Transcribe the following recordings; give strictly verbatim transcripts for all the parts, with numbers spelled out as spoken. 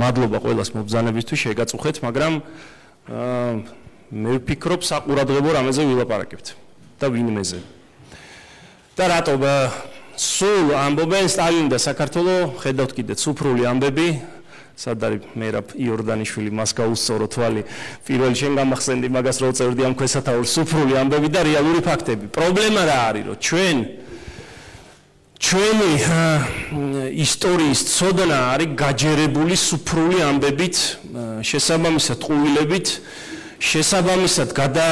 მადლობა ყველას მობრძანებისთვის შეგაწუხეთ, მაგრამ მე ვფიქრობ საყურადღებო რამეზე ვილაპარაკებთ და ვინმეზე. და რატო სულ ამბობენ სტალინი და საქართველო, ხედავთ კიდე ციფრული ამბები, სად არის მერაბ იორდანიშვილი მას გაუსწორო თვალი, პირველი შენ გამახსენდი მაგას რო წერდი ამ ქვესათაურს, ციფრული ამბები და რეალური ფაქტები. პრობლემა რა არის, რომ ჩვენ ჩვენი ისტორიის ცოდნა არის გაჯერებული ციფრული ამბებით, შესაბამისად ყუილებით, შესაბამისად გადა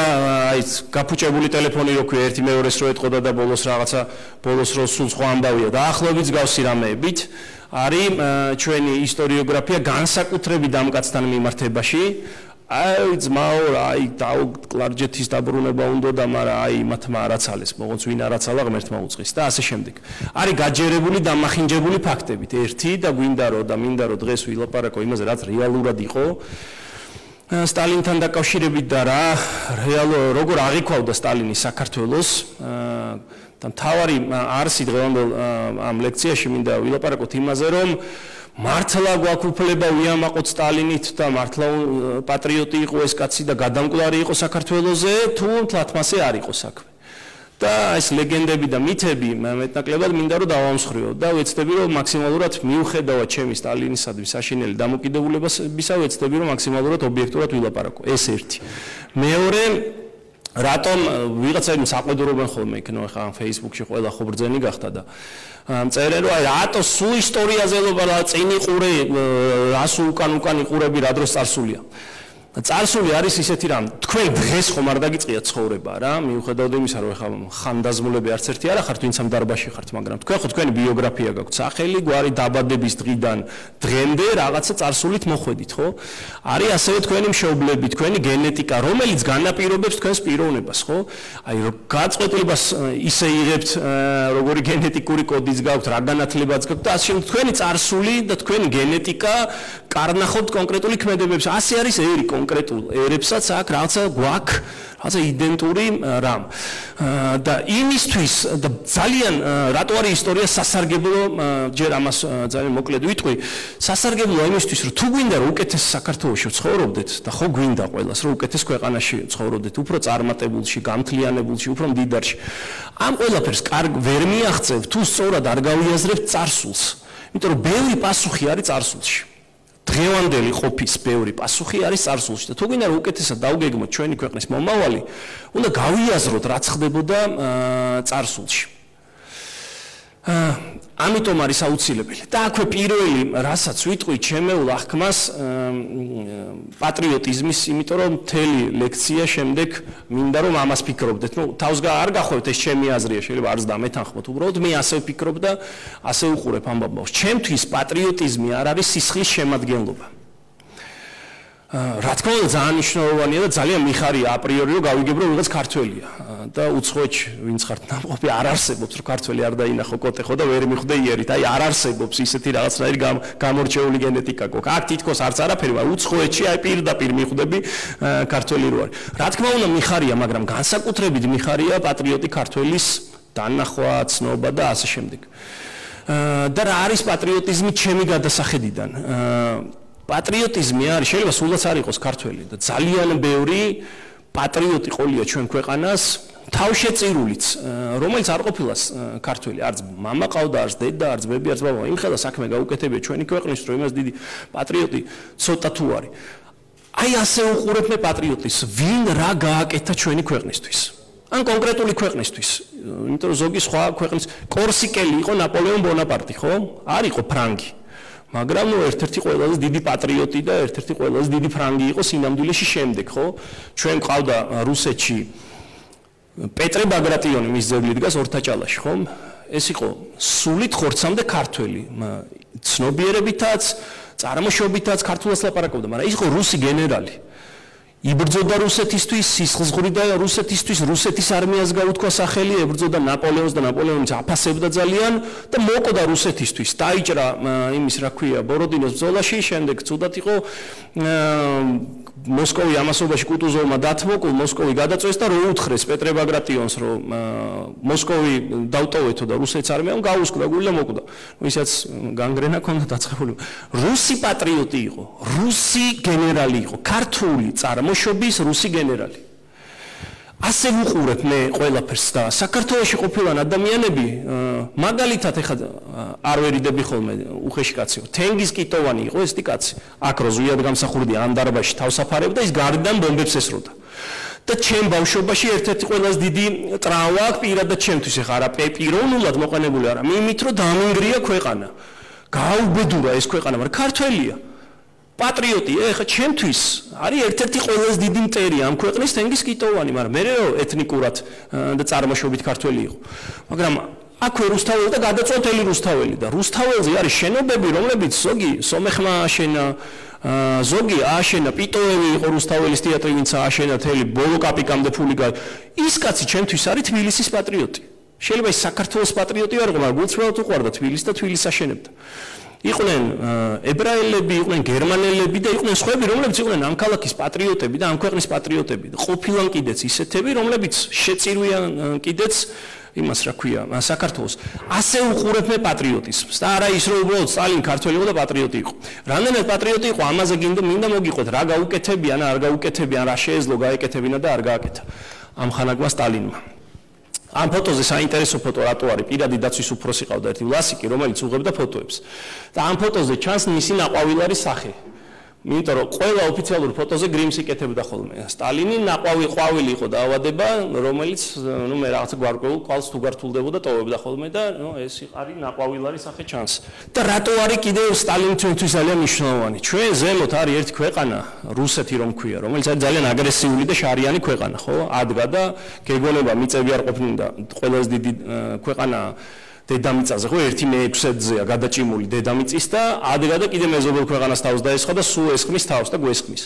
აი გაფუჭებული ტელეფონი რო ქვია ერთი მეორეს რო ეტყოდა და ბოლოს რაღაცა ბოლოს რო სულ სხვა ამბავია და ახლობით გავს რამეებით არის ჩვენი ისტორიოგრაფია განსაკუთრებით დამკაცთან მიმართებაში აი ძმაო აი კლარჯეთის დაბრუნება უნდა და მაგრამ აი მათმა არაცალეს მოღონც ვინ არაცალა ღმერთმა უწყის და ასე შემდეგ არის გაჯერებული დამახინჯებული ფაქტებით ერთი და გვინდა რომ და მინდა რომ დღეს ვილაპარაკო იმაზე რაც რეალურად იყო სტალინთან დაკავშირებით და რა რეალურ როგორ აღიქვავდა სტალინი საქართველოს და მთავარი არსი დღევანდელ ამ ლექციაში მინდა ვილაპარაკოთ იმაზე რომ მართლა გვაქვს უფლება ვიამაყოთ სტალინით და მართლა პატრიოტი იყო ეს კაცი და გადამკვდარი იყო საქართველოზე თუ თლათმასე არ იყო საქმე და ეს ლეგენდები და მითები მეტნაკლებად მინდა რომ დავამსხვრიო და ვეცდები რომ მაქსიმალურად მიუხედავად ჩემი სტალინისადმი საშინელი დამოკიდებულებისა ვეცდები რომ მაქსიმალურად ობიექტურად ვილაპარაკო ეს ერთი მეორე რატომ ვიღაცა იმ საყედურობენ ხოლმე იქნო ხა Facebook-ში ყველა ხო ბრძენი გახდა და წერენ რომ აი რატო სულ ისტორიაზე ლობა წინ იყურე რას უკან უკან იყურები რა დროს წარსულია წარსული არის ისეთი რამ თქვენ დღეს ხომ არ დაგიწყია ცხოვრება რა მიუხედავად იმისა რომ ხა ხანდაზმულები არც ერთი არ ახართ ვინც ამ დარბაზში ხართ მაგრამ თქვენ ხო თქვენი ბიოგრაფია გაქვთ სახელი გვარი დაბადების დღიდან დღემდე რაღაცა წარსულით მოხვედით ხო არის ასევე თქვენი მშობლები თქვენი გენეტიკა რომელიც განაპირობებს თქვენს პიროვნებას ხო აი რომ გაწყვეტილებას ისე იღებთ როგორი გენეტიკური კოდიც გაქვთ რა განათლებაც გაქვთ და ასე თქვენი წარსული და თქვენი გენეტიკა კარნახობთ კონკრეტული ქმედებებს ასე არის ერი კონკრეტულ ერებსაც აქ რაღაცა გვაქვს რაღაცა იდენტური რამ და იმისთვის და ძალიან რატო არის ისტორია სასარგებლო ჯერ ამას ძალიან მოკლედ ვიტყვი სასარგებლოა იმისთვის რომ თუ გვინდა რომ უკეთეს საქართველოში ცხოვრობდეთ და ხო გვინდა ყველას რომ უკეთეს ქვეყანაში ცხოვრობდეთ უფრო წარმატებულში გამთლიანებულში უფრო მდიდარში ამ ყველაფერს კარგ ვერ მიაღწევ თუ სწორად არ გავიაზრებთ წარსულს იმიტომ რომ ბევრი პასუხი არის წარსულში დღევანდელი ყოფის ბევრი პასუხი არის წარსულში და თუ გინდა რომ უკეთესად დავგეგმოთ ჩვენი ქვეყნის მომავალი, უნდა გავიაზროთ რაც ხდებოდა წარსულში. ამიტომ არის აუცილებელი. და აქვე პირველი, რასაც ვიტყვი ჩემეულ აღქმას პატრიოტიზმის, იმიტომ რომ მთელი ლექცია შემდეგ მინდა რომ ამას ფიქრობდეთ. ნუ თავს არ გახვევთ ეს ჩემი აზრია, შეიძლება არც დამეთანხმოთ, უბრალოდ მე ასე ვფიქრობ და ასე უყურებ ამ ამბავს. ჩემთვის პატრიოტიზმი არ არის სისხლის შემადგენლობა. რა თქმა უნდა ძალიან მნიშვნელოვანია და ძალიან მიხარია აპრიორი რომ გავიგებ რომ ვიღაც ქართველია და უცხოეთში ვინც ხართ ნამყოფი არ არსებობს რომ ქართველი არ დაინახო კოტე ხო და ვერ მიხვდე იერით აი არ არსებობს ისეთი რაღაცნაირი გამორჩეული გენეტიკა გქონდა აქ თითქოს არც არაფერი მაგრამ უცხოეთში აი პირდაპირ მიხვდები ქართველი რო არის რა თქმა უნდა მიხარია მაგრამ განსაკუთრებით მიხარია პატრიოტი ქართველის დანახვა ცნობა და ასე შემდეგ და რა არის პატრიოტიზმი ჩემი გადასახედიდან პატრიოტიზმი არის შეიძლება სულაც არ იყოს ქართველი და ძალიან ბევრი პატრიოტი ყოლია ჩვენ ქვეყანას თავშეწირულიც რომელიც არ ყოფილა ქართველი არც მამა ყავდა არც დედა არც ბები არც ბაბა იმხელა საქმე გაუკეთებია ჩვენი ქვეყნის რომ იმას დიდი პატრიოტი ცოტა თუ არის აი ასე უყურებ მე პატრიოტის ვინ რა გააკეთა ჩვენი ქვეყნისთვის ან კონკრეტული ქვეყნისთვის იმიტომ რომ ზოგი სხვა ქვეყნის კორსიკელი იყო ნაპოლეონ ბონაპარტი ხო არ იყო ფრანგი მაგრამ ნუ ერთ-ერთი ყველაზე დიდი პატრიოტი და ერთ-ერთი ყველაზე დიდი ფრანგი იყო სინამდვილეში შემდეგ, ხო? ჩვენ ყავდა რუსეთში პეტრე ბაგრატიონი მის ძეგლი დგას ორთაჭალაში, ხო? ეს იყო სულით ხორცამდე ქართველი, ცნობიერებითაც, წარმოშობითაც ქართულას ლაპარაკობდა, მაგრამ ის იყო რუსი გენერალი. იბრძოდა რუსეთისთვის, სისხლძღვრიდა რუსეთისთვის, რუსეთის არმიას გაუთქვა სახელი, ებრძოდა ნაპოლეონს და ნაპოლეონიც აფასებდა ძალიან და მოკვდა რუსეთისთვის. დაიჭრა იმის რა ქვია, ბოროდინოს ბრძოლაში, შემდეგ ცუდად იყო მოსკოვი ამასობაში კუტუზოვმა დათმო, მოსკოვი გადაწვეს და რო უთხრეს პეტრე ბაგრატიონს, რომ მოსკოვი დავტოვეთო და რუსეთის არმიამ გაუსკვდა გული და მოკვდა. ვისაც განგრენა ჰქონდა დაწყებული. რუსი პატრიოტი იყო, რუსი გენერალი იყო, ქართული წარმოშობის რუსი გენერალი. ასე ვუყურებ მე ყველაფერს და საქართველოში ყოფილან ადამიანები მაგალითად ეხლა არ ვერიდები ხოლმე უხეში კაცი. თენგიზ კიტოვანი იყო ეს კაცი. აქ რო ზვიად გამსახურდი ამ დარბაზში თავს აფარებდა, ის გარდან ბომბებს ესროდა. და ჩემ ბავშვობაში ერთ-ერთი ყველაზე დიდი ტრავმა აქვს პირადად ჩემთვის, ეხლა არა პიროვნულად მოყენებული არა, იმით რომ დამინგრია ქვეყანა. გაუბედურა ეს ქვეყანა, მაგრამ ქართველია. პატრიოტი, ეხლა ჩემთვის არის ერთ-ერთი ყველაზე დიდი მტერი ამ ქვეყნის თენგიზ კიტოვანი, მაგრამ მე ეთნიკურად და წარმოშობით ქართველი იყო. მაგრამ აქვე რუსთაველი და გადაწყვეტილი რუსთაველი და რუსთაველზე არის შენობები, რომლებიც ზოგი სომეხმა აშენა, ზოგი აშენა, პიტოევი იყო რუსთაველის თეატრი, ვინც აშენა თელი ბოლო კაპიკამდე ფული გაი. ის კაცი ჩემთვის არის თბილისის პატრიოტი. შეიძლება ის საქართველოს პატრიოტი არ იყო, მაგრამ გულწრფელად უყვარდა თბილისს და თბილისს აშენებდა. იყვნენ ებრაელები, იყვნენ გერმანელები და იყვნენ სხვები, რომლებიც იყვნენ ამ ქალაქის პატრიოტები და ამ ქვეყნის პატრიოტები. ყოფილან კიდეც ისეთები, რომლებიც შეწირვიან კიდეც იმას რა ქვია, საქართველოს. ასე უყურებ მე პატრიოტიზმს და არა ის რომ უბრალოდ სტალინი ქართველი იყო და პატრიოტი იყო. რამდენად პატრიოტი იყო, ამაზე გინდა მინდა მოგიყვეთ, რა გაუკეთებიან, რა არ გაუკეთებიან, რა შეეძლო გაეკეთებინა და არ გააკეთა ამ ხანაგმა სტალინმა. ამ ფოტოზე საინტერესო ფოტო რატო არის? პირადი დაცვის უფროსი ყავდა ერთი ვლასიკი, რომელიც უღებდა ფოტოებს. და ამ ფოტოზე ჩანს მისი ნაყვავილარის სახე. იმიტომ რომ ყველა ოფიციალურ ფოტოზე გრიმს იკეთებდა ხოლმე. სტალინი ნაყვავი ყვავილი იყო დაავადება, რომელიც ნუ მე რაღაცა გვარკვეულ ყვალს თუ გართულდებოდა ტოვებდა ხოლმე და ნუ ეს არის ნაყვავილარის სახე ჩანს. და რატო არის კიდევ სტალინი ჩვენთვის ძალიან მნიშვნელოვანი? ჩვენ ზემოთ არის ერთი ქვეყანა, რუსეთი რომ ქვია, რომელიც არის ძალიან აგრესიული და შარიანი ქვეყანა, ხო? ადგა და გეგონება მიწები არ ყოფნინ და ყველაზე დიდი ქვეყანა დედამიწაზე, ხო, ერთი მეექვსედზეა გადაჭიმული დედამიწის და ადგა და კიდე მეზობელ ქვეყანას თავს დაესხა და სულ ესხმის თავს და გვესხმის.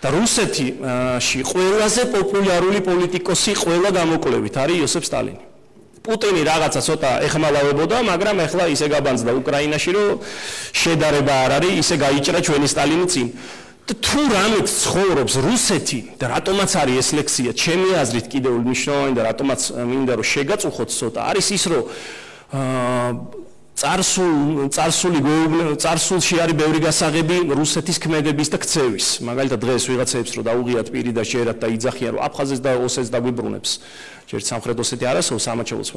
და რუსეთში ყველაზე პოპულარული პოლიტიკოსი ყველა გამოკვლევით არის იოსებ სტალინი. პუტინი რაღაცა ცოტა ეხმალავებოდა, მაგრამ ეხლა ისე გაბანძდა უკრაინაში, რომ შედარება არ არის, ისე გაიჭრა ჩვენი სტალინი წინ. და თუ რამით ცხოვრობს რუსეთი და რატომაც არის ეს ლექსია, ჩემი აზრით კიდევ მნიშვნელოვანი და რატომაც მინდა რომ შეგაწუხოთ ცოტა, არის ის რომ წარსულ წარსული წარსულში არის ბევრი გასაღები რუსეთის ქმედების და ქცევის. მაგალითად დღეს ვიღაცებს რომ დაუღიათ პირი და შეერათ და იძახიან რომ აფხაზეთს და ოსეთს დაგვიბრუნებს. ჯერ სამხრეთ ოსეთი არასოდეს სამაჩაბლოს.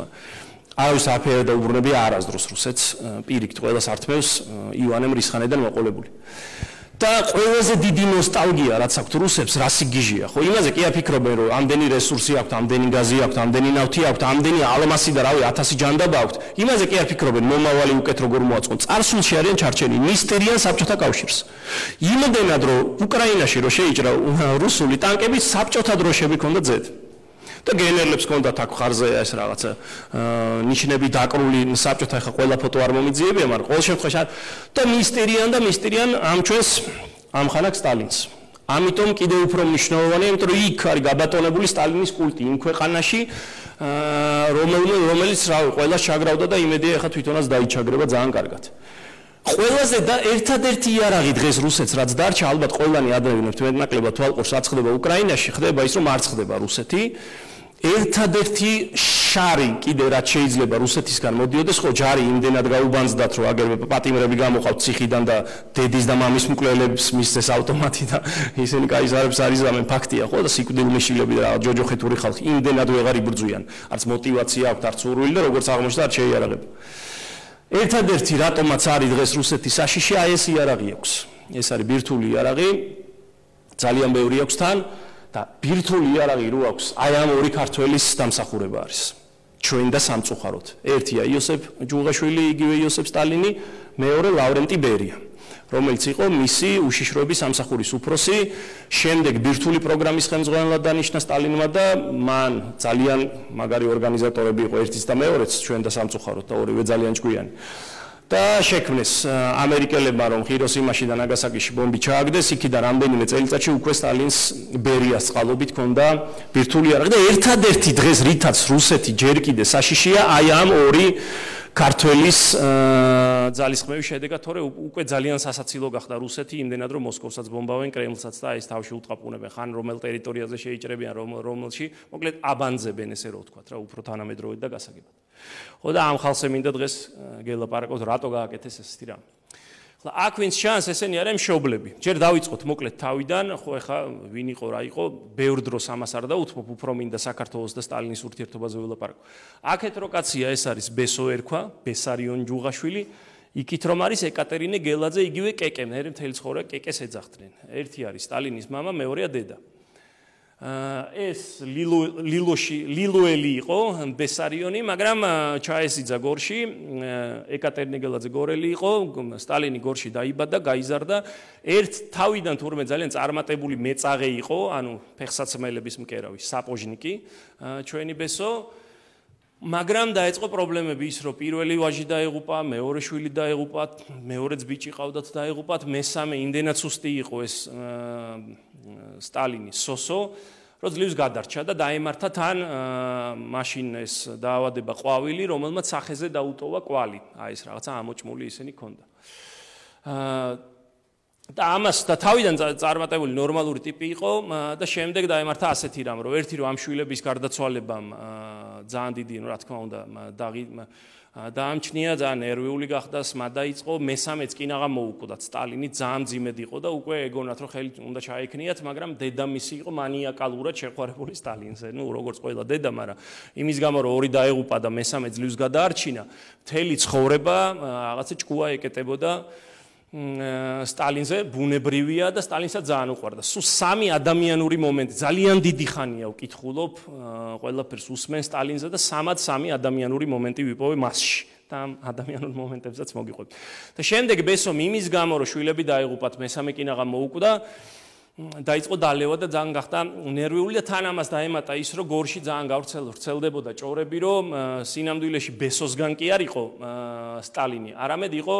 არავის აფერა და უბრუნებია არასდროს რუსეთს პირიქით ყველას ართმევს ივანე მრისხანედან მოყოლებული. და ყველაზე დიდი ნოსტალგია რაც აქვს რუსებს რასი გიჟია, ხო? იმაზე კი აფიქრობენ რომ ამდენი რესურსი აქვთ, ამდენი გაზი აქვთ, ამდენი ნავთი აქვთ, ამდენი ალმასი და რავი ათასი ჯანდაბა აქვთ. იმაზე კი აფიქრობენ მომავალი უკეთ როგორ მოაწყონ. წარსულში არიან ჩარჩენილი, მისტერიან საბჭოთა კავშირს. იმდენად რომ უკრაინაში რო შეიჭრა რუსული ტანკები, საბჭოთა დროშები ჰქონდა ძედ. და გენერლებს ჰქონდათ აქ ხარზე ეს რაღაცა ნიშნები დაკრული საბჭოთა ხა ყველა ფოტო არ მომიძიებია, მაგრამ ყოველ შემთხვევაში და მისტერიან და მისტერიან ამ ჩვენს ამ ხანაკ სტალინს. ამიტომ კიდევ უფრო მნიშვნელოვანია, იმიტომ რომ იქ არის გაბატონებული სტალინის კულტი იმ ქვეყანაში, რომელიც რავი ყველას ჩაგრავდა და იმედია ხა თვითონაც დაიჩაგრება ძალიან კარგად. ყველაზე და ერთადერთი იარაღი დღეს რუსეთს რაც დარჩა, ალბათ ყველანი ადრევინებთ მეტნაკლებად თვალყურს რაც ხდება უკრაინაში, ხდება ის რომ არ ხდება რუსეთი. ერთადერთი შარი კიდე რაც შეიძლება რუსეთისგან მოდიოდეს, ხო ჯარი იმდენად გაუბანძდათ, რომ აგერმე პატიმრები გამოყავთ ციხიდან და დედის და მამის მკვლელებს მისცეს ავტომატი და ისინი კაისარებს არიზამენ, ფაქტია, ხო და სიკვდილმეშილები და ჯოჯოხეთური ხალხი იმდენად ვეღარ იბრძვიან. არც мотиваცია აქვთ, არც სურვილი და როგორც აღმოჩნდა არ შეიარაღება. ერთადერთი რატომაც არის დღეს რუსეთის საშიში, აი ეს იარაღი აქვს. ეს არის ბირთვული იარაღი, ძალიან ბევრი აქვს თან და ბირთვული იარაღი რო აქვს, აი ამ ორი ქართველის დამსახურება არის. ჩვენ და სამწუხაროდ. ერთია იოსებ ჯუღაშვილი, იგივე იოსებ სტალინი, მეორე ლავრენტი ბერია, რომელიც იყო მისი უშიშროების სამსახურის უფროსი, შემდეგ ბირთვული პროგრამის ხელმძღვანელად დანიშნა სტალინმა და მან ძალიან მაგარი ორგანიზატორები იყო ერთიც და მეორეც, ჩვენ და სამწუხაროდ და ორივე ძალიან ჭკვიანი. და შექმნეს ამერიკელებმა რომ ჰიროსიმაში და ნაგასაკიში ბომბი ჩააგდეს, იქიდან რამდენიმე წელიწადში უკვე სტალინს ბერიას წყალობით ჰქონდა ბირთვული იარაღი და ერთადერთი დღეს რითაც რუსეთი ჯერ კიდე საშიშია აი ამ ორი ქართველის ძალისხმევის შედეგად, თორე უკვე ძალიან სასაცილო გახდა რუსეთი, იმდენად რომ მოსკოვსაც ბომბავენ, კრემლსაც და ეს თავში უტყაპუნებენ, ხან რომელ ტერიტორიაზე შეიჭრებიან, რომელში, მოკლედ აბანძებენ ესე რო ვთქვათ რა, უფრო თანამედროვედ და გასაგებად. ხო და ამ ხალხზე მინდა დღეს გელაპარაკოთ, რატო გააკეთეს ესეთი რამე. აქ ვინც ჩანს ესენი არიან მშობლები. ჯერ დავიწყოთ მოკლედ თავიდან, ხო ეხა ვინ იყო რა იყო, ბევრ დროს ამას არ დაუთმობ, უფრო მინდა საქართველოს და სტალინის ურთიერთობაზე ველაპარაკო. აქეთ რო კაცია ეს არის ბესო ერქვა, ბესარიონ ჯუღაშვილი, იქით რომ არის ეკატერინე გელაძე, იგივე კეკე, მე მთელი ცხოვრება კეკეს ეძახდნენ. ერთი არის სტალინის მამა, მეორეა დედა. ეს ლილოში ლილოელი იყო ბესარიონი, მაგრამ ჩაესიძა გორში, ეკატერინე გელაძე გორელი იყო, სტალინი გორში დაიბადა, გაიზარდა, ერთ თავიდან თურმე ძალიან წარმატებული მეწაღე იყო, ანუ ფეხსაცმელების მკერავი, საპოჟნიკი, ჩვენი ბესო, მაგრამ დაეწყო პრობლემები ის, რომ პირველი ვაჟი დაეღუპა, მეორე შვილი დაეღუპა, მეორეც ბიჭი ყავდათ დაეღუპათ, მესამე იმდენად სუსტი იყო ეს სტალინის სოსო, რომ ძლივს გადარჩა და დაემართა თან მაშინ ეს დაავადება ყვავილი, რომელმაც სახეზე დაუტოვა კვალი. აი ეს რაღაცა ამოჭმული ისინი ქონდა. და ამას და თავიდან წარმატებული ნორმალური ტიპი იყო და შემდეგ დაემართა ასეთი რამ, რომ ერთი რომ ამ შვილების გარდაცვალებამ ძალიან დიდი, რა თქმა უნდა, დაამჩნია, ძალიან ნერვიული გახდა, სმა დაიწყო, მესამეც კინაღა მოუკვდათ, სტალინი ძალიან მძიმედ იყო და უკვე ეგონათ, რომ ხელი უნდა ჩაექნიათ, მაგრამ დედამისი იყო მანიაკალურად შეყვარებული სტალინზე, ნუ როგორც ყველა დედა, მაგრამ იმის გამო რომ ორი დაეღუპა და მესამე ძლივს გადაარჩინა, მთელი ცხოვრება რაღაცა ჭკუა ეკეტებოდა სტალინზე, ბუნებრივია და სტალინსაც ძალიან უყვარდა. სულ სამი ადამიანური მომენტი, ძალიან დიდი ხანია ვკითხულობ, ყველაფერს უსმენ სტალინზე და სამად სამი ადამიანური მომენტი ვიპოვე მასში. და ამ ადამიანურ მომენტებსაც მოგიყვებით. და შემდეგ ბესომ იმის გამო რომ შვილები დაეღუპათ, მესამე კინაღა მოუკვდა, დაიწყო დალევა და ძალიან გახდა ნერვიული და თან ამას დაემატა ის, რომ გორში ძალიან გავრცელდებოდა ჭორები, რომ სინამდვილეში ბესოსგან კი არ იყო სტალინი, არამედ იყო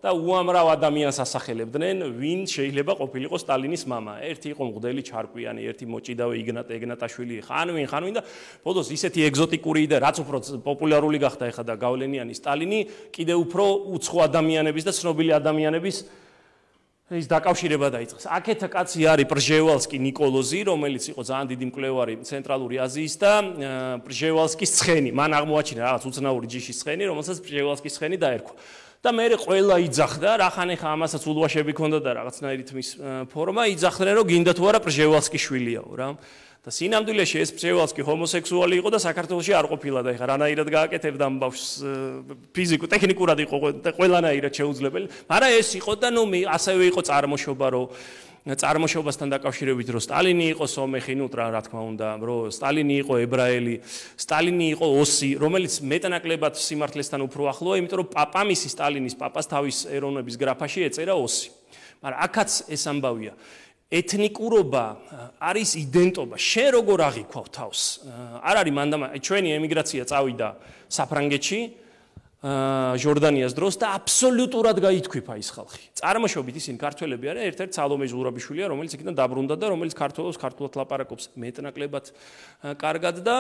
და უამრავ ადამიანს ასახელებდნენ, ვინ შეიძლება ყოფილიყო სტალინის მამა. ერთი იყო მღვდელი ჩარკვიანი, ერთი მოჭიდავე იგნატ ეგნატაშვილი, ხან ვინ, ხან ვინ და ბოლოს ისეთი ეგზოტიკური და რაც უფრო პოპულარული გახდა ეხა და გავლენიანი სტალინი, კიდევ უფრო უცხო ადამიანების და ცნობილი ადამიანების ის დაკავშირება დაიწყეს. აქეთა კაცი არის პრჟევალსკი ნიკოლოზი, რომელიც იყო ძალიან დიდი მკვლევარი ცენტრალური აზიის და პრჟევალსკის ცხენი. მან აღმოაჩინა რაღაც უცნაური ჯიშის ცხენი, რომელსაც პრჟევალსკის ცხენი დაერქვა. და მე ყველა იძახდა, რახან ეხა ამასაც ულვაშები ქონდა და რაღაცნაირით მის ფორმა, იძახდნენ რომ გინდა თუ არა პრჟევალსკის შვილიაო რა. და სინამდვილეში ეს პრჟევალსკი ჰომოსექსუალი იყო და საქართველოში არ ყოფილა და ეხა რანაირად გააკეთებდა ამ ბავშვს ფიზიკურ ტექნიკურად იყო ყველანაირად შეუძლებელი, მაგრამ ეს იყო და ნუ ასევე იყო წარმოშობა, რომ წარმოშობასთან დაკავშირებით რომ სტალინი იყო სომეხი, ნუ რა თქმა უნდა, რომ სტალინი იყო ებრაელი, სტალინი იყო ოსი, რომელიც მეტნაკლებად სიმართლესთან უფრო ახლოა, იმიტომ რომ პაპამისი სტალინის პაპას თავის ეროვნების გრაფაში ეწერა ოსი. მაგრამ აქაც ეს ამბავია. ეთნიკურობა არის იდენტობა. შენ როგორ აღიქვავ თავს? არ არის მანდამა, ჩვენი ემიგრაცია წავიდა საფრანგეთში, ჟორდანიას დროს და აბსოლუტურად გაითქვიფა ის ხალხი. წარმოშობით ისინი ქართველები არიან, ერთ-ერთი სალომე ზურაბიშვილია, რომელიც იქიდან დაბრუნდა და რომელიც ქართველებს ქართულად ლაპარაკობს მეტნაკლებად კარგად და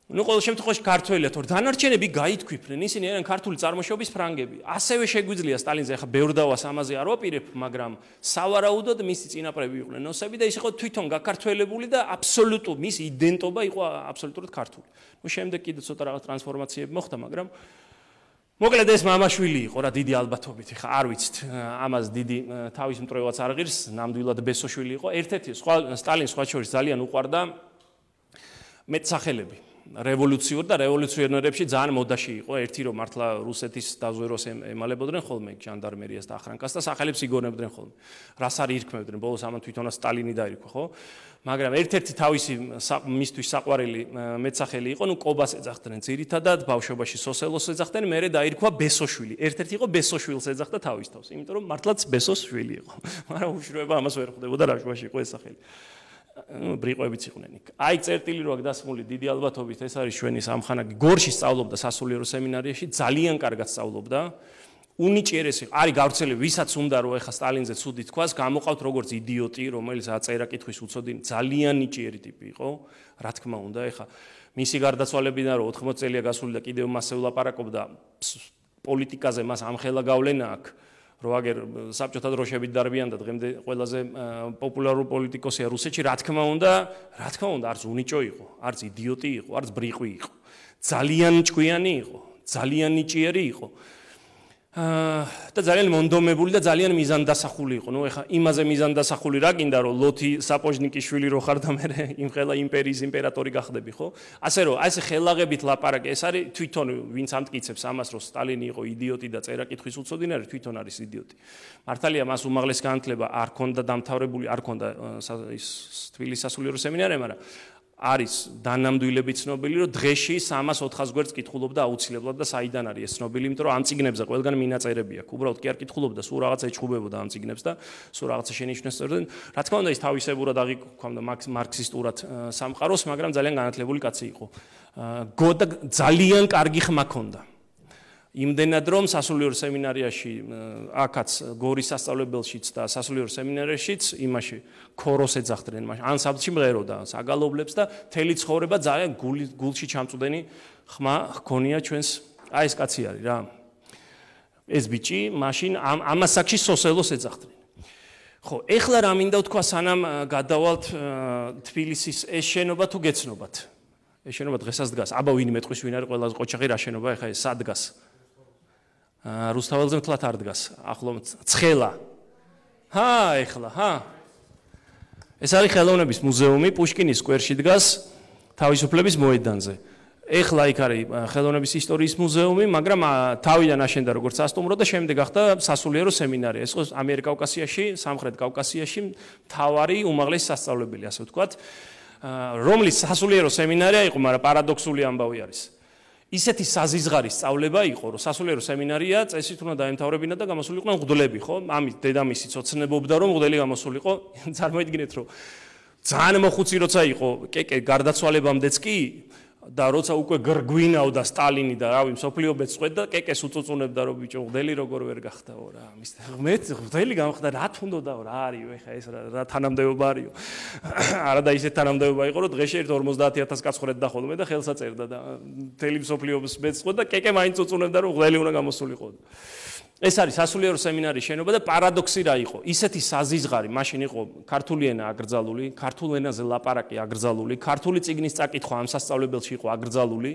ну, ყოველ შემთხვევაში ქართველია, თორე დანარჩენები გაითქვიფნენ, ისინი არიან ქართული წარმოშობის ფრანგები. ასევე შეგვიძლია სტალინზე ახლა ბევრ დავას ამაზე არ ვაპირებ, მაგრამ სავარაუდოდ მისი წინაპრები იყვნენ ნოსები და ის იყო თვითონ გაქართველებული და აბსოლუტურ მისი იდენტობა იყო აბსოლუტურად ქართული. ну, შემდეგ კიდე ცოტა რაღაც ტრანსფორმაციები მოხდა, მაგრამ მოკლედ ეს მამაშვილი იყო რა დიდი ალბათობით, ხა არ ვიცით, ამას დიდი თავის მტრევაც არ ღირს, ნამდვილად ბესოშვილი იყო. ერთ-ერთი სხვა სტალინს სხვა შორის ძალიან უყვარდა მეტსახელები. რევოლუციურ და რევოლუციონერებში ძალიან მოდაში იყო, ერთი რომ მართლა რუსეთის დაზვერვას ემალებოდნენ ხოლმე ჟანდარმერიას და ახრანკას და სახელებს იგონებდნენ ხოლმე. რას არ ირქმევდნენ, ბოლოს ამან თვითონაც სტალინი დაირქვა, ხო? მაგრამ ერთ-ერთი თავისი მისთვის საყვარელი მეტსახელი იყო, ნუ კობას ეძახდნენ ძირითადად, ბავშვობაში სოსელოს ეძახდნენ, მერე დაირქვა ბესოშვილი. ერთ-ერთი იყო ბესოშვილს ეძახდა თავის თავს, იმიტომ რომ მართლაც ბესოშვილი იყო. მაგრამ უშუალოდ ამას ვერ ხვდებოდა რა შუაში იყო ეს სახელი. ბრიყვებიც იყვნენ იქ. აი წერტილი რო აქ დასმული დიდი ალბათობით ეს არის ჩვენი სამხანაგი. გორში სწავლობდა სასულიერო სემინარიაში, ძალიან კარგად სწავლობდა. უნიჭიერესი არის გავრცელებული, ვისაც უნდა რომ ეხა სტალინზე ცუდი თქვას, გამოყავთ როგორც იდიოტი, რომელიც აწერა კითხვის უცოდინი, ძალიან ნიჭიერი ტიპი იყო, რა თქმა უნდა, ეხა მისი გარდაცვალებიდან რომ ოთხმოცი წელია გასული და კიდევ მასზე ვლაპარაკობდა პოლიტიკაზე, მას ამხელა გავლენა აქვს, რომ აგერ საბჭოთა დროშებით დარბიან და დღემდე ყველაზე პოპულარული პოლიტიკოსია რუსეთში, რა თქმა უნდა, რა თქმა უნდა, არც უნიჭო იყო, არც იდიოტი იყო, არც ბრიყვი იყო. ძალიან ჭკვიანი იყო, ძალიან ნიჭიერი იყო. და ძალიან მონდომებული და ძალიან მიზანდასახული იყო. ნუ ეხა იმაზე მიზანდასახული რა გინდა რომ ლოთი საპოჟნიკიშვილი რო ხარ და მე იმხელა იმპერიის იმპერატორი გახდები, ხო? ასე რომ აი ეს ხელაღებით ლაპარაკი, ეს არის თვითონ ვინც ამტკიცებს ამას რომ სტალინი იყო იდიოტი და წერა კითხვის უცოდინი არის, თვითონ არის იდიოტი. მართალია მას უმაღლესი განათლება არ ქონდა დამთავრებული, არ ქონდა ის თბილისის სასულიერო სემინარია, მაგრამ არის დანამდვილები ცნობილი, რომ დღეში სამას ოთხას გვერდს კითხულობდა აუცილებლად და საიდან არის ეს ცნობილი, იმიტომ რომ ამ წიგნებზე ყველგან მინაწერები აქვს. უბრალოდ კი არ კითხულობდა, სულ რაღაცა ეჩხუბებოდა ამ წიგნებს და სულ რაღაცა შენიშვნებს წერდა. რა თქმა უნდა, ის თავისებურად აღიქვამდა მარქსისტურად სამყაროს, მაგრამ ძალიან განათლებული კაცი იყო. გოდა ძალიან კარგი ხმა ჰქონდა. იმდენად რომ სასულიერო სემინარიაში აქაც გორის სასწავლებელშიც და სასულიერო სემინარიაშიც იმაში ქოროს ეძახდნენ, ან საბჭში მღეროდა, საგალობლებს და თელი ცხოვრება ძალიან გულში ჩამწუდენი ხმა ჰქონია ჩვენს აი ეს კაცი არის რა. ეს ბიჭი მაშინ ამას საკში სოსელოს ეძახდნენ. ხო, ეხლა რა მინდა ვთქვა, სანამ გადავალთ თბილისის ეს შენობა თუ გეცნობათ. ეს შენობა დღესაც დგას. აბა ვინმე ტყვის ვინ არის ყველაზე ყოჩაღი რა შენობა ეხლა ეს სად დგას? რუსთაველზე მთლად არ დგას, ახლო ცხელა. ჰა, ეხლა, ჰა. ეს არის ხელოვნების მუზეუმი, პუშკინის სკვერში დგას, თავისუფლების მოედანზე. ეხლა იქ არის ხელოვნების ისტორიის მუზეუმი, მაგრამ თავიდან აშენდა როგორც სასტუმრო და შემდეგ გახდა სასულიერო სემინარია. ეს იყო ამიერკავკასიაში, სამხრეთ კავკასიაში მთავარი უმაღლესი სასწავლებელი, ასე ვთქვათ, რომლის სასულიერო სემინარია იყო, მაგრამ პარადოქსული ამბავი არის. ისეთი საზიზღარი სწავლება იყო, რომ სასულიერო სემინარია წესით უნდა დაემთავრებინა და გამოსულიყვნენ მღვდლები, ხო? ამით დედამისიც ოცნებობდა, რომ მღვდელი გამოსულიყო. წარმოიდგინეთ, რომ ძალიან მოხუცი როცა იყო, კეკე გარდაცვალებამდეც კი და როცა უკვე გრგვინავდა სტალინი და რავი მსოფლიო ბეწყვეთ და კეკეს უწუწუნებდა, რომ ბიჭო მღვდელი როგორ ვერ გახდაო რა. მის მე მღვდელი გამხდა, რა თუნდოდაო, რა არისო, ეხა ეს რა თანამდებობა არისო. არა და ისეთ თანამდებობა იყო, რომ დღეში ერთ ორმოცდაათი ათას კაცს ხრედდა ხოლმე და ხელსა წერდა და მთელი მსოფლიოს ბეწყვეთ და კეკე მაინც უწუნებდა, რომ მღვდელი უნდა გამოსულიყო. ეს არის სასულიერო სემინარიის შენობა და პარადოქსი რა იყო? ისეთი საზიზღარი, მაშინ იყო ქართული ენა აკრძალული, ქართულ ენაზე ლაპარაკი აკრძალული, ქართული წიგნის წაკითხვა ამ სასწავლებელში იყო აკრძალული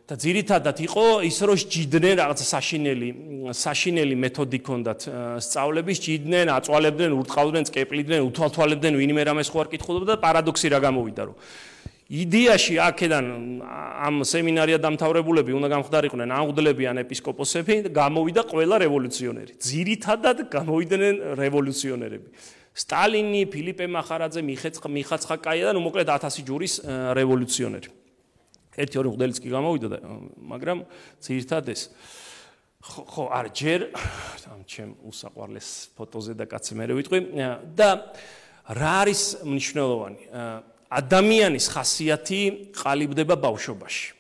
და ძირითადად იყო ის, რომ სჯიდნენ რაღაცა საშინელი, საშინელი მეთოდი ჰქონდათ სწავლების, სჯიდნენ, აწვალებდნენ, ურტყავდნენ, წკეპლიდნენ, უთვალთვალებდნენ, ვინმე რამეს ხო არ კითხულობდა და პარადოქსი რა გამოვიდა, რომ იდეაში აქედან ამ სემინარია დამთავრებულები უნდა გამხდარიყვნენ ან მღვდლები ან ეპისკოპოსები და გამოვიდა ყველა რევოლუციონერი. ძირითადად გამოვიდნენ რევოლუციონერები. სტალინი, ფილიპე მახარაძე, მიხაცხაკაია და ნუ მოკლედ ათასი ჯურის რევოლუციონერი. ერთი ორი მღვდელიც კი გამოვიდა და მაგრამ ძირითადად ეს ხო არ ჯერ ამ ჩემ უსაყვარლეს ფოტოზე და კაცი მე ვიტყვი და რა არის მნიშვნელოვანი? ადამიანის ხასიათი ყალიბდება ბავშვობაში.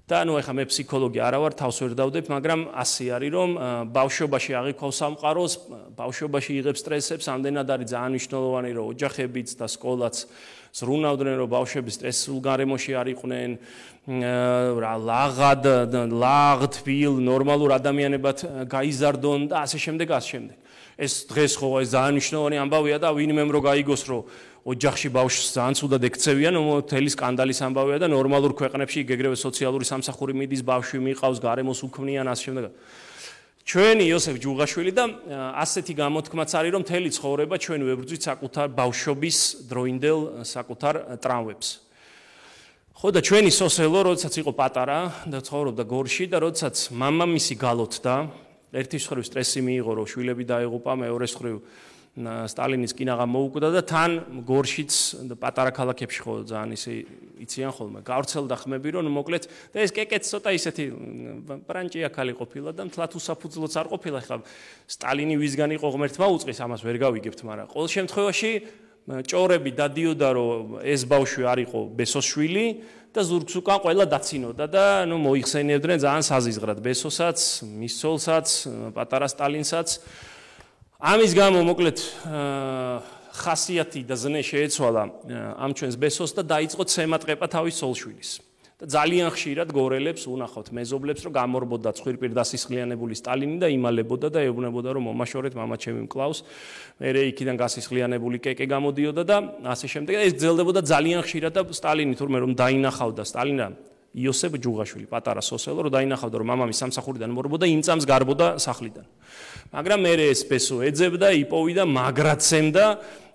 და ნუ ეხლა მე ფსიქოლოგი არა ვარ, თავს ვერ დავდებ, მაგრამ ასე არის, რომ ბავშვობაში აღიქვავს სამყაროს, ბავშვობაში იღებს სტრესებს, ამდენად არის ძალიან მნიშვნელოვანი, რომ ოჯახებიც და სკოლაც ზრუნავდნენ, რომ ბავშვები სტრესულ გარემოში არ იყვნენ, რა ლაღად, ლაღ, თბილ, ნორმალურ ადამიანებად გაიზარდონ და ასე შემდეგ, ასე შემდეგ. ეს დღეს ხო ეს ძალიან მნიშვნელოვანი ამბავია და ვინმემ რო გაიგოს, რომ ოჯახში ბავშვს ძალიან ცუდად ექცევიან, მთელი სკანდალის ამბავია და ნორმალურ ქვეყნებში ეგრევე სოციალური სამსახური მიდის, ბავშვი მიყავს, გარემოს უქმნიან, ასე შემდეგ. ჩვენი იოსებ ჯუღაშვილი და ასეთი გამოთქმაც არის, რომ მთელი ცხოვრება ჩვენ ვებრძვით საკუთარ ბავშვობის დროინდელ საკუთარ ტრავმებს. ხო და ჩვენი სოსელო, როდესაც იყო პატარა და ცხოვრობდა გორში და როდესაც მამამისი გალოთდა, ერთის მხრივ სტრესი მიიღო, რომ შვილები დაეღუპა, მეორეს მხრივ სტალინის კინაღა მოუკვდა და თან გორშიც და პატარა ქალაქებში ხო ძალიან ისე იციან ხოლმე. გავრცელდა ხმები, რომ მოკლედ და ეს კეკეც ცოტა ისეთი ბრანჭია ქალი ყოფილა და მთლად უსაფუძვლოც არ ყოფილა. ხა სტალინი ვისგან იყო ღმერთმა უწყის, ამას ვერ გავიგებთ, მაგრამ ყოველ შემთხვევაში ჭორები დადიოდა რომ ეს ბავშვი არ იყო ბესოსშვილი და ზურგს უკან ყველა დაცინოდა და ნუ მოიხსენიებდნენ ძალიან საზიზღრად ბესოსაც, მის ცოლსაც, პატარა სტალინსაც. ამის გამო მოკლედ ხასიათი და ზნე შეეცვალა ამ ჩვენს ბესოს და დაიწყო ცემატყეპა თავის ცოლშვილის. და ძალიან ხშირად გორელებს უნახავთ მეზობლებს რომ გამორბოდა ცხვირპირ დასისხლიანებული სტალინი და იმალებოდა და ეუბნებოდა რომ მომაშორეთ მამა ჩემი მკლავს მერე იქიდან გასისხლიანებული კეკე გამოდიოდა და ასე შემდეგ ეს გრძელდებოდა ძალიან ხშირად და სტალინი თურმე რომ დაინახავდა სტალინა იოსებ ჯუღაშვილი პატარა სოსელო რომ დაინახავდა რომ მამამის სამსახურიდან მორბოდა იმ წამს გარბოდა სახლიდან მაგრამ მერე ეს ბესო ეძებდა იპოვიდა მაგრაცემდა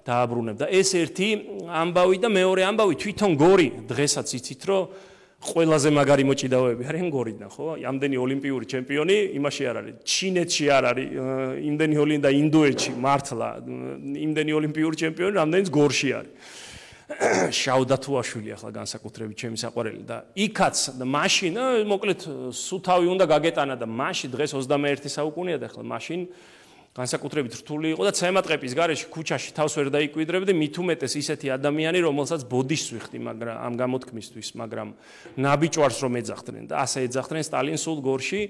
დააბრუნებდა ეს ერთი ამბავი და მეორე ამბავი თვითონ გორი დღესაც იცით რომ ყველაზე მაგარი მოჭიდავეები არიან გორიდან, ხო? ამდენი ოლიმპიური ჩემპიონი იმაში არ არის. ჩინეთში არ არის, იმდენი ოლიმპი და ინდოეთში მართლა იმდენი ოლიმპიური ჩემპიონი, რამდენიც გორში არის. შაუდათუაშვილი ახლა განსაკუთრებით ჩემი საყვარელი და იქაც და მაშინ, მოკლედ სუთავი უნდა გაგეტანა და მაშინ დღეს ოცდამეერთე საუკუნეა და ახლა მაშინ განსაკუთრებით რთული იყო და ცემატყეპის გარეშე ქუჩაში თავს ვერ დაიკვიდრებდი მით უმეტეს ისეთი ადამიანი რომელსაც ბოდიშს ვიხდი მაგრამ ამ გამოთქმისთვის მაგრამ ნაბიჯვარს რომ ეძახდნენ და ასე ეძახდნენ სტალინს სულ გორში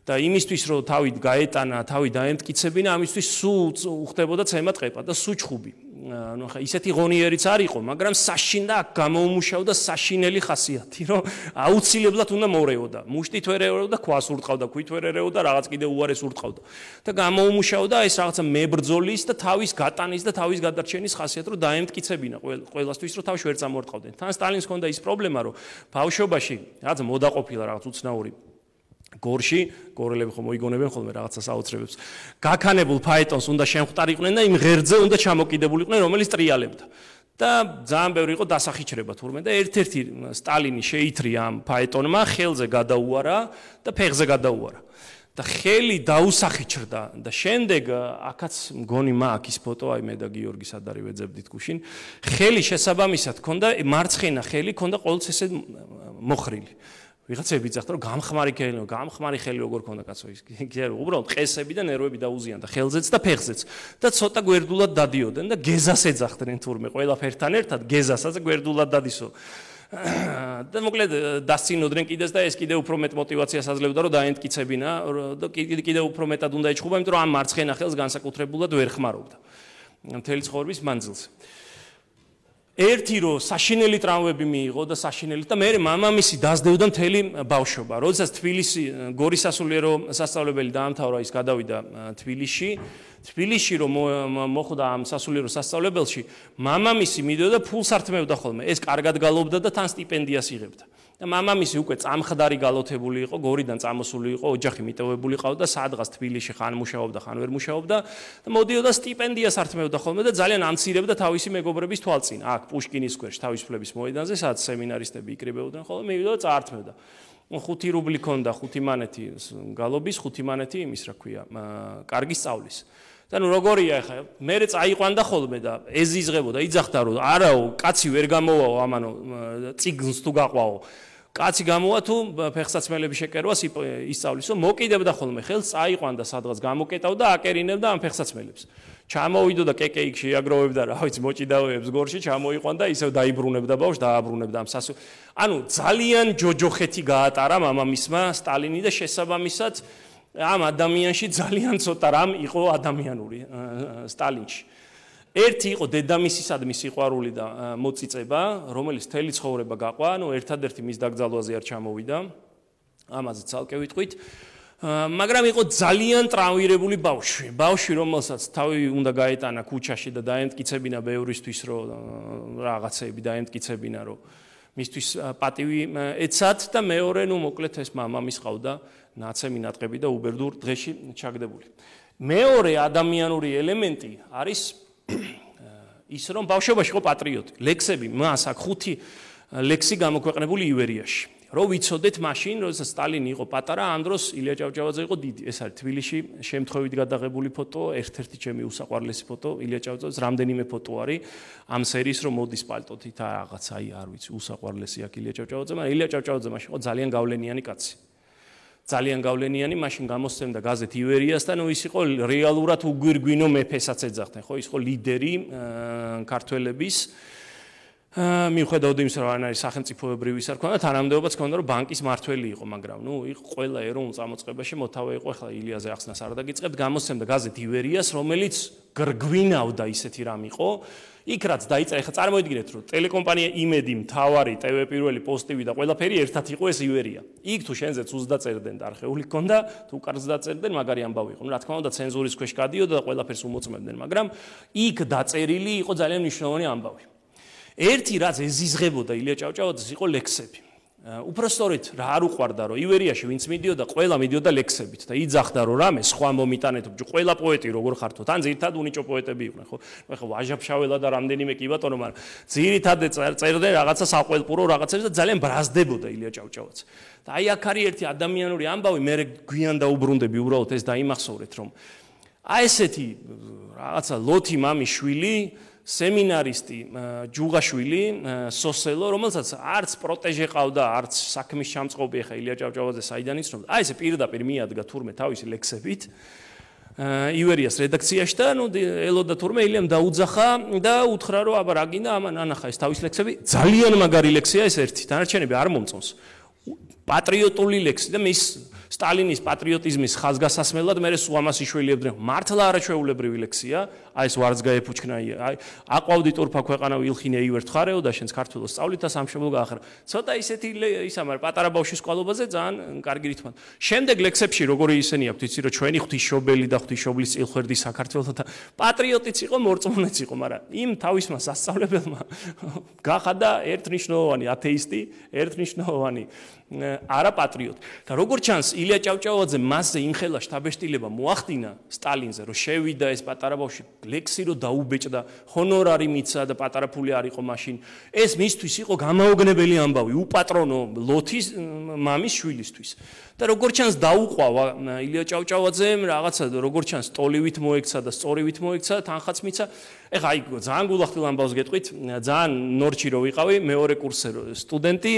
და იმისთვის რომ თავით გაეტანა თავი დაემტკიცებინა ამისთვის სულ უხდებოდა ცემატყეპა და სუჩხუბი ну ხა ისეთი ღონიერიც არ იყო მაგრამ საშინდა გამოუმუშავდა საშინელი ხასიათი რომ აუცილებლად უნდა მორეოდა მუშტით ვერ ერეოდა ქვას ურტყავდა ქვით ვერ ერეოდა რაღაც კიდე უარეს ურტყავდა და გამოუმუშავდა ეს რაღაცა მებრძოლის და თავის გატანის და თავის გადარჩენის ხასიათი რომ დაემტკიცებინა ყველასთვის რომ თავში ვერ წამორტყავდნენ თან სტალინს ჰქონდა ის პრობლემა რომ ბავშვობაში რაღაც მოდაყოფილა რაღაც უცნაური გორში გორელები ხომ მოიგონებენ ხოლმე რაღაცას აუცრებებს გაქანებულ ფაეტონს უნდა შემხვტარიყვნენ და იმ ღერძზე უნდა ჩამოკიდებულიყვნენ რომელიც ტრიალებდა და ძალიან ბევრი იყო დასახიჩრება თურმე და ერთ-ერთი სტალინი შეითრია ამ ფაეტონმა ხელზე გადაუარა და ფეხზე გადაუარა და ხელი დაუსახიჩრდა და შემდეგ აქაც მგონი მაქვს ფოტო აი მე და გიორგი სადარი ვეძებდით გუშინ ხელი შესაბამისად ქონდა მარცხენა ხელი ქონდა ყოველთვის ესე მოხრილი ვიღაცები ძახდა რომ გამხმარი ხელი, გამხმარი ხელი როგორ ქონდა კაცო ის. კი არა, უბრალოდ ყესები და ნერვები დაუზიანდა ხელზეც და ფეხზეც. და ცოტა გვერდულად დადიოდნენ და გეზას ეძახდნენ თურმე ყველაფერთან ერთად გეზასაც გვერდულად დადისო. და მოკლედ დასცინოდნენ კიდეს და ეს კიდე უფრო მეტ мотивაციას აძლევდა რომ დაემტკიცებინა და კიდე უფრო მეტად უნდა ეჩხუბა, იმიტომ რომ ამ მარცხენა ხელს განსაკუთრებულად ვერ ხმარობდა. მთელი ცხოვრების მანძილზე. ერთი რო საშინელი ტრავმები მიიღო და საშინელი და მე მამამისი დაძდევდა მთელი ბავშვობა. როდესაც თბილისი გორის სასულიერო სასწავლებელი დაამთავრა ის გადავიდა თბილისში. თბილისში რომ მოხვდა ამ სასულიერო სასწავლებელში, მამამისი მიდოდა ფულს ართმევდა ხოლმე. ეს კარგად გალობდა და თან სტიპენდიას იღებდა. და მამამისი უკვე წამხდარი გალოთებული იყო, გორიდან წამოსული იყო, ოჯახი მიტოვებული ყავდა, სადღაც თბილისში ხან მუშაობდა, ხან ვერ მუშაობდა და მოდიოდა სტიპენდიას ართმევდა ხოლმე და ძალიან ამცირებდა თავისი მეგობრების თვალწინ. აქ პუშკინის სკვერში, თავისუფლების მოედანზე, სადაც სემინარისტები იკრიბებოდნენ ხოლმე, მივიდა და წაართმევდა. ხუთი რუბლი ქონდა, ხუთი მანეთი გალობის, ხუთი მანეთი იმის, რა ქვია, კარგი სწავლის. და ნუ როგორია ახლა მე წაიყვანდა ხოლმე და ეზიზღებოდა იძახდა რომ არაო კაცი ვერ გამოვაო ამანო ციგნს თუ გაყვაო კაცი გამოვა თუ ფეხსაცმელები შეკერვას ისწავლისო მოკიდებდა ხოლმე ხელს წაიყვანდა სადღაც გამოკეტავდა აკერინებდა ამ ფეხსაცმელებს ჩამოვიდო და კეკე იქ შეაგროვებდა რა ვიცი მოჭიდავეებს გორში ჩამოიყვანდა ისევ დაიბრუნებდა ბავშვს დააბრუნებდა ამ სასო ანუ ძალიან ჯოჯოხეთი გაატარა მამამისმა სტალინი და შესაბამისად ამ ადამიანში ძალიან ცოტა რამ იყო ადამიანური სტალინში. ერთი იყო დედამისისადმი სიყვარული და მოწიწება, რომელიც თელი ცხოვრება გაყვა, ანუ ერთადერთი მის დაკრძალვაზე არ ჩამოვიდა. ამაზე ცალკე ვიტყვით. მაგრამ იყო ძალიან ტრავმირებული ბავშვი. ბავშვი, რომელსაც თავი უნდა გაეტანა ქუჩაში და დაემტკიცებინა ბევრისთვის, რომ რაღაცეები დაემტკიცებინა, რომ მისთვის პატივი ეცათ და მეორე, ნუ მოკლედ ეს მამამის ყავდა ნაცემი ნატყები და უბერდურ დღეში ჩაგდებული. მეორე ადამიანური ელემენტი არის ის რომ ბავშვობაში იყო პატრიოტი. ლექსები მას აქ ხუთი ლექსი გამოქვეყნებული ივერიაში. რო ვიცოდეთ მაშინ, როდესაც სტალინი იყო პატარა, ამ დროს ილია ჭავჭავაძე იყო დიდი. ეს არის თბილისში შემთხვევით გადაღებული ფოტო, ერთ-ერთი ჩემი უსაყვარლესი ფოტო, ილია ჭავჭავაძეს რამდენიმე ფოტო არის ამ სერიის რომ მოდის პალტოთით რაღაც აი არ ვიცი, უსაყვარლესი აქ ილია ჭავჭავაძე, მაგრამ ილია ჭავჭავაძე მაშინ იყო ძალიან გავლენიანი კაცი. ძალიან გავლენიანი, მაშინ გამოსცემდა გაზეთ ივერიას და ნუ ის იყო რეალურად უგვირგვინო მეფესაც ეძახდნენ, ხო, ის იყო ლიდერი ქართველების. მიუხედავად იმისა, რომ არ არის სახელმწიფოებრივი ისა რქონა, თანამდებობაც ჰქონდა, რომ ბანკის მართველი იყო, მაგრამ ნუ იყო ყველა ეროვნულ წამოწყებაში მოთავე იყო, ახლა ილიაზე ახსნას არ დაგიწყებთ, გამოსცემდა გაზეთ ივერიას, რომელიც გრგვინავდა ისეთი რამ იყო. იქ რაც დაიწერა, ხა წარმოიდგინეთ, რომ ტელეკომპანია იმედი, მთავარი, ტევ პირველი, პოსტივი და ყველაფერი ერთად იყო ეს ივერია. იქ თუ შენზეც უზდაწერდნენ და არხეული ჰქონდა, თუ კარგს დაწერდნენ, მაგარი ამბავი იყო. ნუ რა თქმა უნდა, ცენზურის ქვეშ გადიოდა და ყველაფერს უმოწმებდნენ, მაგრამ იქ დაწერილი იყო ძალიან მნიშვნელოვანი ამბავი. ერთი რაც ეზიზღებოდა ილია ჭავჭავაძეს იყო ლექსები. უпростоრით რა არ უყვარდა, რომ ივერიაში ვინც მიდიოდა, ყველა მიდიოდა ლექსებით და იძახდა, რომ რამე სხვა მომიტანეთ, ყველა პოეტი როგორ ხართო, თან ძირითადად უნიჭო პოეტები იყვნენ, ხო? ხო, ვაჟა-ფშაველა და რამდენიმე კი ბატონო, მაგრამ ძირითადად წერდნენ რაღაცა საყველპურო რაღაცებს და ძალიან ბრაზდებოდა ილია ჭავჭავაძე. და აი აქ არის ერთი ადამიანური ამბავი, მე გვიან დაუბრუნდები უბრალოდ ეს დაიმახსოვრეთ, რომ აი ესეთი რაღაცა ლოთი მამის შვილი სემინარისტი ჯუღაშვილი სოსელო, რომელსაც არც პროტეჟე ყავდა, არც საქმის ჩამწყობი ახლა ილია ჭავჭავაძე საიდან იცნობდა. აი ესე პირდაპირ მიადგა თურმე თავისი ლექსებით ივერიას რედაქციაში და ნუ ელოდა თურმე ილიამ დაუძახა და უთხრა, რომ აბა რა გინდა ამან ანახა ეს თავის ლექსები. ძალიან მაგარი ლექსია ეს ერთი, დანარჩენები არ მომწონს. პატრიოტული ლექსი და მის სტალინის პატრიოტიზმის ხაზგასასმელად მე სულ ამას იშველიებდნენ. მართლა არაჩვეულებრივი ლექსია, აი ეს ვარც გაეფუჩქნა, აი აყვავდი ტურფა ქვეყანა ვილხინე ივერთ ხარეო და შენს ქართულოს სწავლით და სამშობლო გაახარა. ცოტა ისეთი ისა, მაგრამ პატარა ბავშვის სკოლობაზე ძალიან კარგი რითმად. შემდეგ ლექსებში როგორი ისენი აქვთ, იცი რომ ჩვენი ღვთისმშობელი და ღვთისმშობლის წილხვერდი საქართველოს და პატრიოტიც იყო, მორწმუნეც იყო, მაგრამ იმ თავისმა სასწავლებელმა გახადა ერთნიშნულოვანი ათეისტი, ერთნიშნულოვანი არა პატრიოტი. და როგორც ჩანს, ილია ჭავჭავაძე მასზე იმხელა შთაბეჭდილება მოახდინა სტალინზე, რომ შევიდა ეს პატარა ბავშვი ლექსი რომ დაუბეჭდა, ჰონორარი მიცა და პატარა ფული არ იყო მაშინ. ეს მისთვის იყო გამაოგნებელი ამბავი, უპატრონო ლოთის მამის შვილისთვის. და როგორც ჩანს დაუყვავა ილია ჭავჭავაძემ, რაღაცა როგორც ჩანს ტოლივით მოექცა და სწორივით მოექცა, თანხაც მიცა. ეხა აი ძალიან გულახდილ ამბავს გეტყვით, ძალიან ნორჩი რო ვიყავი, მეორე კურსზე სტუდენტი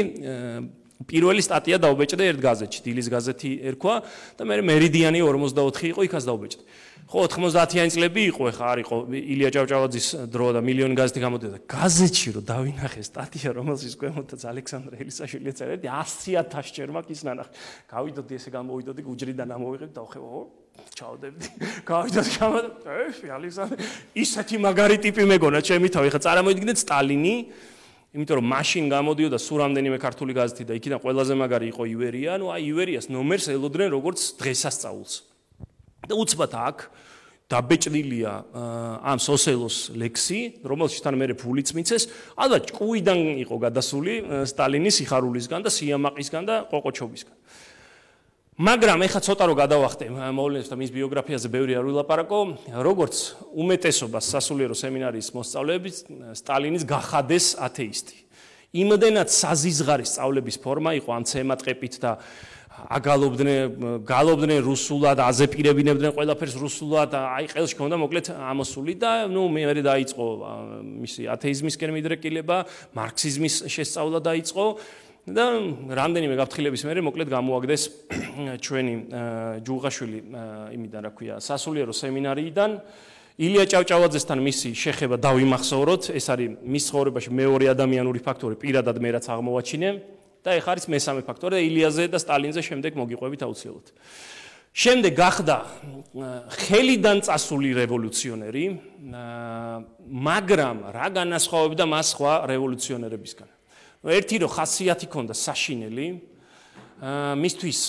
პირველი სტატია დაუბეჭდა ერთ გაზეთში, დილის გაზეთი ერქვა და მე მერიდიანი ორმოცდაოთხი იყო, იქაც დაუბეჭდა. ხო, ოთხმოცდაათიანი წლები იყო, ეხა არ იყო ილია ჭავჭავაძის დრო და მილიონი გაზეთი გამოდიოდა. გაზეთში რომ დავინახე სტატია, რომელშიც ქვემოთაც ალექსანდრე ელისაშვილი ეწერა, ასი ათასი ჯერ მაგის ნანახი. გავიდოდი ესე გამოვიდოდი გუჯრიდან ამოვიღებ და ხე, ო, ჩავდებდი. გავიდოდი გამოდა, ე, ალექსანდრე, ისეთი მაგარი ტიპი მეგონა, ჩემი თავი, ხა წარმოიდგინეთ სტალინი იმიტომ რომ მაშინ გამოდიოდა სულ რამდენიმე ქართული გაზეთი და იქიდან ყველაზე მაგარი იყო ივერია, ну აი ივერიას ნომერს ელოდნენ როგორც დღესასწაულს. და უცბად აქ დაბეჭდილია ამ სოსელოს ლექსი, რომელშიც თან მე ფულიც მიცეს, ალბათ ჭკუიდან იყო გადასული სტალინის სიხარულისგან და სიამაყისგან და ყოყოჩობისგან. მაგრამ ეხა ცოტა რო გადავახტე მოვლენებს და მის ბიოგრაფიაზე ბევრი არ ვილაპარაკო, როგორც უმეტესობას სასულიერო სემინარიის მოსწავლეების სტალინის გახადეს ათეისტი. იმდენად საზიზღარი სწავლების ფორმა იყო ამ ცემატყეპით და აგალობდნენ, გალობდნენ რუსულად, აზეპირებინებდნენ ყველაფერს რუსულად, აი ყელში ჰქონდა მოკლედ ამოსული და ნუ მე დაიწყო მისი ათეიზმისკენ მიდრეკილება, მარქსიზმის შესწავლა დაიწყო. და რამდენიმე გაფრთხილების მერე მოკლედ გამოაგდეს ჩვენი ჯუღაშვილი იმიდან რა ქვია სასულიერო სემინარიიდან ილია ჭავჭავაძესთან მისი შეხება დავიმახსოვროთ, ეს არის მის ცხოვრებაში მეორე ადამიანური ფაქტორი, პირადად მე რაც აღმოვაჩინე და ეხ არის მესამე ფაქტორი და ილიაზე და სტალინზე შემდეგ მოგიყვებით აუცილებლად. შემდეგ გახდა ხელიდან წასული რევოლუციონერი, მაგრამ რა განასხვავებდა მას სხვა რევოლუციონერებისგან? ერთი რო ხასიათი ქონდა საშინელი, მისთვის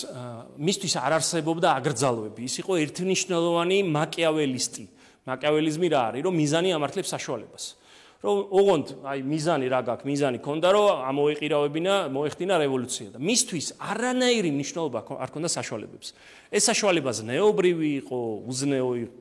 მისთვის არ არსებობდა აგრძალვები. ის იყო ერთნიშნულოვანი მაკიაველისტი. მაკიაველიზმი რა არის? რომ მიზანი ამართლებს საშუალებას. რომ ოღონდ აი მიზანი რა გაქვს? მიზანი ქონდა რომ ამოეყირავებინა, მოეხდინა რევოლუცია და მისთვის არანაირი მნიშვნელობა არ ქონდა საშუალებებს. ეს საშუალება ზნეობრივი იყო, უზნეო იყო,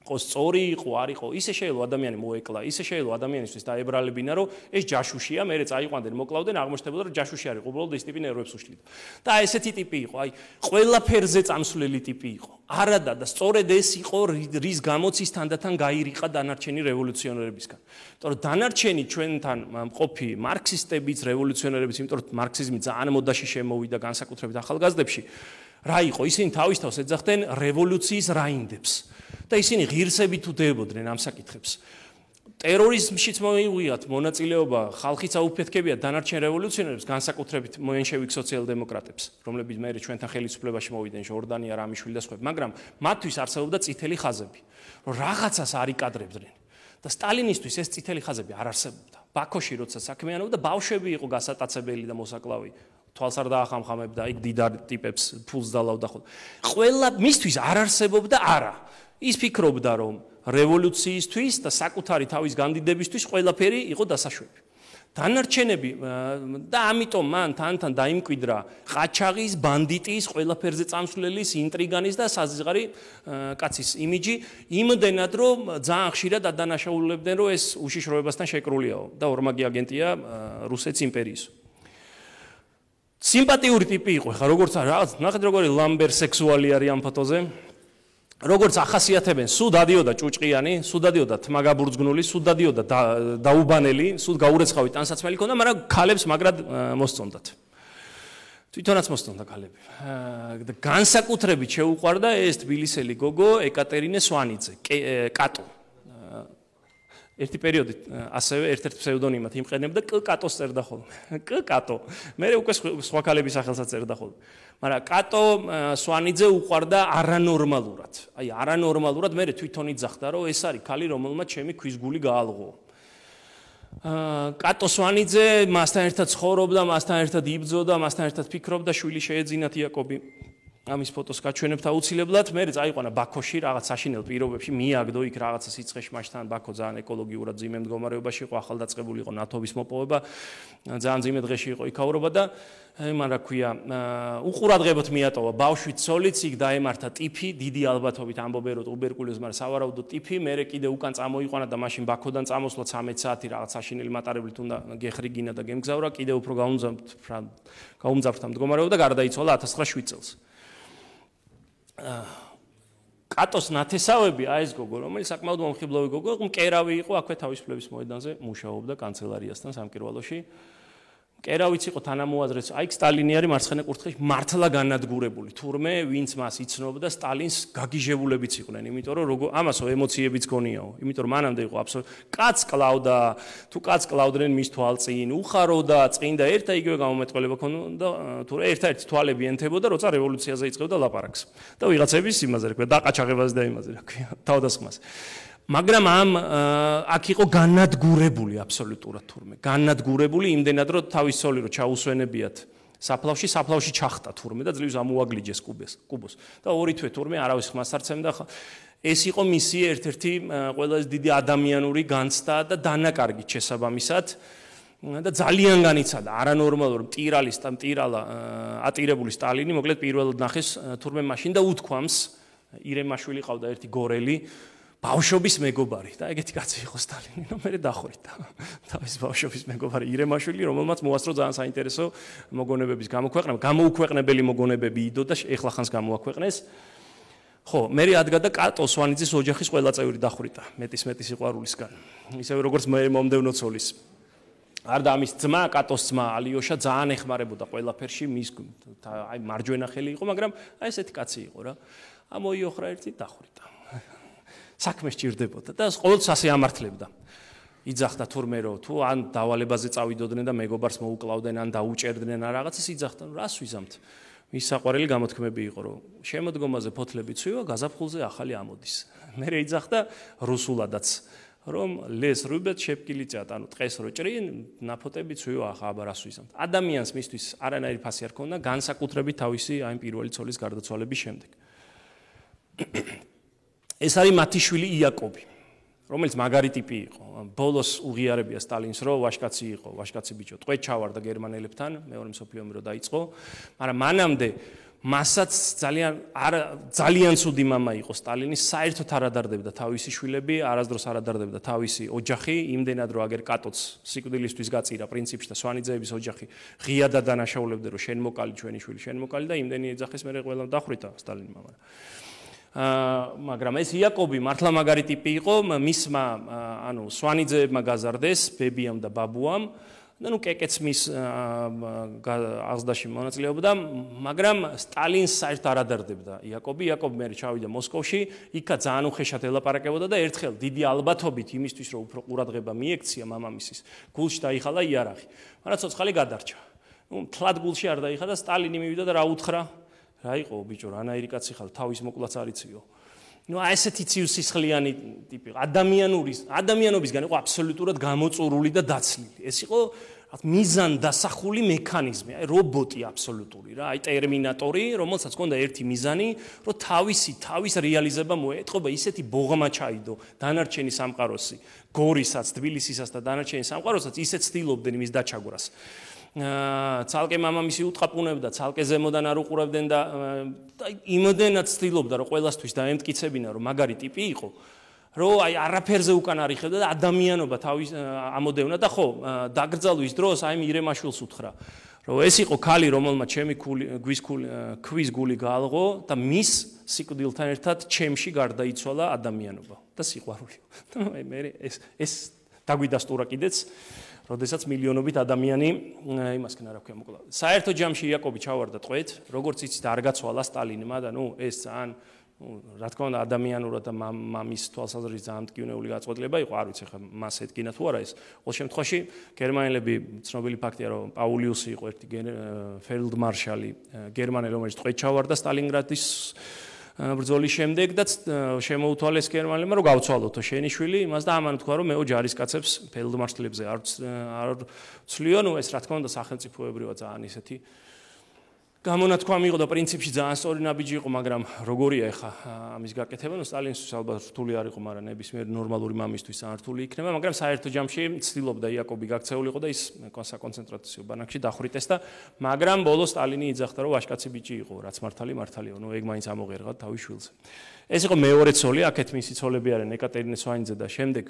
სწორი იყო, არ იყო, ისე შეიძლება ადამიანი მოეკლა, ისე შეიძლება ადამიანისთვის დაებრალებინა, რომ ეს ჯაშუშია, მერე წაიყვანდნენ, მოკლავდნენ, აღმოჩნდებოდა, რომ ჯაშუში არ იყო, უბრალოდ ეს ტიპი ნერვებს უშლიდა. და ესეთი ტიპი იყო, აი, ყველაფერზე წამსვლელი ტიპი იყო. არადა და სწორედ ეს იყო, რის გამოც ის თანდათან გაირიყა დანარჩენი რევოლუციონერებისგან. იმიტომ რომ დანარჩენი ჩვენთან მყოფი მარქსისტებიც, რევოლუციონერებიც, იმიტომ რომ მარქსიზმი ძალიან მოდაში შემოვიდა განსაკუთრებით ახალგაზრდებში. რა იყო? ისინი თავის თავს ეძახდნენ რევოლუციის რაინდებს და ისინი ღირსებით უდეებოდნენ ამ საკითხებს. ტერორიზმშიც მოიღვიათ მონაწილეობა ხალხის აუფეთქებიათ დანარჩენ რევოლუციონერებს, განსაკუთრებით მოენშევიკ სოციალ-დემოკრატებს, რომლებიც მერე ჩვენთან ხელისუფლებაში მოვიდნენ, ჟორდანია, რამიშვილი და სხვები, მაგრამ მათთვის არსებობდა წითელი ხაზები, რომ რაღაცას არ იკადრებდნენ. და სტალინისტვის ეს წითელი ხაზები არ არსებობდა. ბაქოში როცა საქმიანობდა, ბავშვები იყო გასატაცებელი და მოსაკლავი. თვალს არ დაახამხამებდა, იქ დიდარ ტიპებს ფულს დალავდა ხოლმე. ყველა მისთვის არ არსებობდა არა. ის ფიქრობდა, რომ რევოლუციისთვის და საკუთარი თავის განდიდებისთვის ყველაფერი იყო დასაშვები. დანარჩენები და ამიტომ მან თანთან დაიმკვიდრა ყაჩაღის, ბანდიტის, ყველაფერზე წამსვლელის, ინტრიგანის და საზღარი კაცის იმიჯი, იმდენად რომ ძალიან ხშირად ადანაშაულებდნენ, რომ ეს უშიშროებასთან შეკრულიაო და ორმაგი აგენტია რუსეთის იმპერიის. სიმპათიური ტიპი იყო, ხა როგორც რაღაც ნახეთ როგორი ლამბერ სექსუალი არის ამ ფოტოზე. როგორც ახასიათებენ, სულ დადიოდა ჭუჭყიანი, სულ დადიოდა თმაგაბურძგნული, სულ დადიოდა დაუბანელი, სულ გაურეცხავი ტანსაცმელი ქონდა, მაგრამ ქალებს მაგრად მოსწონდათ. თვითონაც მოსწონდა ქალები. განსაკუთრებით შეუყვარდა ეს თბილისელი გოგო ეკატერინე სვანიძე, კატო. ერთი პერიოდი ასევე ერთ-ერთ ფსევდონიმად იმყენებდა კ კატოს წერდა ხოლმე. კ კატო. მე უკვე სხვა ქალების სახელსაც წერდა ხოლმე. მაგრამ კატო სვანიძე უყვარდა არანორმალურად. აი არანორმალურად მე თვითონ იძახდა, რომ ეს არის ქალი, რომელმაც ჩემი ქვის გული გაალღო. კატო სვანიძე მასთან ერთად ცხოვრობდა, მასთან ერთად იბრძოდა, მასთან ერთად ფიქრობდა, შვილი შეეძინათ იაკობი. ამის ფოტოს გაჩვენებთ აუცილებლად. მე წაიყვანა ბაქოში რაღაც საშინელ პირობებში, მიაგდო იქ რაღაცა სიცხეში, მაშთან ბაქო ძალიან ეკოლოგიურად ძიმე მდგომარეობაში იყო, ახალდაწყებული იყო ნათობის მოპოვება, ძალიან ძიმე დღეში იყო იქაურობა და მან რა ქვია, უყურადღებოთ მიატოვა ბავშვი ცოლიც, იქ დაემართა ტიფი, დიდი ალბათობით ამბობენ რომ ტუბერკულოზი, მაგრამ სავარაუდოდ ტიფი, მე კიდე უკან წამოიყვანა და მაშინ ბაქოდან წამოსვლა ცამეტ საათი რაღაც საშინელი მატარებლით უნდა გეხრიგინა და გემგზავრა, კიდე უფრო გაუმძაფრდა მდგომარეობა და გარდაიცვალა ათას ცხრაასი წელს. კატოს ნათესავები აი ეს გოგო, რომელიც საკმაოდ მომხიბლავი გოგო, მკერავი იყო, აქვე თავისუფლების მოედანზე მუშაობდა კანცელარიასთან სამკერვალოში. მკერავიც იყო თანამოაზრეც, აი სტალინი არის მარცხენა კუთხეში მართლა განადგურებული. თურმე ვინც მას იცნობდა, სტალინს გაგიჟებულებიც იყვნენ, იმიტომ რომ როგორ ამასო ემოციებიც გონიაო. იმიტომ რომ მანამდე იყო აბსოლუტურად კაც კლავდა, თუ კაც კლავდნენ მის თვალწინ, უხაროდა, წინდა ერთ და იგივე გამომეტყველება ქონდა, თუ ერთ-ერთი თვალები ენთებოდა, როცა რევოლუციაზე იწყებდა ლაპარაკს. და ვიღაცების იმაზე რა ქვია, დაყაჩაღებას და იმაზე რა ქვია, თავდასხმას. მაგრამ ამ აქ იყო განადგურებული აბსოლუტურად თურმე. განადგურებული იმდენად რომ თავის ცოლი რო ჩაუსვენებიათ საფლავში, საფლავში ჩახტა თურმე და ძლივს ამოაგლიჯეს კუბეს, კუბოს. და ორი თვე თურმე არავის ხმას არ ცემდა. ეს იყო მისი ერთ-ერთი ყველაზე დიდი ადამიანური განცდა და დანაკარგი შესაბამისად და ძალიან განიცადა არანორმალურ მტირალის და მტირალა ატირებული სტალინი, მოკლედ პირველად ნახეს თურმე მაშინ და უთქვამს, ირემაშვილი ყავდა ერთი გორელი ბავშვობის მეგობარი და ეგეთი კაცი იყო სტალინი, რომ მე დახვრიტა. თავის ბავშვობის მეგობარი ირემაშვილი, რომელმაც მოასწრო ძალიან საინტერესო მოგონებების გამოქვეყნება, გამოუქვეყნებელი მოგონებები იდო და ეხლა ხანს გამოაქვეყნეს. ხო, მე ადგა და კატო სვანიძის ოჯახის ყველა წევრი დახვრიტა, მეტის მეტის სიყვარულისგან. ისევე როგორც მე მომდევნო ცოლის. არ და ამის ძმა, კატოს ძმა ალიოშა ძალიან ეხმარებოდა ყველაფერში, მის აი მარჯვენა ხელი იყო, მაგრამ აი ესეთი კაცი იყო რა. ამოიოხრა ერთი დახვრიტა. საქმე სჭირდებოდა და ყოველთვის ასე ამართლებდა. იძახდა თურმე რომ თუ ან დავალებაზე წავიდოდნენ და მეგობარს მოუკლავდნენ, ან დაუჭერდნენ ან რაღაცას იძახდა, რას ვიზამთ. მის საყვარელი გამოთქმები იყო, რომ შემოდგომაზე ფოთლები ცვივა, გაზაფხულზე ახალი ამოდის. მე იძახდა რუსულადაც, რომ ლეს რუბეთ შეფკილიწათ, ანუ ტყეს რო ჭრინ, ნაფოტები ცვივა, ახლა აბა რას ვიზამთ. ადამიანს მისთვის არანაირი ფასი არ ქონდა, განსაკუთრებით თავისი აი პირველი ცოლის გარდაცვალების შემდეგ. ეს არის მათი შვილი იაკობი, რომელიც მაგარი ტიპი იყო. ბოლოს უღიარებია სტალინს, რომ ვაშკაცი იყო, ვაშკაცი ბიჭო, ტყვედ ჩავარდა გერმანელებთან, მეორე მსოფლიო ომი რო დაიწყო, მაგრამ მანამდე მასაც ძალიან ძალიან ცუდი მამა იყო სტალინი, საერთოდ არ ადარდებდა თავისი შვილები, არასდროს არ ადარდებდა თავისი ოჯახი, იმდენად რომ აგერ კატოც სიკვდილისთვის გაწირა პრინციპში და სვანიძეების ოჯახი ღიადად დანაშაულებდა, რომ შენ მოკალი ჩვენი შვილი, შენ მოკალი და იმდენი ეძახეს მე ყველა დახვრიტა სტალინმა. მაგრამ ეს იაკობი მართლა მაგარი ტიპი იყო, მისმა ანუ სვანიძეებმა გაზარდეს ბებიამ და ბაბუამ და ნუ კეკეც მის აღზრდაში მონაწილეობდა, მაგრამ სტალინს საერთოდ არ ადარდებდა იაკობი. იაკობი მე ჩავიდა მოსკოვში, იქა ძალიან უხეშად ელაპარაკებოდა და ერთხელ დიდი ალბათობით იმისთვის, რომ უფრო ყურადღება მიექცია მამამისის, გულში დაიხალა იარაღი. მაგრამ ცოცხალი გადარჩა. ნუ თლად გულში არ დაიხალა და სტალინი მივიდა და რა უთხრა? რა იყო ბიჭო, რანაირი კაცი ხარ, თავის მოკლაც არ იციო. ნუ აი ესეთი ციუსისხლიანი ტიპი, ადამიანური, ადამიანობისგან იყო აბსოლუტურად გამოწურული და დაცლილი. ეს იყო მიზან დასახული მექანიზმი, აი რობოტი აბსოლუტური რა, აი ტერმინატორი, რომელსაც ჰქონდა ერთი მიზანი, რომ თავისი თავის რეალიზება მოეთყობა, ისეთი ბოღმა ჩაიდო დანარჩენი სამყაროსი, გორისაც, თბილისისაც და დანარჩენი სამყაროსაც ისეთ ცდილობდნენ იმის დაჩაგვრას. ცალკე მამამისი უტყაპუნებდა, ცალკე ზემოდან არ უყურებდნენ და იმოდენად ცდილობდა, რომ ყველასთვის დაემტკიცებინა, რომ მაგარი ტიპი იყო, რომ აი არაფერზე უკან არ იხევდა და ადამიანობა თავის ამოდევნა და ხო, დაგრძალვის დროს აი მირემაშვილს უთხრა, რომ ეს იყო ქალი, რომელმაც ჩემი ქვის გული გაალღო და მის სიკვდილთან ერთად ჩემში გარდაიცვალა ადამიანობა და სიყვარული. და მე ეს ეს დაგვიდასტურა კიდეც როდესაც მილიონობით ადამიანი იმასკენ არ აქვს მოკლა. საერთო ჯამში იაკობი ჩავარდა ტყვეთ, როგორც იცით, არ გაცვალა სტალინმა და ნუ ეს ძალიან რა თქმა უნდა ადამიანურად და მამის თვალსაზრისით ძალიან მტკივნეული გაწყვეტილება იყო, არ ვიცი ხა მას ეთქინა თუ არა ეს. ყოველ შემთხვევაში გერმანელები ცნობილი ფაქტია, რომ პაულიუსი იყო ერთი ფელდმარშალი გერმანელი, რომელიც ტყვეთ ჩავარდა სტალინგრადის ბრძოლის შემდეგ და შემოუთვალეს გერმანელებმა, რომ გავცვალოთო შენი შვილი, იმას და ამან თქვა, რომ მეო ჯარისკაცებს ფელდმარშლებზე არ არ ცლიო, ნუ ეს რა თქმა უნდა სახელმწიფოებრივად ძალიან ისეთი გამონათქვამი იყო და პრინციპში ძალიან სწორი ნაბიჯი იყო, მაგრამ როგორია ახლა ამის გაკეთება, ნუ სტალინისთვის ალბათ რთული არ იყო, მაგრამ ნებისმიერ ნორმალური მამისთვის ძალიან რთული იქნება, მაგრამ საერთო ჯამში ცდილობდა იაკობი გაქცეულიყო და ის საკონცენტრაციო ბანაკში დახვრიტეს და მაგრამ ბოლოს სტალინი იძახდა, რომ ვაჟკაცი ბიჭი იყო, რაც მართალი მართალია, ნუ ეგ მაინც ამოღერღა თავის შვილზე. ეს იყო მეორე ცოლი, აქეთ მისი ცოლები არიან ეკატერინე სვანიძე და შემდეგ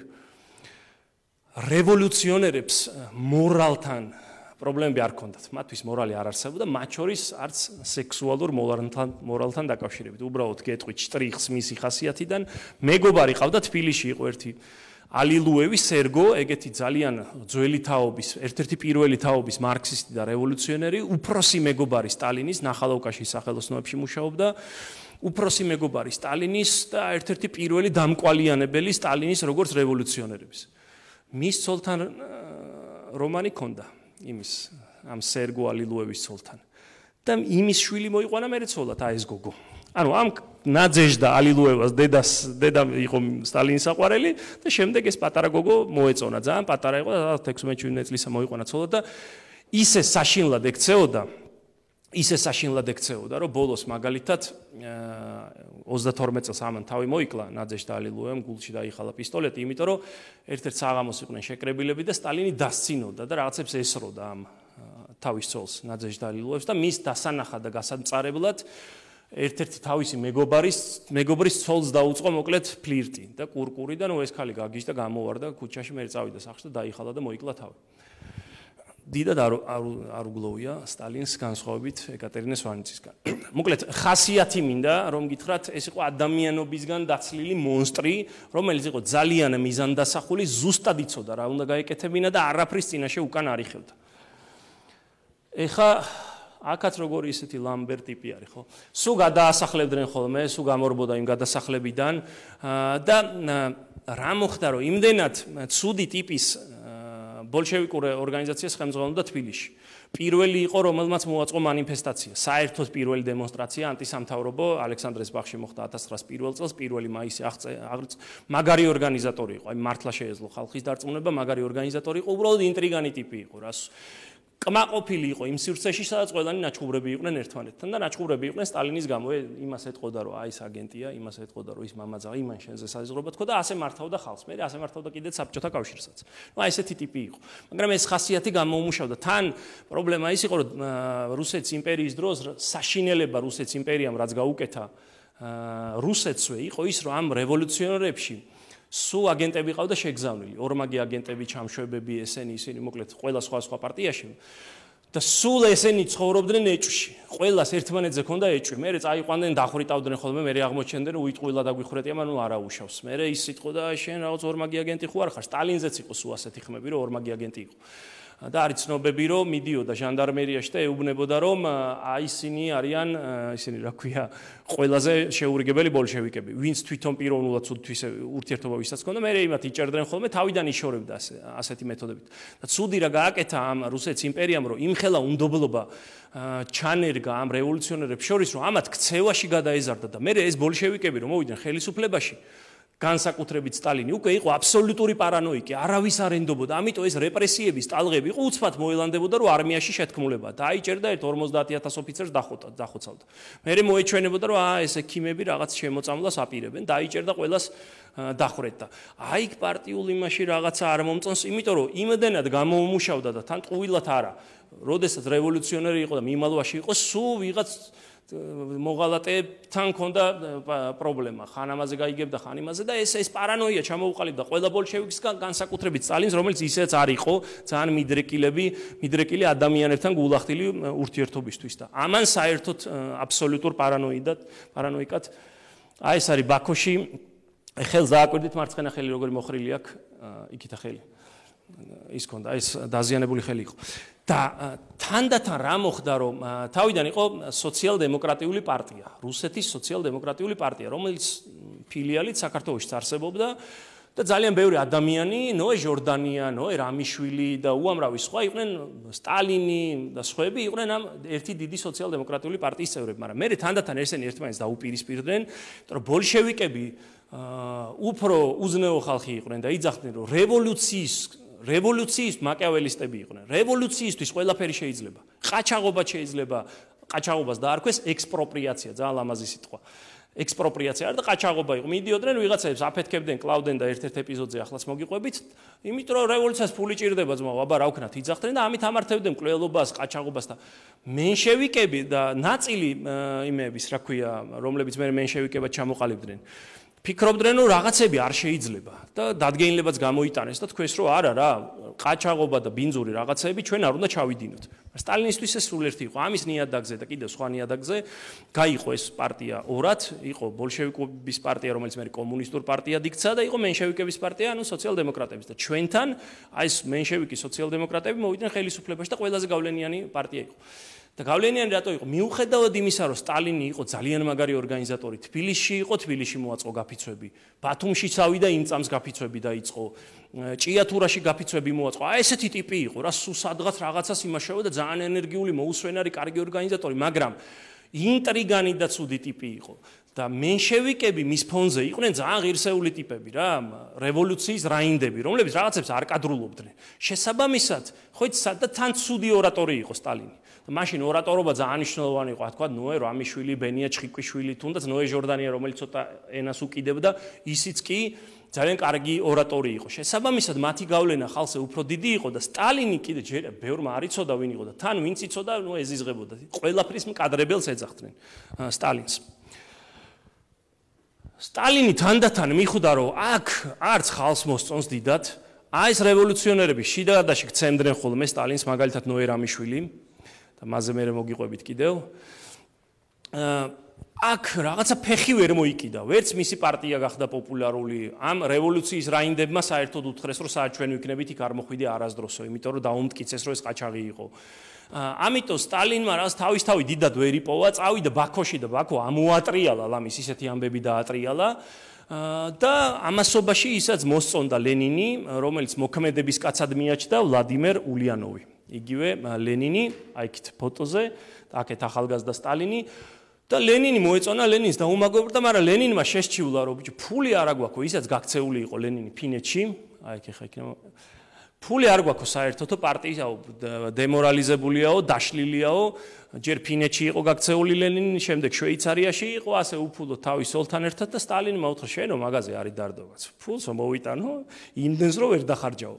რევოლუციონერებს მორალთან პრობლემები არ ქონდათ. მათთვის მორალი არ არსებობდა, მათ შორის არც სექსუალურ მორალთან მორალთან დაკავშირებით. უბრალოდ გეტყვით შტრიხს მისი ხასიათიდან. მეგობარი ყავდა თბილისში იყო ერთი ალილუევი სერგო, ეგეთი ძალიან ძველი თაობის, ერთ-ერთი პირველი თაობის მარქსისტი და რევოლუციონერი, უფროსი მეგობარი სტალინის, ნახალოვკაში სახელოსნოებში მუშაობდა. უფროსი მეგობარი სტალინის და ერთ-ერთი პირველი დამკვალიანებელი სტალინის როგორც რევოლუციონერების. მის ცოლთან რომანი ქონდა. იმის ამ სერგო ალილუევის ცოლთან და იმის შვილი მოიყვანა მერე ცოლად აი ეს გოგო. ანუ ამ ნაძეჟდა ალილუევას დედას დედა იყო სტალინის საყვარელი და შემდეგ ეს პატარა გოგო მოეწონა, ძალიან პატარა იყო და ექვსმეტ წლისა მოიყვანა ცოლად და ისე საშინლად ექცეოდა ისე საშინლად ექცეოდა, რომ ბოლოს მაგალითად ოცდათორმეტ წელს ამან თავი მოიკლა ნაძეჟდა ალილუევამ, გულში დაიხალა პისტოლეტი, იმიტომ რომ ერთ-ერთ საღამოს იყვნენ შეკრებილები და სტალინი დასცინოდა და რაღაცებს ესროდა ამ თავის ცოლს ნაძეჟდა ალილუევს და მის დასანახად და გასამწარებლად ერთ-ერთი თავისი მეგობარის მეგობრის ცოლს დაუწყო მოკლედ ფლირტი და კურკური და ნუ ეს ქალი გაგიჟდა გამოვარდა ქუჩაში, მე წავიდა სახლში და დაიხალა და მოიკლა თავი. დიდად არ არ უგლოვია სტალინს განსხვავებით ეკატერინე სვანიცისგან. მოკლედ ხასიათი მინდა რომ გითხრათ, ეს იყო ადამიანობისგან დაცლილი მონსტრი, რომელიც იყო ძალიან მიზანდასახული, ზუსტად იცოდა რა უნდა გაეკეთებინა და არაფრის წინაშე უკან არ იხევდა. ეხა აქაც როგორი ისეთი ლამბერ ტიპი არის, ხო? სულ გადაასახლებდნენ ხოლმე, სულ გამორბოდა იმ გადასახლებიდან და რა მოხდა, რომ იმდენად ცუდი ტიპის ბოლშევიკურ ორგანიზაციას ხელმძღვანელობდა თბილისში. პირველი იყო, რომელმაც მოაწყო მანიფესტაცია, საერთოდ პირველი დემონსტრაცია ანტისამთავრობო ალექსანდრეს ბაღში მოხდა ათას ცხრაას პირველ წელს, პირველი მაისი აღწევ მაგარი ორგანიზატორი იყო, აი მართლა შეეძლო ხალხის დარწმუნება, მაგარი ორგანიზატორი იყო, უბრალოდ ინტრიგანი ტიპი იყო, რას კმაყოფილი იყო იმ სივრცეში, სადაც ყველანი ნაჩხუბრები იყვნენ ერთმანეთთან და ნაჩხუბრები იყვნენ სტალინის გამო, იმას ეთყოდა, რომ აი ეს აგენტია, იმას ეთყოდა, რომ ის მამაძაღი, იმან შენზე საზღვრება თქო და ასე მართავდა ხალხს. მე ასე მართავდა კიდეც საბჭოთა კავშირსაც. ნუ აი ესეთი ტიპი იყო. მაგრამ ეს ხასიათი გამოუმუშავდა. თან პრობლემა ის იყო, რომ რუსეთის იმპერიის დროს საშინელება რუსეთის იმპერიამ რაც გაუკეთა რუსეთსვე იყო ის, რომ ამ რევოლუციონერებში სულ აგენტები ყავდა შეგზავნილი, ორმაგი აგენტები, ჩამშვებები, ესენი, ისინი, მოკლედ, ყველა სხვა სხვა პარტიაში და სულ ესენი ცხოვრობდნენ ეჭვში. ყველას ერთმანეთზე ჰქონდა ეჭვი. მერე წაიყვანდნენ, დახვრიტავდნენ ხოლმე, მერე აღმოჩნდნენ, რომ უიტყვილა დაგვიხრეტია, მაგრამ ნუ არ აუშავს. მერე ის სიტყვა და შენ რაღაც ორმაგი აგენტი ხო არ ხარ? სტალინზეც იყო სულ ასეთი ხმები, რომ ორმაგი აგენტი იყო. და არის ცნობები, რომ მიდიოდა ჟანდარმერიაში და ეუბნებოდა, რომ აი ისინი არიან, ისინი რა ქვია, ყველაზე შეურიგებელი ბოლშევიკები, ვინც თვითონ პიროვნულად თვითონ ურთიერთობა ვისაც ჰქონდა, მე იმათ იჭერდნენ ხოლმე, თავიდან იშორებდა ასეთი მეთოდებით. და ცუდი რა გააკეთა ამ რუსეთის იმპერიამ, რომ იმხელა უნდობლობა ჩანერგა ამ რევოლუციონერებს შორის, რომ ამათ ქცევაში გადაეზარდა და მე ეს ბოლშევიკები რომ მოვიდნენ ხელისუფლებაში, განსაკუთრებით სტალინი უკვე იყო აბსოლუტური პარანოიკი, არავის არ ენდობოდა, ამიტომ ეს რეპრესიების ტალღები იყო უცბად მოელანდებოდა, რომ არმიაში შეთქმულება. დაიჭერდა ერთ ორმოცდაათი ათას ოფიცერს დახოცავდა. მერე მოეჩვენებოდა, რომ აა ეს ექიმები რაღაც შემოწამლას აპირებენ, დაიჭერდა ყველას დახვრეტდა. აი იქ პარტიულ იმაში რაღაცა არ მომწონს, იმიტომ რომ იმდენად გამოუმუშავდა და თან ტყუილად არა. როდესაც რევოლუციონერი იყო და მიმალვაში იყო, სულ ვიღაც მოღალატეებთან ქონდა პრობლემა, ხან ამაზე გაიგებდა, ხან იმაზე და ეს ეს პარანოია ჩამოუყალიბდა ყველა ბოლშევიკისგან, განსაკუთრებით სტალინს, რომელიც ისეც არ იყო ძალიან მიდრეკილები, მიდრეკილი ადამიანებთან გულახდილი ურთიერთობისთვის და ამან საერთოდ აბსოლუტურ პარანოიდად, პარანოიკად აი ეს არის ბაქოში ხელს დააკვირდით მარცხენა ხელი როგორი მოხრილი აქვს, იქითა ხელი. ის ქონდა, ეს დაზიანებული ხელი იყო. და თანდათან რა მოხდა, რომ თავიდან იყო სოციალ-დემოკრატიული პარტია, რუსეთის სოციალ-დემოკრატიული პარტია, რომელიც ფილიალით საქართველოში არსებობდა და ძალიან ბევრი ადამიანი, ნოე ჟორდანია, ნოე რამიშვილი და უამრავი სხვა იყვნენ, სტალინი და სხვები იყვნენ ამ ერთი დიდი სოციალ-დემოკრატიული პარტიის წევრები, მაგრამ მე თანდათან ესენი ერთმანეთს დაუპირისპირდნენ, რომ ბოლშევიკები უფრო უზნეო ხალხი იყვნენ და იძახდნენ, რომ რევოლუციის რევოლუციის მაკიაველისტები იყვნენ. რევოლუციისთვის ყველაფერი შეიძლება. ყაჩაღობა შეიძლება, ყაჩაღობას დაარქვეს ექსპროპრიაცია, ძალიან ლამაზი სიტყვა. ექსპროპრიაცია არა და ყაჩაღობა იყო. მიდიოდნენ ვიღაცებს აფეთქებდნენ, კლავდნენ და ერთ-ერთ ეპიზოდზე ახლაც მოგიყვებით. იმიტომ რომ რევოლუციას ფული ჭირდება ძმაო, აბა რა ვქნათ, იძახდნენ და ამით ამართებდნენ მკვლელობას, ყაჩაღობას და მენშევიკები და ნაწილი იმეების, რა ქვია, რომლებიც მე მენშევიკებად ჩამოყალიბდნენ. ფიქრობდნენ, რომ რაღაცები არ შეიძლება და დადგენილებაც გამოიტანეს და თქვეს, რომ არა რა, ყაჩაღობა და ბინძური რაღაცები ჩვენ არ უნდა ჩავიდინოთ. სტალინისტვის ეს სულ ერთი იყო, ამის ნიადაგზე და კიდევ სხვა ნიადაგზე გაიყო ეს პარტია ორად, იყო ბოლშევიკების პარტია, რომელიც მე კომუნისტურ პარტიად იქცა და იყო მენშევიკების პარტია, ანუ სოციალ-დემოკრატების და ჩვენთან აი ეს მენშევიკის სოციალ-დემოკრატები მოვიდნენ ხელისუფლებაში და ყველაზე გავლენიანი პარტია იყო. და გავლენიანი რატო იყო? მიუხედავად იმისა, რომ სტალინი იყო ძალიან მაგარი ორგანიზატორი, თბილისში იყო, თბილისში მოაწყო გაფიცვები, ბათუმში წავიდა, იმ წამს გაფიცვები დაიწყო, ჭიათურაში გაფიცვები მოაწყო. აი ესეთი ტიპი იყო, რა სულ სადღაც რაღაცას იმაშავა და ძალიან ენერგიული, მოუსვენარი, კარგი ორგანიზატორი, მაგრამ ინტრიგანი და ცუდი ტიპი იყო. და მენშევიკები მის ფონზე იყვნენ ძალიან ღირსეული ტიპები რა, რევოლუციის რაინდები, რომლებიც რაღაცებს არ კადრულობდნენ. შესაბამისად, ხო იცი, და თან ცუდი ორატორი იყო სტალინი. მაშინ ორატორობა ძალიან მნიშვნელოვანი იყო, თქვა ნოე რამიშვილი, ბენია ჩხიკვიშვილი, თუნდაც ნოე ჟორდანია, რომელიც ცოტა ენას უკიდებდა, ისიც კი ძალიან კარგი ორატორი იყო. შესაბამისად, მათი გავლენა ხალხზე უფრო დიდი იყო და სტალინი კიდე ჯერ ბევრმა არ იცოდა ვინ იყო და თან ვინც იცოდა, ნუ ეზიზღებოდა. ყველაფრის მკადრებელს ეძახდნენ სტალინს. სტალინი თანდათან მიხვდა, რომ აქ არც ხალხს მოსწონს დიდად, აი ეს რევოლუციონერები შიდადაში გცემდნენ ხოლმე სტალინს, მაგალითად ნოე რამიშვილი და მასზე მე მოგიყვებით კიდევ. აქ რაღაცა ფეხი ვერ მოიკიდა, ვერც მისი პარტია გახდა პოპულარული, ამ რევოლუციის რაინდებმა საერთოდ უთხრეს, რომ საერთოდ ჩვენ ვიქნებით იქ არ მოხვიდე არასდროსო, იმიტომ რომ დაუმტკიცეს, რომ ეს ყაჩაღი იყო. ამიტომ სტალინმა რას თავისთავად დიდად ვერ იპოვა, წავიდა ბაქოში და ბაქო ამოატრიალა, ლამის ისეთი ამბები დაატრიალა. და ამასობაში ისაც მოსწონდა ლენინი, რომელიც მოქმედების კაცად მიაჩნდა ვლადიმერ ულიანოვი. იგივე ლენინი, აი იქით ფოტოზე, აქეთ ახალგაზრდა სტალინი და ლენინი მოეწონა ლენინს და უმაგობრდა, მაგრამ ლენინმა შესჩივლა, რომ ბიჭო, ფული არ აგვაქვს, ისაც გაქცეული იყო ლენინი ფინეთში, აი იქ ხა იქნება ფული არ გვაქვს საერთოდ პარტია დემორალიზებულია, დაშლილია, ჯერ ფინეთში იყო გაქცეული ლენინი, შემდეგ შვეიცარიაში იყო, ასე უფულო თავის ოლთან ერთად და სტალინმა უთხრა, შენო მაგაზე არის დარდოგაც. ფულსო მოვიტანო, იმდენს რომ ვერ დახარჯაო.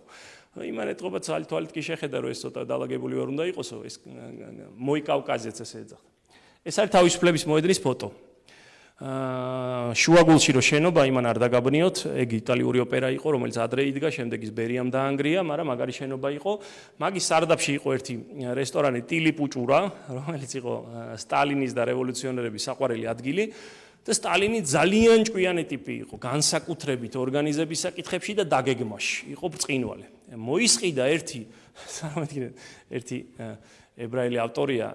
იმან ეთყობა თვალით კი შეხედა, რომ ეს ცოტა დალაგებული ვერ უნდა იყოსო, ეს მოიკავკაზეც ესე ეძახდა. ეს არის თავისუფლების მოედნის ფოტო. შუაგულში რო შენობა იმან არ დაგაბნიოთ, ეგ იტალიური ოპერა იყო, რომელიც ადრე იდგა, შემდეგ ის ბერიამ დაანგრია, მაგრამ მაგარი შენობა იყო. მაგის სარდაფში იყო ერთი რესტორანი ტილი პუჭურა, რომელიც იყო სტალინის და რევოლუციონერების საყვარელი ადგილი. და სტალინი ძალიან ჭკვიანი ტიპი იყო, განსაკუთრებით ორგანიზების საკითხებში და დაგეგმაში, იყო ბრწყინვალე. მოისყიდა ერთი წარმოგიდგენთ ერთი ებრაელი ავტორია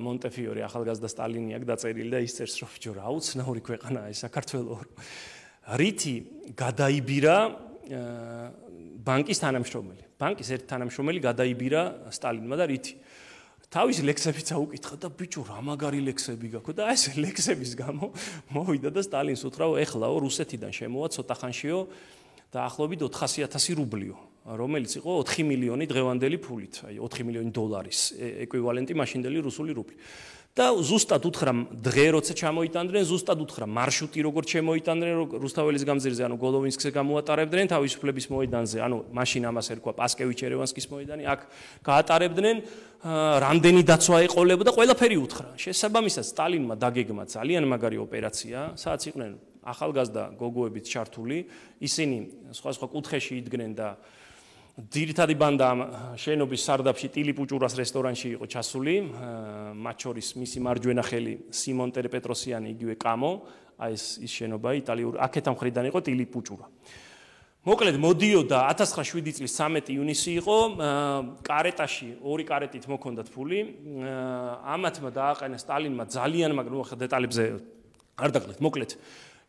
მონტეფიორი ახალგაზრდა სტალინი აქ დაწერილი და ის წერს რომ ბიჭო რა უცნაური ქვეყანაა ეს საქართველო რითი გადაიბირა ბანკის თანამშრომელი ბანკის ერთ თანამშრომელი გადაიბირა სტალინმა და რითი თავის ლექსებიც აუკითხა და ბიჭო რა მაგარი ლექსები გაქვს და ეს ლექსების გამო მოვიდა და სტალინს უთხრა ეხლაო რუსეთიდან შემოვა ცოტა ხანშიო და ახლობით ოთხასი ათასი რუბლიო რომელიც იყო ოთხი მილიონი დღევანდელი ფულით, აი ოთხი მილიონი დოლარის ეკვივალენტი მაშინდელი რუსული რუბლი. და ზუსტად უთხრა დღე როცა ჩამოიტანდნენ, ზუსტად უთხრა მარშრუტი როგორ შემოიტანდნენ რუსთაველის გამზირზე, ანუ გოლოვინსკზე გამოატარებდნენ თავისუფლების მოედანზე, ანუ მაშინ ამას ერქვა პასკევიჩ-ერევანსკის მოედანი, აქ გაატარებდნენ, რამდენი დაცვა ეყოლებოდა, ყველაფერი უთხრა. შესაბამისად სტალინმა დაგეგმა ძალიან მაგარი ოპერაცია, სადაც იყვნენ ახალგაზრდა გოგოებიც ჩართული, ისინი სხვა სხვა კუთხეში იდგნენ და ძირითადი ბანდა შენობის სარდაფში ტილიპუჭურას რესტორანში იყო ჩასული, მათ შორის მისი მარჯვენა ხელი სიმონ ტერპეტროსიანი, იგივე კამო, აი ეს ის შენობა იტალიური, აქეთა მხრიდან იყო ტილიპუჭურა. მოკლედ მოდიოდა ათას ცხრაასი წლის სამეტი ივნისი იყო, კარეტაში ორი კარეტით მოქონდათ ფული, ამათმა დააყენა სტალინმა ძალიან მაგრამ ნუ დეტალებზე არ დაკლეთ, მოკლედ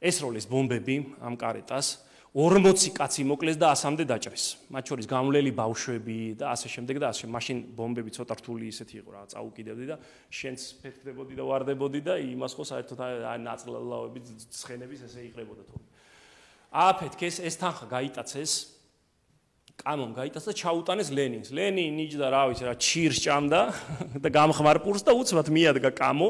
ესროლეს ბომბები ამ კარეტას. ორმოცი კაცი მოკლეს და ასამდე დაჭრეს. მათ შორის გამვლელი ბავშვები და ასე შემდეგ და ასე. მაშინ ბომბები ცოტა რთული ისეთი იყო რა, წაუკიდებდი და შენც ფეთქდებოდი და ვარდებოდი და იმას ხო საერთოდ აი ნაწლავები ცხენების ესე იყრებოდა თორე. ააფეთქეს ეს თანხა გაიტაცეს. კამომ გაიტაცა და ჩაუტანეს ლენინს. ლენი ნიჭდა რა ვიცი რა ჩირს ჭამდა და გამხმარ პურს და უცბად მიადგა კამო.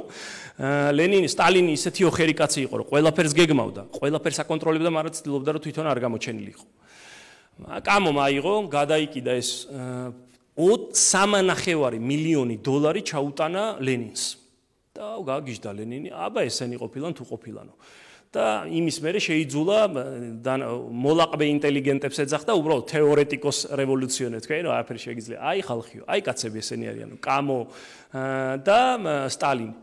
ლენინი სტალინი ისეთი ოხერი კაცი იყო რომ ყველაფერს გეგმავდა, ყველაფერს აკონტროლებდა, მაგრამ ცდილობდა რომ თვითონ არ გამოჩენილიყო. კამომ აიღო, გადაიკიდა ეს სამი მილიონი დოლარი ჩაუტანა ლენინს. და გაგიჟდა ლენინი, აბა ესენი ყოფილან თუ ყოფილანო. და იმის მერე შეიძულა მოლაყბე ინტელიგენტებს ეძახდა უბრალოდ თეორეტიკოს რევოლუციონერ თქვენ რა არაფერი შეგიძლია აი ხალხიო აი კაცები ესენი არიანო კამო და სტალინი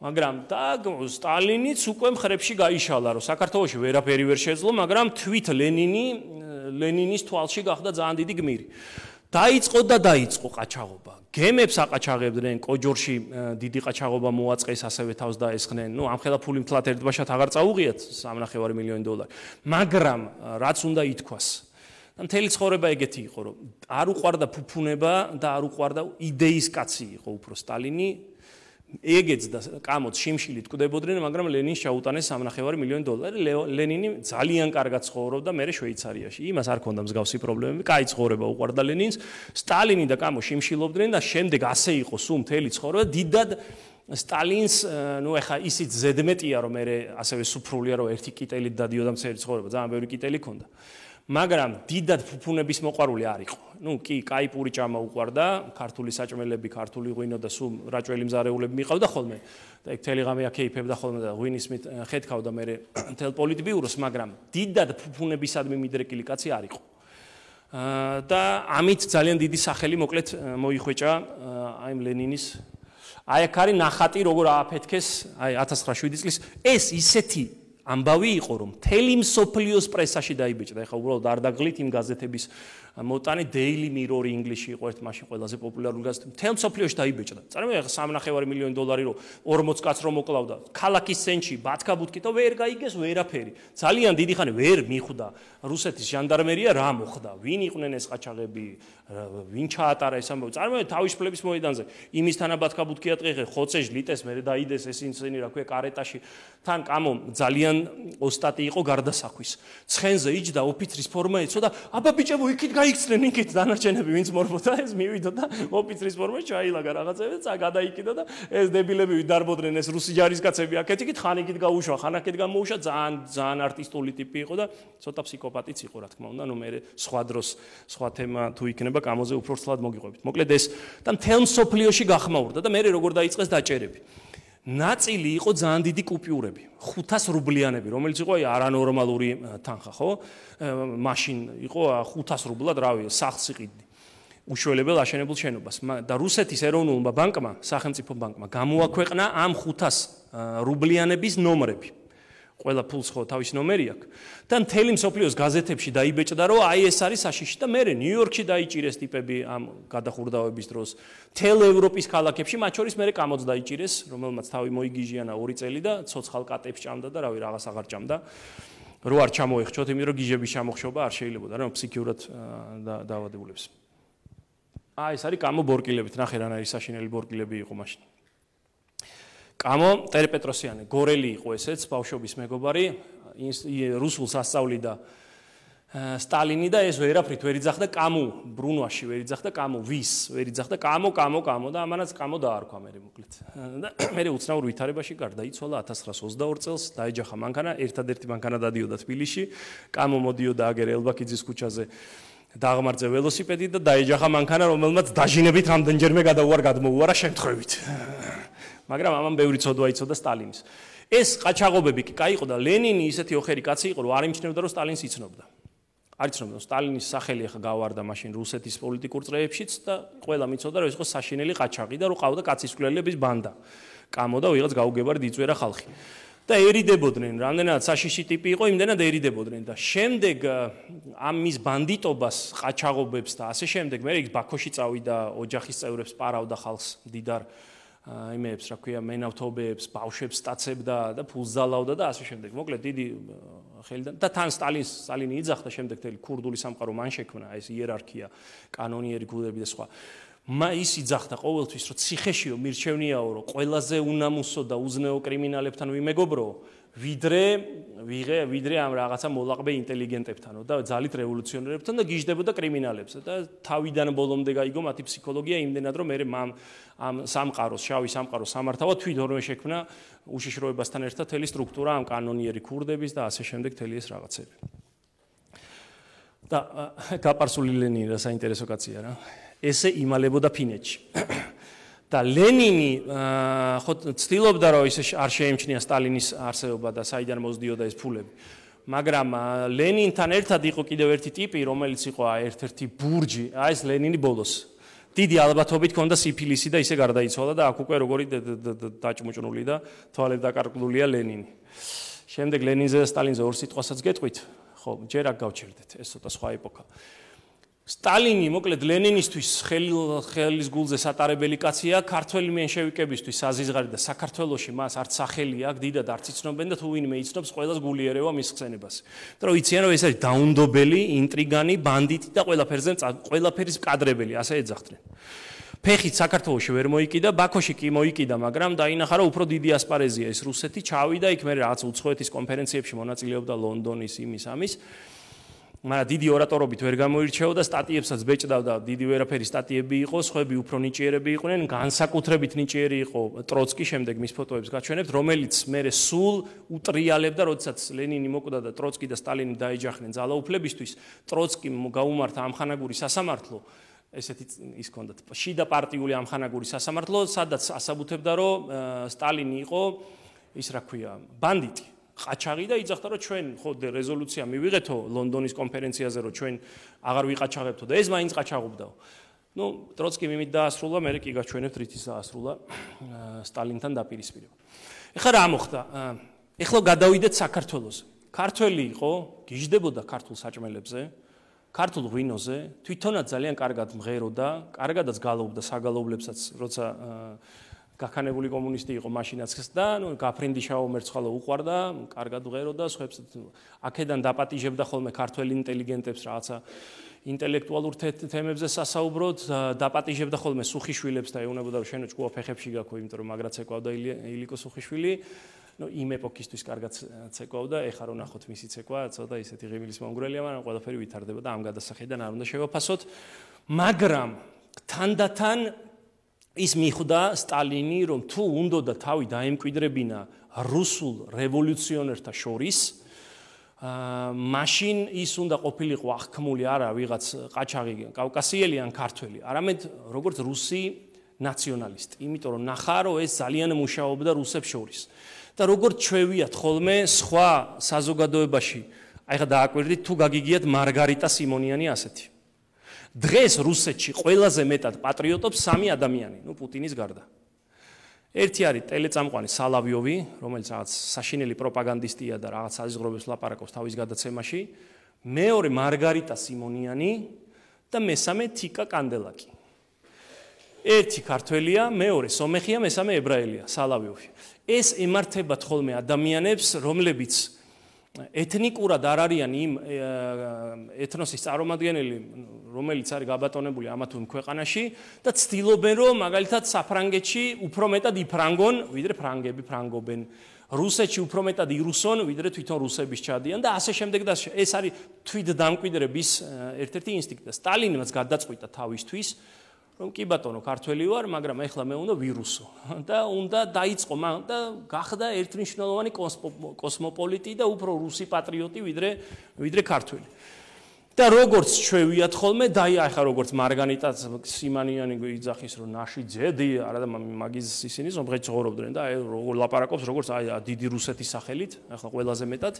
მაგრამ და სტალინიც უკვე მხრებში გაიშალა რომ საქართველოში ვერაფერი ვერ შეძლო მაგრამ თვით ლენინი ლენინის თვალში გახდა ძალიან დიდი გმირი დაიწყო და დაიწყო ყაჩაღობა გემებს აყაჩაღებდნენ კოჯორში დიდი ყაჩაღობა მოაწყეს ასევე თავს დაესხნენ ნუ ამხელა ფული მთლად ერთბაშად აღარ წაუღიათ სამნახევარი მილიონი დოლარი მაგრამ რაც უნდა ითქვას და მთელი ცხოვრება ეგეთი იყო რომ არ უყვარდა ფუფუნება და არ უყვარდა იდეის კაცი იყო უფრო სტალინი ეგეც და კამოც შიმშილით კვდებოდნენ მაგრამ ლენინს ჩაუტანეს სამნახევარი მილიონი დოლარი ლენინი ძალიან კარგად ცხოვრობდა მერე შვეიცარიაში იმას არ ქონდა მსგავსი პრობლემები კაი ცხოვრება უყვარდა ლენინს სტალინი და კამო შიმშილობდნენ და შემდეგ ასე იყო სულ მთელი ცხოვრება დიდად სტალინს ნუ ეხა ისიც ზედმეტია რომ მერე ასევე სუფრულია რომ ერთი კიტელით დადიოდა მთელი ცხოვრება ძალიან ბევრი კიტელი ქონდა მაგრამ დიდად ფუფუნების მოყვარული არ იყო. ნუ კი, კაი პური ჭამა უყვარდა, ქართული საჭმელები, ქართული ღვინო და სულ რაჭველი მზარეულები მიყავდა ხოლმე. და ეგ მთელი ღამე აკეიფებდა ხოლმე და ღვინის მით ხეთქავდა მე მთელ პოლიტბიუროს, მაგრამ დიდად ფუფუნებისადმი მიდრეკილი კაცი არ იყო. და ამით ძალიან დიდი სახელი მოკლედ მოიხვეჭა აი ლენინის აი აქ არის ნახატი როგორ ააფეთქეს აი ათას ცხრაასი წლის ეს ისეთი ამბავი იყო რომ მთელი მსოფლიოს პრესაში დაიბეჭდა ეხლა უბრალოდ არ დაგღლით იმ გაზეთების მოტანი Daily Mirror ინგლისში იყო ერთ მაშინ ყველაზე პოპულარული გაზეთი მთელ მსოფლიოში დაიბეჭდა წარმოიდგინე ეხლა სამნახევარი მილიონი დოლარი რო ორმოც კაცს რო მოკლავდა ქალაქის ცენტრში ბათქა ბუთქით და ვერ გაიგეს ვერაფერი ძალიან დიდი ხანი ვერ მიხვდა რუსეთის ჟანდარმერია რა მოხდა ვინ იყვნენ ეს ყაჩაღები ვინ ჩაატარა ეს ამბავი წარმოიდგინე თავისუფლების მოედანზე იმის თანაბათქა ბუთქი ატყიღე ხოცეჟ ლიტეს მე დაიდეს ეს ინცენი რა ქვია კარეტაში თან კამო ძალიან ოსტატი იყო გარდასახვის ცხენზე იჯდა ოფიცრის ფორმა ეცოდა აბა ბიჭებო იქით გაიქცნენ იქით დანარჩენები ვინც მორბოდა ეს მივიდო და ოფიცრის ფორმა ჩაილაგა რაღაცები და გადაიკიდა და ეს დებილები ვიდარბოდნენ ეს რუსი ჯარისკაცები აქეთ იქით ხან იქით გაუშვა ხან აქეთ გამოუშვა ძალიან ძალიან არტისტული ტიპი იყო და ცოტა ფსიქოპატიც იყო რა თქმა უნდა ნუ მე სხვა დროს სხვა თემა თუ იქნება კამოზე უფრო ცლად მოგიყვებით მოკლედ ეს და მთელ მსოფლიოში გახმაურდა და მე როგორ დაიწყეს დაჭერები ნაწილი იყო ძალიან დიდი კუპიურები ხუთას რუბლიანები რომელიც იყო აი არანორმალური თანხა ხო მაშინ იყო ხუთას რუბლად რავი სახლს იყიდი უშველებელ აშენებულ შენობას და რუსეთის ეროვნულმა ბანკმა სახელმწიფო ბანკმა გამოაქვეყნა ამ ხუთას რუბლიანების ნომრები ყველა ფულს ხო თავის ნომერი აქვს და მთელი მსოფლიოს გაზეთებში დაიბეჭდა რომ აი ეს არის საშიში და მე ნიუ-იორკში დაიჭირეს ტიპები ამ გადახურდავების დროს მთელ ევროპის ქალაქებში მათ შორის მე კამოც დაიჭირეს რომელმაც თავი მოიგიჟიანა ორი წელი და ცოცხალ კატებს ჭამდა და რავი რაღაც აღარ ჭამდა რო არ ჩამოეხჩოთ იმიტომ რომ გიჟების ჩამოხშობა არ შეიძლებოდა რა ფსიქიურად დაავადებულებს აი ეს არის კამო ბორკილებით ნახე რა არის საშინელი ბორკილები იყო მაშინ კამო ტერპეტროსიანი გორელი იყო ესეც ბავშვობის მეგობარი რუსულს ასწავლიდა სტალინი და ეს ვერაფრით ვერ იძახდა კამუ ბრუნვაში ვერ იძახდა კამუ ვის ვერ იძახდა კამო კამო კამო და ამანაც კამო დაარქვა მე მოკლედ და მე უცნაურ ვითარებაში გარდაიცვალა ათას ცხრაას ოცდაორ წელს დაეჯახა მანქანა ერთადერთი მანქანა დადიოდა თბილისში კამო მოდიოდა აგერ ელბაქიძის ქუჩაზე დაღმართზე ველოსიპედი და დაეჯახა მანქანა რომელმაც დაჟინებით რამდენჯერმე გადაუარ გადმოუარა შემთხვევით მაგრამ ამან ბევრი ცოდვა იცოდა სტალინის ეს ყაჩაღობები კი кайიყო და ლენინი ისეთი ოხერი კაცი იყო რომ არ იმჩნევდა რომ სტალინს იცნობდა არ იცნობდა სტალინის სახელი ახლა გავარდა მაშინ რუსეთის პოლიტიკურ წრეებშიც და ყველა მიცოდა რომ ეს იყო საშინელი ყაჩაღი და რომ ყავდა კაცისკვლელების ბანდა კამო და ვიღაც გაუგებარად იწვერა ხალხი და ერიდებოდნენ რამდენად საშიში ტიპი იყო იმდენად ერიდებოდნენ და შემდეგ ამ მის ბანდიტობას ყაჩაღობებს და ასე შემდეგ მე ის ბაქოში წავიდა ოჯახის წევრებს პარავდა ხალხს დიდარ იმეებს რა ქვია მენავთობებს ბავშვებს სტაცებდა და ფულს ძალავდა და ასე შემდეგ მოკლედ დიდი ხელიდან და თან სტალინს სტალინი იძახდა შემდეგ თელი ქურდული სამყარო მან შექმნა ეს იერარქია კანონიერი გულები და სხვა ის იძახდა ყოველთვის რომ ციხეშიო მირჩევნიაო რომ ყველაზე უნამუსო და უზნეო კრიმინალებთან ვიმეგობროო ვიდრე ვიღე ვიდრე ამ რაღაცა მოლაყბე ინტელიგენტებთანო და ძალით რევოლუციონერებთან და გიждდებოდა კრიმინალებს და თავიდან ბოლომდე გაიგო მათი ფსიქოლოგია იმდენად რომ მე ამ ამ სამყაროს შავი სამყაროს სამართავად თვითონვე შექმნა უშიშროებასთან ერთად თელი სტრუქტურა ამ კანონიერი ქურდების და ასე შემდეგ თელი ეს რაღაცები და გაპარსული ლენინი რა საინტერესო კაცია რა ესე იმალებოდა ფინეთში და ლენინი ხო ცდილობდა რომ ისე არ შეემჩნია სტალინის არსებობა და საიდან მოძდიოდა ეს ფულები მაგრამ ლენინთან ერთად იყო კიდევ ერთი ტიპი რომელიც იყო ერთ-ერთი ბურჯი აი ეს ლენინი ბოლოს დიდი ალბათობით ჰქონდა სიფილისი და ისე გარდაიცვალა და აქ უკვე როგორი დაჭმუჭნული და თვალები დაკარგლულია ლენინი შემდეგ ლენინზე და სტალინზე ორ სიტყვასაც გეტყვით ხო ჯერ აქ გავჩერდეთ ეს ცოტა სხვა ეპოქა სტალინი მოკლედ ლენინისთვის ხელის გულზე სატარებელი კაცია ქართველი მენშევიკებისთვის საზიზღარი და საქართველოში მას არც სახელი აქვს დიდად არც იცნობენ და თუ ვინმე იცნობს ყველას გული ერევა მის ხსენებას და რომ იციან რომ ეს არის დაუნდობელი ინტრიგანი ბანდიტი და ყველაფერზე ყველაფერის მკადრებელი ასე ეძახდნენ ფეხით საქართველოში ვერ მოიკიდა ბაქოში კი მოიკიდა მაგრამ დაინახა რომ უფრო დიდი ასპარეზია ეს რუსეთი ჩავიდა იქ მე რაღაც უცხოეთის კონფერენციებში მონაწილეობდა ლონდონის იმის ამის მაგრამ დიდი ორატორობით ვერ გამოირჩეოდა სტატიებსაც ბეჭდავდა დიდი ვერაფერი სტატიები იყო სხვები უფრო ნიჭიერები იყვნენ განსაკუთრებით ნიჭიერი იყო ტროცკი შემდეგ მის ფოტოებს გაჩვენებთ რომელიც მე სულ უტრიალებდა როდესაც ლენინი მოკვდა და ტროცკი და სტალინი დაეჯახნენ ძალაუფლებისთვის ტროცკიმ გაუმართა ამხანაგური სასამართლო ესეთი ის ჰქონდათ შიდა პარტიული ამხანაგური სასამართლო სადაც ასაბუთებდა რომ სტალინი იყო ის რა ქვია ბანდიტი ყაჩაღი და იძახდა რომ ჩვენ ხო რეზოლუცია მივიღეთო ლონდონის კონფერენციაზე რომ ჩვენ აღარ ვიყაჩაღებთო და ეს მაინც ყაჩაღობდაო. ნუ ტროცკი მიმით დაასრულა, მე კი გაჩვენებთ რითის დაასრულა სტალინთან დაპირისპირება. ეხლა რა მოხდა? ეხლა გადავიდეთ საქართველოზე. ქართველი იყო, გიждდებოდა ქართულ საჭმელებზე, ქართულ ღვინოზე, თვითონაც ძალიან კარგად მღეროდა, კარგადაც გალობდა საგალობლებსაც, როცა გაქანებული კომუნისტი იყო მაშინაც და ნუ გაფრინდიშაო მერცხალო უყვარდა, კარგად მღეროდა, სხვებს აქედან დაპატიჟებდა ხოლმე ქართველ ინტელიგენტებს რაღაცა ინტელექტუალურ თემებზე სასაუბროდ, დაპატიჟებდა ხოლმე სუხიშვილებს და ეუბნებოდა რომ შენო ჭკუა ფეხებში გაქვე, იმიტომ რომ მაგრაც ეკავდა ილიკო სუხიშვილი. ნუ იმ ეპოქისთვის კარგად ცეკვავდა, ეხლა რო ნახოთ მისი ცეკვა, ცოტა ისეთი ღიმილის მომგვრელია, მაგრამ ყველაფერი ვითარდება და ამ გადასახედიდან არ უნდა შევაფასოთ. მაგრამ თანდათან ის მიხვდა სტალინი, რომ თუ უნდოდა თავი დაემკვიდრებინა რუსულ რევოლუციონერთა შორის, მაშინ ის უნდა ყოფილიყო აღქმული არა ვიღაც ყაჩაღი კავკასიელი ან ქართველი, არამედ როგორც რუსი ნაციონალისტი, იმიტომ რომ ნახა რომ ეს ძალიან მუშაობდა რუსებს შორის. და როგორც ჩვევიათ ხოლმე სხვა საზოგადოებაში, აი ხა დააკვირდით თუ გაგიგიათ მარგარიტა სიმონიანი ასეთი. დღეს რუსეთში ყველაზე მეტად პატრიოტობს სამი ადამიანი, ნუ პუტინის გარდა. ერთი არის ტელეწამყვანი სალავიოვი, რომელიც რაღაც საშინელი პროპაგანდისტია და რაღაც საზღვრებს ლაპარაკობს თავის გადაცემაში, მეორე მარგარიტა სიმონიანი და მესამე თიკა კანდელაკი. ერთი ქართველია, მეორე სომეხია, მესამე ებრაელია, სალავიოვი. ეს ემართებათ ხოლმე ადამიანებს, რომლებიც ეთნიკურად არ არიან იმ ეთნოსის წარმომადგენელი, რომელიც არის გაბატონებული ამა თუ იმ ქვეყანაში და ცდილობენ რომ მაგალითად საფრანგეთში უფრო მეტად იფრანგონ, ვიდრე ფრანგები ფრანგობენ. რუსეთში უფრო მეტად ირუსონ, ვიდრე თვითონ რუსების ჩადიან და ასე შემდეგ და ეს არის თვით დამკვიდრების ერთ-ერთი ინსტინქტი და სტალინმაც გადაწყვიტა თავისთვის რომ კი ბატონო ქართველი ვარ, მაგრამ ეხლა მე უნდა ვირუსო და უნდა დაიწყო და გახდა ერთმნიშვნელოვანი კოსმოპოლიტი და უფრო რუსი პატრიოტი ვიდრე ვიდრე ქართველი. და როგორც ჩვევიათ ხოლმე, დაიახა როგორც მარგარიტა სიმონიანი იძახის რომ ნაში ძედი, არა და მაგის ისინი ზომღეთ ცხოვრობდნენ და როგორ ლაპარაკობს როგორც აი დიდი რუსეთის სახელით, ახლა ყველაზე მეტად.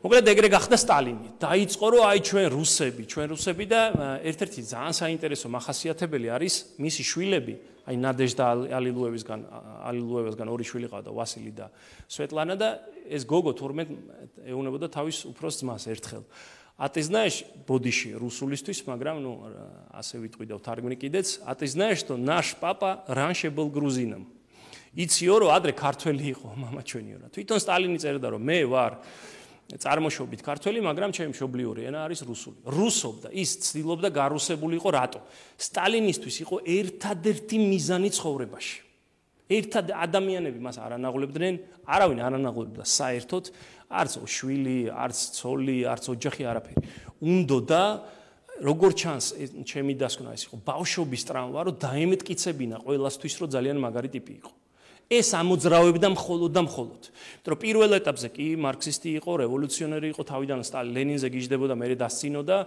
მოკლედ ეგრე გახდა სტალინი. დაიწყო რომ აი ჩვენ რუსები, ჩვენ რუსები და ერთ-ერთი ძალიან საინტერესო მახასიათებელი არის მისი შვილები, აი ნადეჟდა ალილუევისგან, ალილუევისგან ორი შვილი ყავდა, ვასილი და სვეტლანა და ეს გოგო თორმეტ ეუნებოდა თავის უფროს ძმას ერთხელ. А ты знаешь, бодиში русулისთვის, მაგრამ ну ასე ვიტყვი და ვთარგმნი კიდეც, а ты знаешь, что наш папа раньше был грузином. იციო რომ ადრე ქართველი იყო мама ჩვენიო რა. თვითონ სტალინი წერდა რომ მე ვარ წარმოშობით ქართველი, მაგრამ ჩემი მშობლიური ენა არის რუსული. რუსობდა, ის ცდილობდა გარუსებულიყო რატო? სტალინისთვის იყო ერთადერთი მიზანი ცხოვრებაში. ერთად ადამიანები მას არ ანაღლებდნენ, არავინ არ ანაღლებდა საერთოდ, არც შვილი, არც ცოლი, არც ოჯახი არაფერი. უნდოდა როგორ ჩანს ჩემი დასკვნა ის იყო ბავშვობის ტრამვა, რომ დაემტკიცებინა ყველასთვის, რომ ძალიან მაგარი ტიპი იყო. ეს ამოძრავებდა მხოლოდ და მხოლოდ. იმიტომ რომ პირველ ეტაპზე კი მარქსისტი იყო, რევოლუციონერი იყო, თავიდან ლენინზე გიждდებოდა, მერე დასცინოდა,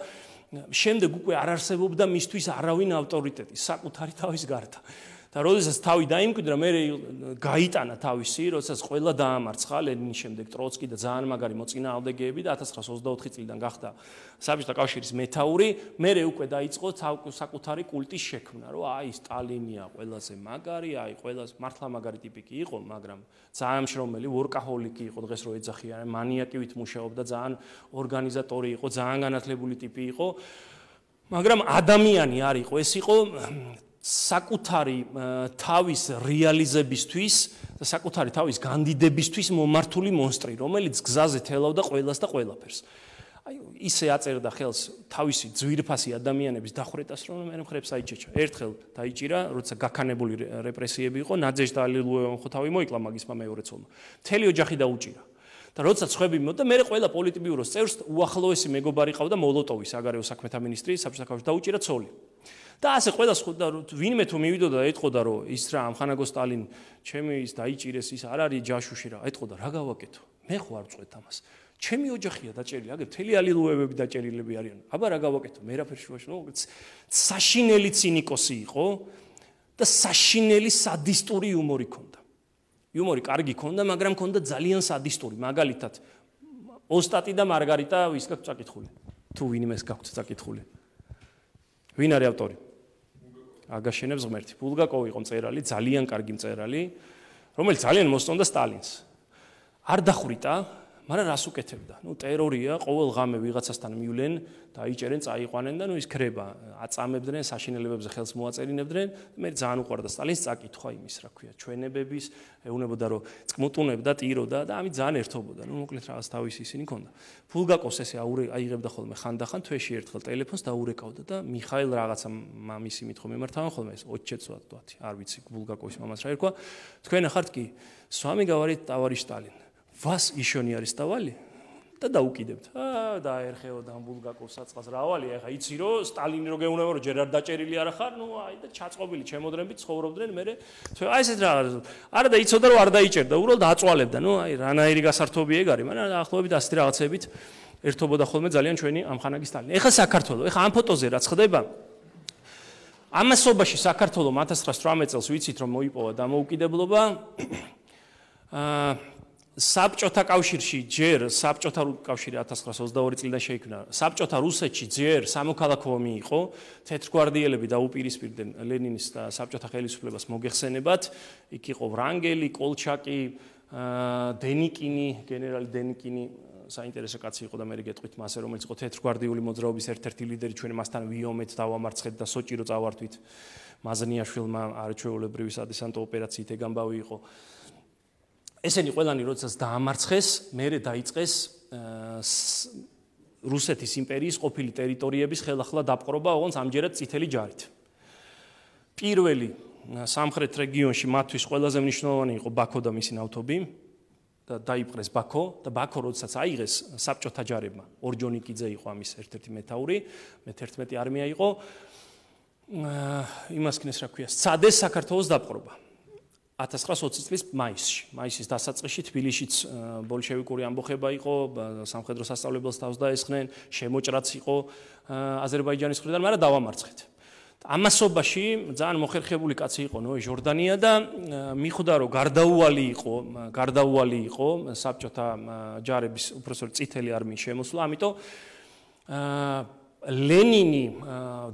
შემდეგ უკვე არ არსებობდა მისთვის არავინ ავტორიტეტი, საკუთარი თავის გარდა. და როდესაც თავი დაიმკვიდრა, მე გაიტანა თავისი, როდესაც ყველა დაამარცხა ლენინის შემდეგ ტროცკი და ძალიან მაგარი მოწინააღმდეგეები და ათას ცხრაასი ოცდაოთხი წლიდან გახდა საბჭოთა კავშირის მეთაური, მე უკვე დაიწყო საკუთარი კულტის შექმნა, რომ აი სტალინია ყველაზე მაგარი, აი ყველაზე მართლა მაგარი ტიპი კი იყო, მაგრამ ძალიან მშრომელი, ვორკაჰოლიკი იყო, დღეს რო ეძახიან, მანიაკივით მუშაობდა, ძალიან ორგანიზატორი იყო, ძალიან განათლებული ტიპი იყო, მაგრამ ადამიანი არ იყო, ეს იყო საკუთარი თავის რეალიზებისთვის და საკუთარი თავის განდიდებისთვის მომართული მონსტრი, რომელიც გზაზე თელავდა ყველას და ყველაფერს. აი ისე აწერდა ხელს თავისი ძვირფასი ადამიანების დახვრეტას, რომ მე მხრებს აიჩეჩა. ერთხელ დაიჭირა, როცა გაქანებული რეპრესიები იყო, ნადეჟდა ალილუევამ ხო თავი მოიკლა მაგისმა მეორე ცოლმა. მთელი ოჯახი დაუჭირა. და როცა ცხები მოდა, მე ყველა პოლიტბიუროს წევრს უახლოესი მეგობარი ყავდა მოლოტოვის საგარეო საქმეთა მინისტრი, საბჭოთა კავშირში დაუჭირა ცოლი. და ასე ყველა ვინმე თუ მივიდოდა და ეთყოდა რომ ის რა ამხანაგო სტალინ ჩემი ის დაიჭირეს ის არ არის ჯაშუში რა ეთყოდა რა გავაკეთო მე ხო არ წვეთ ამას ჩემი ოჯახია დაჭერილი აგერ მთელი ალილუევები დაჭერილები არიან აბა რა გავაკეთო მე რაფერ შუაში ნუ საშინელი ცინიკოსი იყო და საშინელი სადისტური იუმორი ქონდა იუმორი კარგი ქონდა მაგრამ ქონდა ძალიან სადისტური მაგალითად ოსტატი და მარგარიტა ვის გაქვთ წაკითხული თუ ვინმეს გაქვთ წაკითხული ვინ არის ავტორი? აგაშენებს ღმერთი. ბულგაკოვი იყო მწერალი, ძალიან კარგი მწერალი, რომელიც ძალიან მოსწონდა სტალინს. არ დახვრიტა, მაგრამ რას უკეთებდა? ნუ ტერორია, ყოველ ღამე ვიღაცასთან მივლენ, დაიჭერენ, წაიყვანენ და ნუ ის ქრება, აწამებდნენ, საშინელებებზე ხელს მოაწერინებდნენ. მე ძალიან უყვარდა სტალინს წაკითხვა იმის, რა ქვია, ჩვენებების, ეუნებოდა რომ წმუტუნებდა, ტიროდა და ამით ძალიან ერთობოდა. ნუ მოკლედ რაღაც თავისი ისინი ქონდა. ბულგაკოვს ესე აიღებდა ხოლმე ხანდახან თვეში ერთხელ ტელეფონს დაურეკავდა და მიხაილ რაღაცა მამისი მითხო მემართავენ ხოლმე ეს ოჩეცვა თქვათი, არ ვიცი ბულგაკოვის მამას რა ერქვა. თქვენ ახართ კი, с вами говорит товарищ Сталин. Вас еще не арестовали? და დაუკიდებთ. აა დაერხეოდა ბულგაკოვს საწყას რავალი, ეხა იცი რომ სტალინი რო გეუნება რომ ჯერ არ დაჭერილი არა ხარ, ნუ აი და ჩაწყობილი ჩემოდრებით ცხოვრობდნენ მე. აი ესეთ რაღაც. არა და იცოდა რომ არ დაიჭერდა, უბრალოდ აწვალებდა. ნუ აი რანაირი გასართობი ეგ არის, მაგრამ ახლობებით ასეთი რაღაცებით ერთობოდა ხოლმე ძალიან ჩვენი ამხანაგი სტალინი. ეხა საქართველოს, ეხა ამ ფოტოზე რაც ხდება ამასობაში საქართველოს ათას ცხრაასი ოცდაოთხ წელს ვიცით რომ მოიპოვა დამოუკიდებლობა. აა საბჭოთა კავშირში ჯერ საბჭოთა კავშირი ათას ცხრაასი ოცდაორი წლიდან შეიქმნა. საბჭოთა რუსეთში ჯერ სამოქალაქო ომი იყო, თეთრგვარდიელები დაუპირისპირდნენ ლენინის და საბჭოთა ხელისუფლებას მოგეხსენებათ. იქ იყო ვრანგელი, კოლჩაკი, დენიკინი, გენერალი დენიკინი, საინტერესო კაცი იყო და მე გეტყვით მასე, რომელიც იყო თეთრგვარდიული მოძრაობის ერთ-ერთი ლიდერი, ჩვენ მასთან ვიომეთ დავამარცხეთ და სოჭირო წავართვით. მაზნიაშვილმა არჩეულებრივი სადესანტო ოპერაციით ეგამბავი იყო. ესენი ყველანი როდესაც დაამარცხეს, მერე დაიწყეს რუსეთის იმპერიის ყოფილი ტერიტორიების ხელახლა დაპყრობა, ოღონდ ამჯერად წითელი ჯარით. პირველი სამხრეთ რეგიონში მათთვის ყველაზე მნიშვნელოვანი იყო ბაქო და მისი ნავთობი და დაიპყრეს ბაქო და ბაქო როდესაც აიღეს საბჭოთა ჯარებმა, ორჯონიკიძე იყო ამის ერთ-ერთი მეთაური, მეთერთმეტე არმია იყო. იმას ქნეს რა ქვია, სცადეს საქართველოს დაპყრობა. ათას ცხრაასი ოცი წლის მაისში, მაისის დასაწყისში თბილისშიც ბოლშევიკური ამბოხება იყო, სამხედრო სასწავლებელს თავს დაესხნენ, შემოჭრაც იყო აზერბაიჯანის მხრიდან, მაგრამ დავამარცხეთ. ამასობაში ძალიან მოხერხებული კაცი იყო ნოე ჟორდანია და მიხვდა რომ გარდაუვალი იყო, გარდაუვალი იყო საბჭოთა ჯარების უпроსტ წითელი არმიის შემოსვლა, ამიტომ ლენინი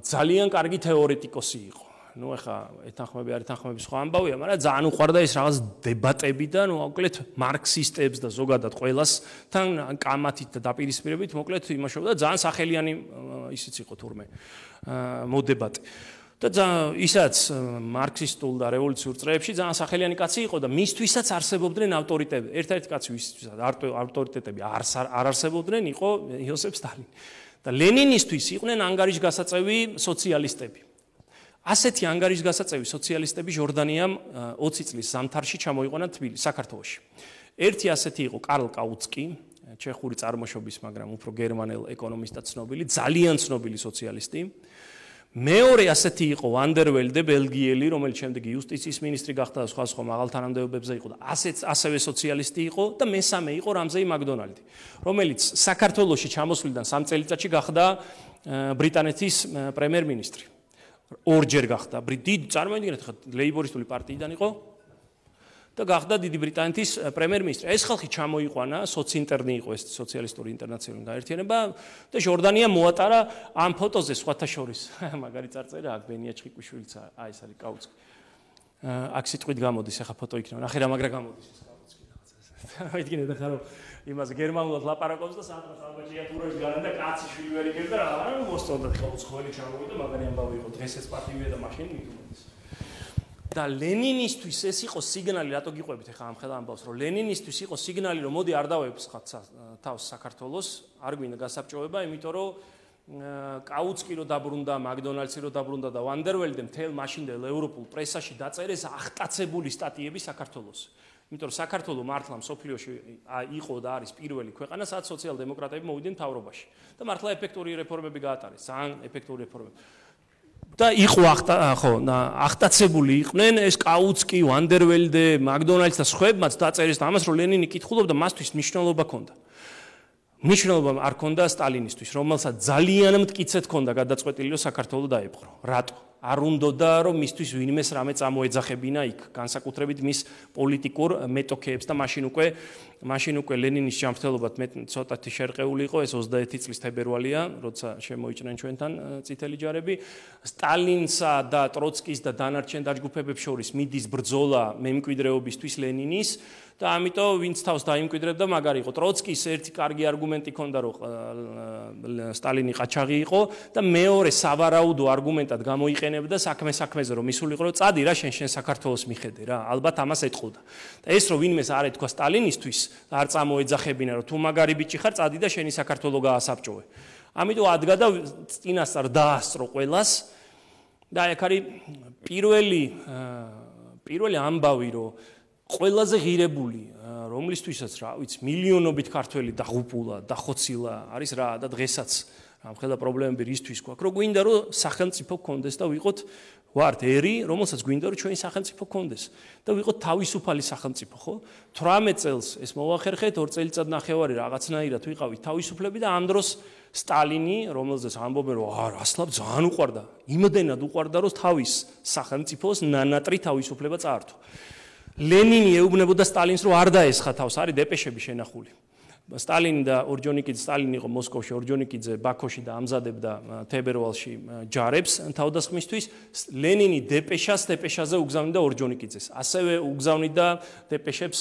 ძალიან კარგი თეორეტიკოსი იყო. ნუ ახლა ეთანხმები არ ეთანხმები სხვა ამბავია, მაგრამ ძალიან უყვარდა ეს რაღაც დებატები და ნუ მოკლედ მარქსისტებს და ზოგადად ყველასთან კამათით და დაპირისპირებით მოკლედ იმაშობდა ძალიან სახელიანი ისიც იყო თურმე მოდებატი. და ისაც მარქსისტულ და რევოლუციურ წრეებში ძალიან სახელიანი კაცი იყო და მისთვისაც არსებობდნენ ავტორიტეტები. ერთ-ერთი კაცი ვისთვისაც ავტორიტეტები არ არსებობდნენ იყო იოსებ სტალინი. და ლენინისთვის იყვნენ ანგარიშგასაწევი სოციალისტები. ასეთი ანგარიშგასაწევი სოციალისტები ჟორდანიამ ოცი წლის ზამთარში ჩამოიყვანა თბილისში, საქართველოში. ერთი ასეთი იყო კარლ კაუცკი, ჩეხური წარმოშობის, მაგრამ უფრო გერმანელ ეკონომისტად ცნობილი, ძალიან ცნობილი სოციალისტი. მეორე ასეთი იყო ვანდერველდე, ბელგიელი, რომელიც შემდეგ იუსტიციის მინისტრი გახდა და სხვა სხვა მაღალ თანამდებობებზე იყო და ასეც ასევე სოციალისტი იყო და მესამე იყო რამზეი მაკდონალდი, რომელიც საქართველოში ჩამოსვლიდან სამ წელიწადში გახდა ბრიტანეთის პრემიერ-მინისტრი. ორჯერ გახდა დიდი წარმოიდგინეთ ხა ლეიბორისტული პარტიიდან იყო და გახდა დიდი ბრიტანეთის პრემიერ-მინისტრი. ეს ხალხი ჩამოიყვანა, სოციინტერნი იყო ეს სოციალისტური ინტერნაციონალური გაერთიანება და ჟორდანია მოატარა ამ ფოტოზე სხვათა შორის. მაგარი წარწერა აქ ბენია ჩხიკვიშვილიც აი ეს არის კაუცკი. აქ სიტყვით გამოდის ახლა ფოტო იქნება. ნახე რა მაგრა გამოდის ეს კაუცკი რაღაცა. იდგინეთ ახლა რომ იმას გერმანულად ლაპარაკობს და სადღაც ალბაჭიატურებს გან და კაცი შვილი ვერ იგებს და რა მოსწონდა ხალხს ხოლმე ჩამოვიდა მაგარი ამბავი იყო დღეს ეს პარტივია და მაშინ მithumedes. და ლენინისტვის ეს იყო სიგნალი, რატო გიყვებით ახლა ამ ხელა ამბავს, რომ ლენინისტვის იყო სიგნალი, რომ მოდი არ დავეფსხათ თავს საქართველოს, არ გვინდა გასაბჭოება, იმიტომ რომ კაუცკი რო დაბრუნდა, მაკდონალდსი რო დაბრუნდა და ვანდერველდე მთელ მაშინდელ ევროპულ პრესაში დაწერეს აღტაცებული სტატიები საქართველოს. იმიტომ რომ საქართველოს მართლა მსოფლიოში იყო და არის პირველი ქვეყანა, სადაც სოციალ-დემოკრატები მოვიდნენ მთავრობაში და მართლა ეფექტური რეფორმები გაატარეს, ძალიან ეფექტური რეფორმები. და იყო ხო, აღტაცებული იყვნენ ეს კაუცკი, ვანდერველდე, მაკდონალდს და სხვებმაც დაწერეს და ამას რომ ლენინი კითხულობდა, მასთვის მნიშვნელობა ჰქონდა. მნიშვნელობა არ ჰქონდა სტალინისტვის, რომელსაც ძალიან მტკიცედ ჰქონდა გადაწყვეტილი რომ საქართველოს დაეპყრო. რატო? არ უნდოდა რომ მისთვის ვინმეს რამე წამოეძახებინა იქ, განსაკუთრებით მის პოლიტიკურ მეტოქეებს და მაშინ უკვე მაშინ უკვე ლენინის ჯანმრთელობად მე ცოტათი შერყეული იყო, ეს ოცდაერთი წლის თებერვალია, როცა შემოიჭრნენ ჩვენთან წითელი ჯარები. სტალინსა და ტროცკის და დანარჩენ დაჯგუფებებს შორის მიდის ბრძოლა მემკვიდრეობისთვის ლენინის და ამიტომ ვინც თავს დაიმკვიდრებდა მაგარი იყო. ტროცკის ერთი კარგი არგუმენტი ჰქონდა, რომ სტალინი ყაჩაღი იყო და მეორე სავარაუდო არგუმენტად გამოიყენებდა საქმე საქმეზე რომ მისულიყო რომ წადი რა შენ შენ საქართველოს მიხედე რა, ალბათ ამას ეთყოდა. და ეს რომ ვინმეს არ ეთქვა სტალინისტვის, არ წამოეძახებინა რომ თუ მაგარი ბიჭი ხარ, წადი და შენი საქართველო გაასაბჭოვე. ამიტომ ადგა და წინასწარ დაასწრო ყველას და აქ არის პირველი პირველი ამბავი რომ ყველაზე ღირებული, რომლისთვისაც რა ვიცი, მილიონობით ქართველი დაღუპულა, დახოცილა არის რა და დღესაც ამ ხელა პრობლემები რისთვის გვაქვს, რომ გვინდა რომ სახელმწიფო გქონდეს და ვიყოთ ვართ ერი, რომელსაც გვინდა რომ ჩვენი სახელმწიფო გქონდეს და ვიყოთ თავისუფალი სახელმწიფო, ხო? თვრამეტ წელს ეს მოვახერხეთ, ორ წელიწად ნახევარი რაღაცნაირად ვიყავით თავისუფლები და ამ დროს სტალინი, რომელზეც ამბობენ რომ აა რასლაბ ძალიან უყვარდა, იმდენად უყვარდა რომ თავის სახელმწიფოს ნანატრი თავისუფლება წაართვა. ლენინი ეუბნებოდა სტალინს, რომ არ დაესხა თავს, არის დეპეშები შენახული. სტალინი და ორჯონიკიძე, სტალინი იყო მოსკოვში, ორჯონიკიძე ბაქოში და ამზადებდა თებერვალში ჯარებს თავდასხმისთვის. ლენინი დეპეშას დეპეშაზე უგზავნიდა ორჯონიკიძეს. ასევე უგზავნიდა დეპეშებს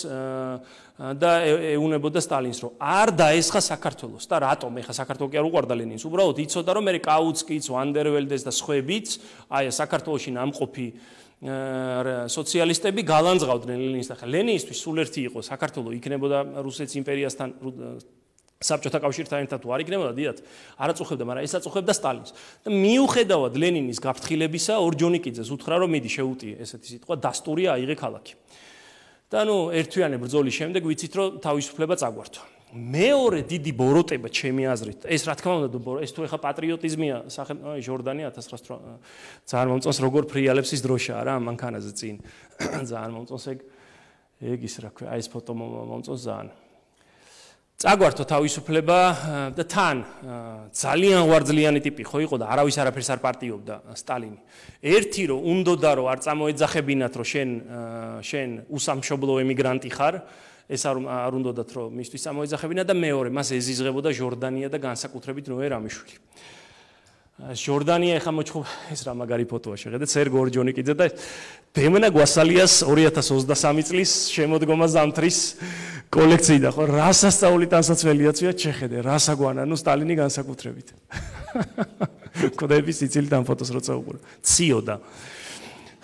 და ეუბნებოდა სტალინს, რომ არ დაესხა საქართველოს და რატომ? ეხა საქართველო კი არ უყვარდა ლენინს. უბრალოდ იცოდა, რომ მე კაუცკიც, ვანდერველდეს და სხვაებიც, აი საქართველოში ნამყოფი სოციალისტები გალანძღავდნენ ლენინს და ხა ლენინისთვის სულ ერთი იყო საქართველო იქნებოდა რუსეთის იმპერიასთან საბჭოთა კავშირთან ერთად თუ არ იქნებოდა დიდად არ აწუხებდა, მაგრამ ეს აწუხებდა სტალინს და მიუხედავად ლენინის გაფრთხილებისა ორჯონიკიძეს უთხრა რომ მიდი შეუტიე ესეთი სიტყვა დასტურია აიღე ქალაქი და ნუ ერთვიანი ბრძოლის შემდეგ ვიცით რომ თავისუფლება წაგვართვა. მეორე დიდი ბოროტება ჩემი აზრით ეს რა თქმა უნდა ეს თუ ეხა პატრიოტიზმია აი ჟორდანია ათას ცხრაასი ძალიან მომწონს როგორ ფრიალებს ის დროშაა რა მანქანაზე წინ ძალიან მომწონს ეგ ეგ ის რა ქვია აი ეს ფოტო მომწონს ძალიან წაგვართო თავისუფლება და თან ძალიან ვარძლიანი ტიპი ხო იყო და არავის არაფერს არ პარტიობდა სტალინი ერთი რომ უნდოდა რომ არ წამოეძახებინათ რომ შენ შენ უსამშობლო ემიგრანტი ხარ ეს არ უნდათ რომ მისთვის წამოეძახებინა და მეორე მას ეზიზღებოდა ჟორდანია და განსაკუთრებით ნოე რამიშვილი. ჟორდანია ეხა მოჩხუბ ეს რა მაგარი ფოტოა შეხედეთ სერგო ორჯონიკიძე და დემნა გვასალიას ორი ათას ოცდასამი წლის შემოდგომა ზამთრის კოლექცია ხო რა სასწაული ტანსაცველიაცია შეხედე რა საგვანა ნუ სტალინი განსაკუთრებით. კოდების იცილით ამ ფოტოს როცა უყურე. ციოდა.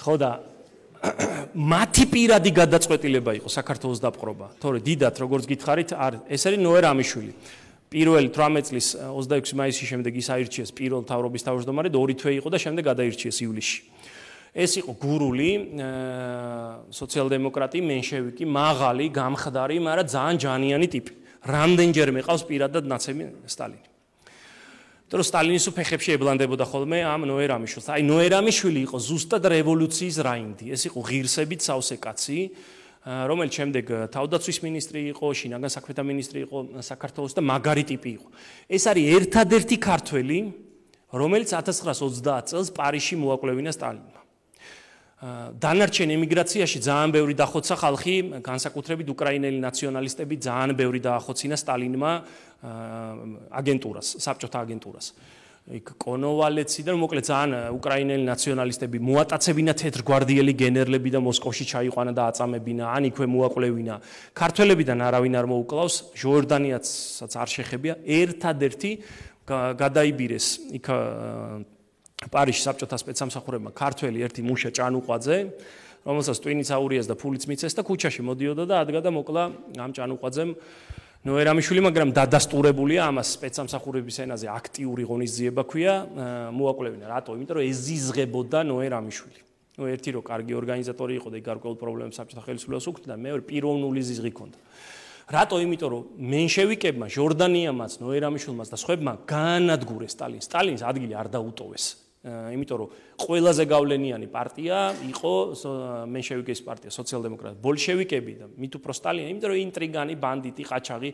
ხო და მათი პირადი გადაწყვეტილება იყო საქართველოს დაპყრობა. თორე დიდათ როგორც გითხარით, არ ეს არის ნოე რამიშვილი. პირველი თვრამეტ წლის ოცდაექვსი მაისის შემდეგ ის აირჩიეს პირველ მთავრობის თავმჯდომარედ, ორი თვე იყო და შემდეგ გადაირჩიეს ივლისში. ეს იყო გურული სოციალ-დემოკრატი, მენშევიკი, მაღალი, გამხდარი, მაგრამ ძალიან ჯანიანი ტიპი. რამდენჯერმე ყავს პირადად ნაცემი სტალინი. თორე სტალინის უფეხებში ებლანდებოდა ხოლმე ამ ნოე რამიშვილს. აი ნოე რამიშვილი იყო ზუსტად რევოლუციის რაინდი. ეს იყო ღირსებით სავსე კაცი, რომელიც შემდეგ თავდაცვის მინისტრი იყო, შინაგან საქმეთა მინისტრი იყო საქართველოს და მაგარი ტიპი იყო. ეს არის ერთადერთი ქართველი, რომელიც ათას ცხრაასი ოცდაათ წელს პარიზში მოაკვლევინა სტალინმა. დანარჩენ ემიგრაციაში ძალიან ბევრი დახოცა ხალხი, განსაკუთრებით უკრაინელი ნაციონალისტები ძალიან ბევრი დაახოცინა სტალინმა აგენტურას, საბჭოთა აგენტურას. იქ კონოვალეცი და მოკლედ ძალიან უკრაინელი ნაციონალისტები მოატაცებინა თეთრგვარდიელი გენერლები და მოსკოვში ჩაიყვანა და აწამებინა, ან იქვე მოაკვლევინა. ქართველებიდან არავინ არ მოუკლავს, ჟორდანიაცაც არ შეხებია, ერთადერთი გადაიბირეს იქ პარიზში საბჭოთა სპეცსამსახურებმა ქართველი ერთი მუშა ჭანუყვაძე, რომელსაც ტვინიც აურიას და ფულიც მიცეს და ქუჩაში მოდიოდა და ადგა და მოკლა ამ ჭანუყვაძემ ნოე რამიშვილი, მაგრამ დადასტურებულია ამას სპეცსამსახურების ენაზე აქტიური ღონისძიება ქვია, მოაკვლევინა. რატო? იმიტომ რომ ეზიზღებოდა ნოე რამიშვილი. ნუ ერთი რო კარგი ორგანიზატორი იყო და გარკვეულ პრობლემებს საბჭოთა ხელისუფლებას უქმნიდა, მეორე პიროვნული ზიზღი ჰქონდა. რატო? იმიტომ რომ მენშევიკებმა, ჟორდანიამაც, ნოე რამიშვილმაც და სხვებმა განადგურეს სტალინს. სტალინს ადგილი არ დაუტოვეს. იმიტომ რომ ყველაზე გავლენიანი პარტია იყო მენშევიკის პარტია, სოციალ-დემოკრატია, ბოლშევიკები და მით უფრო სტალინი, იმიტომ რომ ინტრიგანი, ბანდიტი, ყაჩაღი,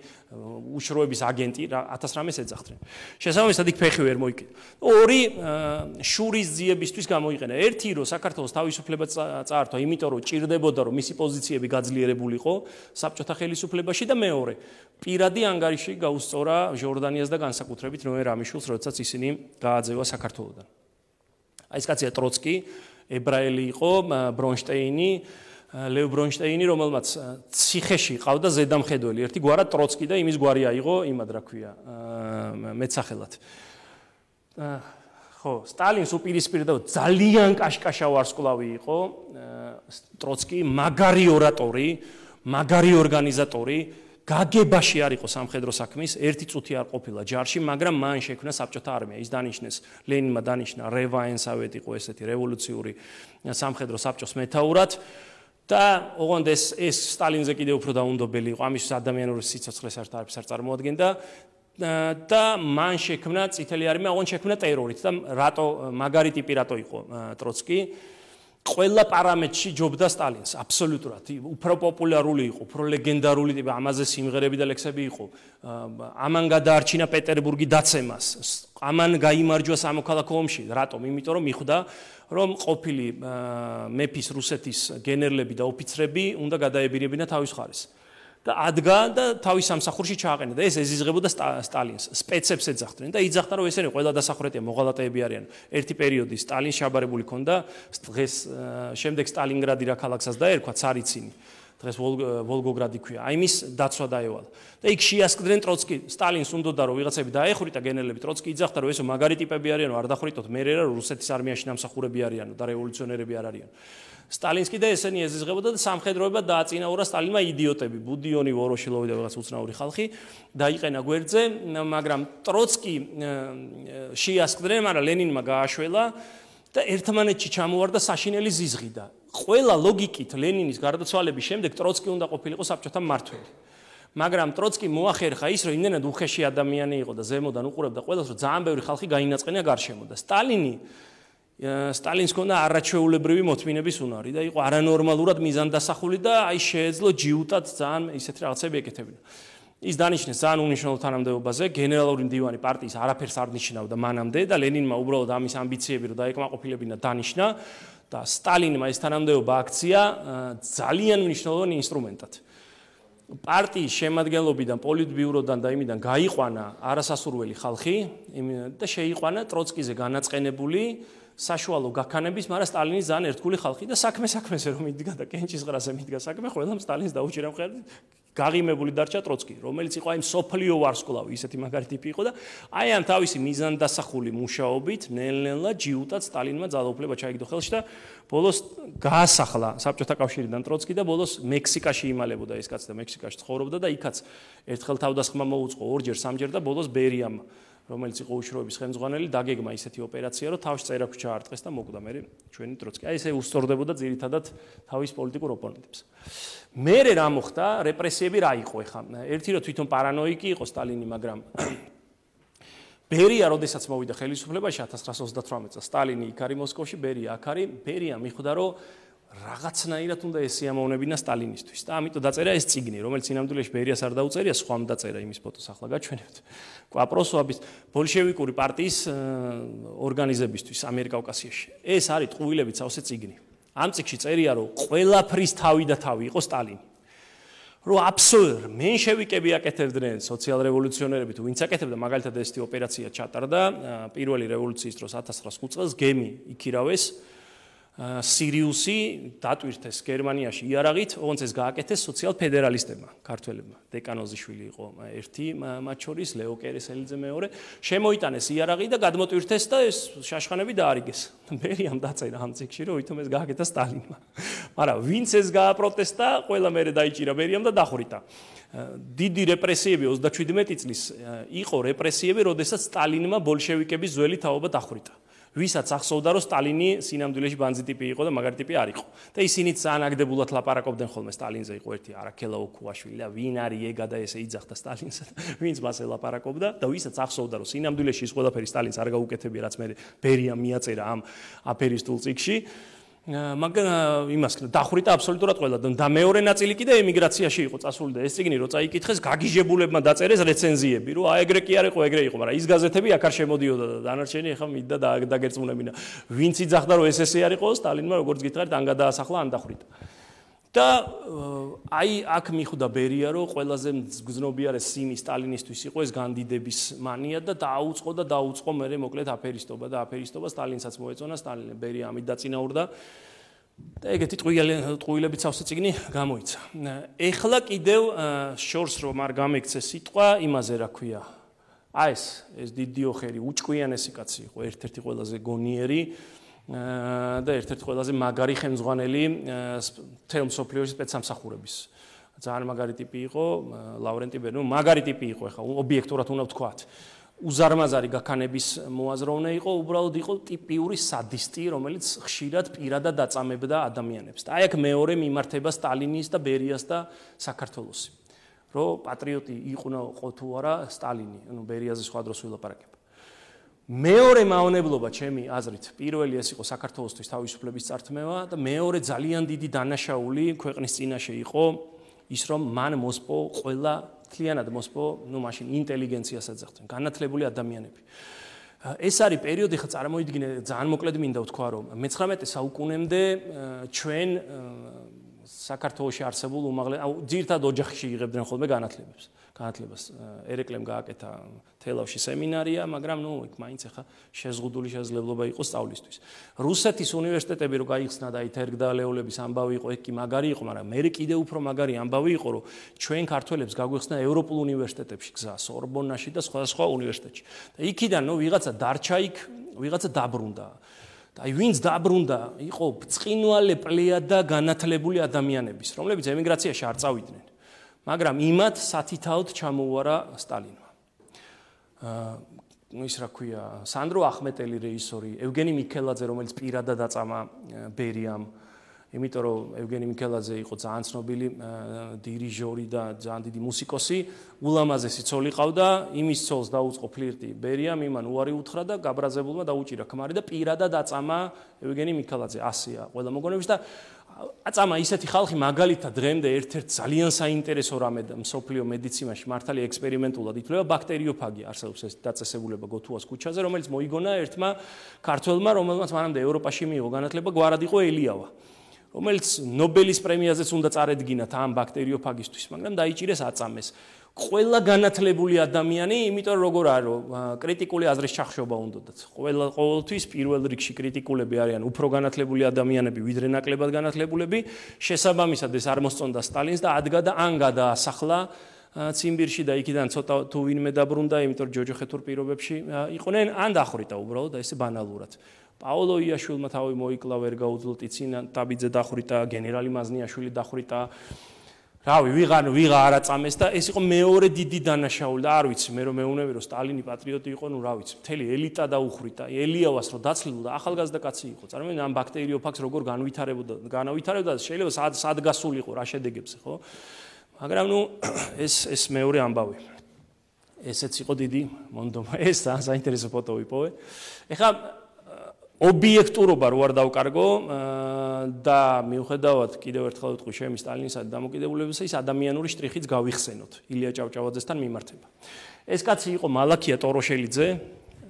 უშროების აგენტი ათას რამეს ეძახდნენ. შესაბამისად იქ ფეხი ვერ მოიკიდა. ორი შურის ძიებისთვის გამოიყენა. ერთი რომ საქართველოს თავისუფლება წაართვა, იმიტომ რომ ჭირდებოდა რომ მისი პოზიციები გაძლიერებულიყო საბჭოთა ხელისუფლებაში და მეორე პირადი ანგარიში გაუსწორა ჟორდანიას და განსაკუთრებით ნოე რამიშვილს, როდესაც ისინი გააძევა საქართველოდან. აი ეს კაცია ტროცკი, ებრაელი იყო, ბრონშტეინი, ლევ ბრონშტეინი, რომელმაც ციხეში ყავდა ზედამხედველი, ერთი გვარად ტროცკი და იმის გვარი აიღო, იმად რა ქვია, მეცახელად. ხო, სტალინს უპირისპირდა ძალიან კაშკაშა ვარსკვლავი იყო, ტროცკი, მაგარი ორატორი, მაგარი ორგანიზატორი, გაგებაში არ იყო სამხედრო საქმის, ერთი წუთი არ ყოფილა ჯარში, მაგრამ მან შექმნა საბჭოთა არმია. ის დანიშნეს, ლენინმა დანიშნა რევაენსავეთ იყო ესეთი რევოლუციური სამხედრო საბჭოს მეთაურად და ოღონდ ეს ეს სტალინზე კიდევ უფრო დაუნდობელი იყო, ამის ადამიანური სიცოცხლეს არც არ წარმოადგენდა და მან შექმნა წითელი არმია, ოღონდ შექმნა ტერორით და რატო მაგარი ტიპი რატო იყო ტროცკი? ყველა პარამეტრში ჯობდა სტალინს, აბსოლუტურად. უფრო პოპულარული იყო, უფრო ლეგენდარული ტიპი, ამაზე სიმღერები და ლექსები იყო. ამან გადაარჩინა პეტერბურგი დაცემას. ამან გაიმარჯვა სამოქალაქო ომში. რატომ? იმიტომ რომ მიხვდა, რომ ყოფილი მეფის რუსეთის გენერლები და ოფიცრები უნდა გადაებირებინა თავის მხარეს. და ადგა და თავის სამსახურში ჩააყენა და ეს ეზიზღებოდა სტალინს, სპეცებს ეძახდნენ და იძახდა რომ ესენი ყველა დასახურეტია მოღალატეები არიან. ერთი პერიოდი სტალინს შაბარებული ქონდა, დღეს შემდეგ სტალინგრადი რა ქალაქსაც დაერქვა, ცარიცინი. დღეს ვოლგოგრადი ქვია. აი მის დაცვა დაევალა. და იქ შეასკდნენ ტროცკი, სტალინს უნდოდა რომ ვიღაცები დაეხვრიტა გენერლები, ტროცკი იძახდა რომ ესო მაგარი ტიპები არიანო, არ დახვრიტოთ, მე რა რუსეთის არმიაში ნამსახურები არიანო და რევოლუციონერები არ არიან. სტალინსკი და ესენი ეზიზღებოდა და სამხედროება დააწინაურა სტალინმა იდიოტები, ბუდიონი, ვოროშილოვი და რაღაც უცნაური ხალხი დაიყენა გვერდზე, მაგრამ ტროცკი შეასკდნენ, მაგრამ ლენინმა გააშველა და ერთმანეთში ჩამოვარდა საშინელი ზიზღი და ყველა ლოგიკით ლენინის გარდაცვალების შემდეგ ტროცკი უნდა ყოფილიყო საბჭოთა მმართველი. მაგრამ ტროცკი მოახერხა ის, რომ იმდენად უხეში ადამიანი იყო და ზემოდან უყურებდა ყველას, რომ ძალიან ბევრი ხალხი გაინაწყენა გარშემო და სტალინი სტალინს ქონდა არაჩვეულებრივი მოთმინების უნარი და იყო არანორმალურად მიზანდასახული და აი შეეძლო ჯიუტად ძალიან ისეთი რაღაცები ეკეთებინა. ის დანიშნეს ძალიან უნიშნელო თანამდებობაზე, გენერალური მდივანი პარტიის არაფერს არ ნიშნავდა მანამდე და ლენინმა უბრალოდ ამის ამბიციები რომ დაეკმაყოფილებინა დანიშნა და სტალინმა ეს თანამდებობა აქცია ძალიან მნიშვნელოვანი ინსტრუმენტად. პარტიის შემადგენლობიდან, პოლიტბიუროდან და იმიდან გაიყვანა არასასურველი ხალხი და შეიყვანა ტროცკიზე განაწყენებული საშუალო გაქანების, მაგრამ სტალინის ძალიან ერთგული ხალხი და საქმე საქმეზე რომ იდგა და კენჭის ღრაზე მიდგა საქმე, ყველამ სტალინს დაუჭირა მხარი, გაღიმებული დარჩა ტროცკი, რომელიც იყო აი სოფლიო ვარსკვლავი, ისეთი მაგარი ტიპი იყო და აი ამ თავისი მიზანდასახული მუშაობით ნელ-ნელა ჯიუტად სტალინმა ძალაუფლება ჩაიგდო ხელში და ბოლოს გაასახლა საბჭოთა კავშირიდან ტროცკი და ბოლოს მექსიკაში იმალებოდა ეს კაცი და მექსიკაში ცხოვრობდა და იქაც ერთხელ თავდასხმა მოუწყო, ორჯერ, სამჯერ და ბოლოს ბერიამ რომელიც იყო უშროების ხელმძღვანელი, დაგეგმა ისეთი ოპერაცია, რომ თავში წერაქვი ჩაარტყეს და მოკვდა მე ჩვენი ტროცკი. აი ესე უსწორდებოდა ძირითადად თავის პოლიტიკურ ოპონენტებს. მერე რა მოხდა, რეპრესიები რა იყო ეხა? ერთი რომ თვითონ პარანოიკი იყო სტალინი, მაგრამ ბერია როდესაც მოვიდა ხელისუფლებაში ათას ცხრაასი ოცდათვრამეტ წელს, სტალინი იქ არის მოსკოვში, ბერია აქ არის, ბერია მიხვდა რომ რაღაცნაირად უნდა ესიამოვნებინა სტალინისთვის და ამიტომ დაწერა ეს წიგნი, რომელიც სინამდვილეში ბერიას არ დაუწერია, სხვამ დაწერა იმის ფოტოს ახლა გაჩვენებთ. კვაპროსოვის ბოლშევიკური პარტიის ორგანიზებისთვის ამიერკავკასიაში. ეს არის ტყუილებით სავსე წიგნი. ამ წიგნში წერია, რომ ყველაფრის თავი და თავი იყო სტალინი. რომ აბსოლუტურად მენშევიკები აკეთებდნენ სოციალ-რევოლუციონერები თუ ვინც აკეთებდა, მაგალითად ესეთი ოპერაცია ჩატარდა პირველი რევოლუციის დროს ათას ცხრაასი ხუთ წელს გემი იქირავეს სირიუსი დატვირთეს გერმანიაში იარაღით, ოღონდ ეს გააკეთეს სოციალ-ფედერალისტებმა, ქართველებმა. დეკანოზიშვილი იყო ერთი მათ შორის, ლეო კერესელიძე მეორე. შემოიტანეს იარაღი და გადმოტვირთეს და ეს შაშხანები დაარიგეს. ბერიამ დაწერა ამ წიგნში, რომ ვითომ ეს გააკეთა სტალინმა. მაგრამ ვინც ეს გააპროტესტა, ყველა მერე დაიჭირა ბერიამ და დახვრიტა. დიდი რეპრესიები ოცდაშვიდმეტი წლის იყო რეპრესიები, როდესაც სტალინმა ბოლშევიკების ძველი თაობა დახვრიტა. ვისაც ახსოვდა რომ სტალინი სინამდვილეში ბანძი ტიპი იყო და მაგარი ტიპი არ იყო. და ისინიც ძალიან აგდებულად ლაპარაკობდნენ ხოლმე სტალინზე იყო ერთი არაქელაო ქუაშვილი და ვინ არის ეგა და ესე იძახდა სტალინს. ვინც მას ელაპარაკობდა და ვისაც ახსოვდა რომ სინამდვილეში ის ყველაფერი სტალინს არ გაუკეთებია, რაც მე ბერიამ მიაწერა ამ აფერისტულ წიგნში. მაგრამ იმას დახვრიტა აბსოლუტურად ყველა და მეორე ნაწილი კიდე ემიგრაციაში იყო წასული და ეს წიგნი რო წაიკითხეს გაგიჟებულებმა დაწერეს რეცენზიები რომ აი ეგრე კი არ იყო ეგრე იყო მაგრამ ის გაზეთები აქ არ შემოდიოდა და დანარჩენი ახლა მიდდა და დაგერწმუნებინა ვინც იძახდა რომ ეს ესე არ იყო სტალინმა როგორც გითხარით ან გადაასახლა ან დახვრიტა და აი აქ მიხვდა ბერია რომ ყველაზე გზნობიარე სიმი სტალინისტვის იყო ეს განდიდების მანია და დაუწყო და დაუწყო მე მოკლედ აფერისტობა და აფერისტობა სტალინსაც მოეწონა სტალინი ბერია ამით დაწინაურდა და ეგეთი ტყუილებით სავსე წიგნი გამოიცა. ეხლა კიდევ შორს რომ არ გამექცეს სიტყვა იმაზე რა ქვია. აი ეს ეს დიდიოხერი უჭკვიანესი კაცი იყო, ერთ-ერთი ყველაზე გონიერი და ერთ-ერთი ყველაზე მაგარი ხელმძღვანელი თელ მსოფლიოში სპეცსამსახურების. ძალიან მაგარი ტიპი იყო ლავრენტი ბერნო, მაგარი ტიპი იყო, ეხლა ობიექტურად უნდა ვთქვათ. უზარმაზარი გაქანების მოაზროვნე იყო, უბრალოდ იყო ტიპიური სადისტი, რომელიც ხშირად პირადად აწამებდა ადამიანებს. და აი აქ მეორე მიმართება სტალინის და ბერიას და საქართველოსი. რომ პატრიოტი იყო თუ არა სტალინი, ანუ ბერიაზე სხვა დროს ვილაპარაკებ. მეორე მავნებლობა ჩემი აზრით პირველი ეს იყო საქართველოსთვის თავისუფლების წართმევა და მეორე ძალიან დიდი დანაშაული ქვეყნის წინაშე იყო ის რომ მან მოსპო ყველა მთლიანად მოსპო ნუ მაშინ ინტელიგენციას ეძახდნენ განათლებული ადამიანები ეს არის პერიოდი ხა წარმოიდგინე ძალიან მოკლედ მინდა ვთქვა რომ მეცხრამეტე საუკუნემდე ჩვენ საქართველოში არსებულ უმაღლეს აუ ძირთად ოჯახში იღებდნენ ხოლმე განათლებებს განათლებას ერეკლემ გააკეთა თელავში სემინარია მაგრამ ნუ იქ მაინც ახლა შეზღუდული შესაძლებლობა იყო სწავლისთვის რუსეთის უნივერსიტეტები რო გაიხსნა და აი თერგდალეულების ამბავი იყო ეგ კი მაგარი იყო მაგრამ მე კიდე უფრო მაგარი ამბავი იყო რომ ჩვენ ქართველებს გაგვიხსნა ევროპულ უნივერსიტეტებში გზა სორბონაში და სხვა სხვა უნივერსიტეტში და იქიდან ნუ ვიღაცა დარჩა იქ ვიღაცა დაბრუნდა და აი ვინც დაბრუნდა იყო ბრწყინვალე პლეიადა განათლებული ადამიანების რომლებიც ემიგრაციაში არ წავიდნენ მაგრამ იმათ სათითაოდ ჩამოუარა სტალინმა. აა ის რა ქვია, სანდრო ახმეტელი რეჟისორი, ევგენი მიქელაძე, რომელიც პირადად აწამა ბერიამ, იმიტომ რომ ევგენი მიქელაძე იყო ძალიან ცნობილი დირიჟორი და ძალიან დიდი მუსიკოსი, ულამაზესი ცოლი ყავდა, იმის ცოლს დაუწყო ფლირტი ბერიამ, იმან უარი უთხრა და გაბრაზებულმა დაუჭირა ქმარი და პირადად აწამა ევგენი მიქელაძე, ასია ყველა მოგონებაში და აწამა ისეთი ხალხი მაგალითად დღემდე ერთ-ერთ ძალიან საინტერესო რამე მსოფლიო მედიცინაში მართალი ექსპერიმენტულად ითვლება ბაქტერიოფაგია არსებობს ეს დაწესებულება გოთუას ქუჩაზე რომელიც მოიგონა ერთმა ქართველმა რომელმაც მანამდე ევროპაში მიიღო განათლება გვარად იყო ელიავა რომელიც ნობელის პრემიაზეც უნდა წარედგინათ ამ ბაქტერიოფაგისთვის მაგრამ დაიჭირეს აწამეს ყველა განათლებული ადამიანი, იმიტომ რომ როგორ არის, კრიტიკული აზრის ჩახშობა უნდათ. ყველა ყოველთვის პირველ რიგში კრიტიკულები არიან უფრო განათლებული ადამიანები, ვიდრე ნაკლებად განათლებულები. შესაბამისად ეს არ მოსწონდა სტალინს და ადგა და ან გადაასახლა ციმბირში და იქიდან ცოტა თუ ვინმე დაბრუნდა, იმიტომ რომ ჯოჯოხეთურ პირობებში იყვნენ, ან დახვრიტა უბრალოდ და ესე ბანალურად. პაოლო იაშვილმა თავი მოიკლა, ვერ გაუძლო ტიცინა ტაბიძე დახვრიტა, გენერალი მაზნიაშვილი დახვრიტა. რავი, ვიღან ვიღა არ აწამეს და ეს იყო მეორე დიდი დანაშაული და არ ვიცი მე რომ მეუნები რომ სტალინი პატრიოტი იყო, ნუ რა ვიცი, მთელი ელიტა დაუხრიტა, ელიავას რო დაცლილდა, ახალგაზრდა კაცი იყო. წარმოიდგინე ამ ბაქტერიოფაგს როგორ განვითარებოდა, განავითარებდა, შეიძლება სად სად გასულიყო, რა შედეგებზე, ხო? მაგრამ ნუ ეს ეს მეორე ამბავი. ესეც იყო დიდი მონდომა. ეს ძალიან საინტერესო ფოტო ვიპოვე. ეხლა ობიექტურობა რო არ დავკარგო და მიუხედავად კიდევ ერთხელ ვიტყვი ჩემი სტალინისა და დამოკიდებულებისა ის ადამიანური შტრიხიც გავიხსენოთ ილია ჭავჭავაძესთან მიმართება. ეს კაცი იყო მალაქია ტოროშელიძე,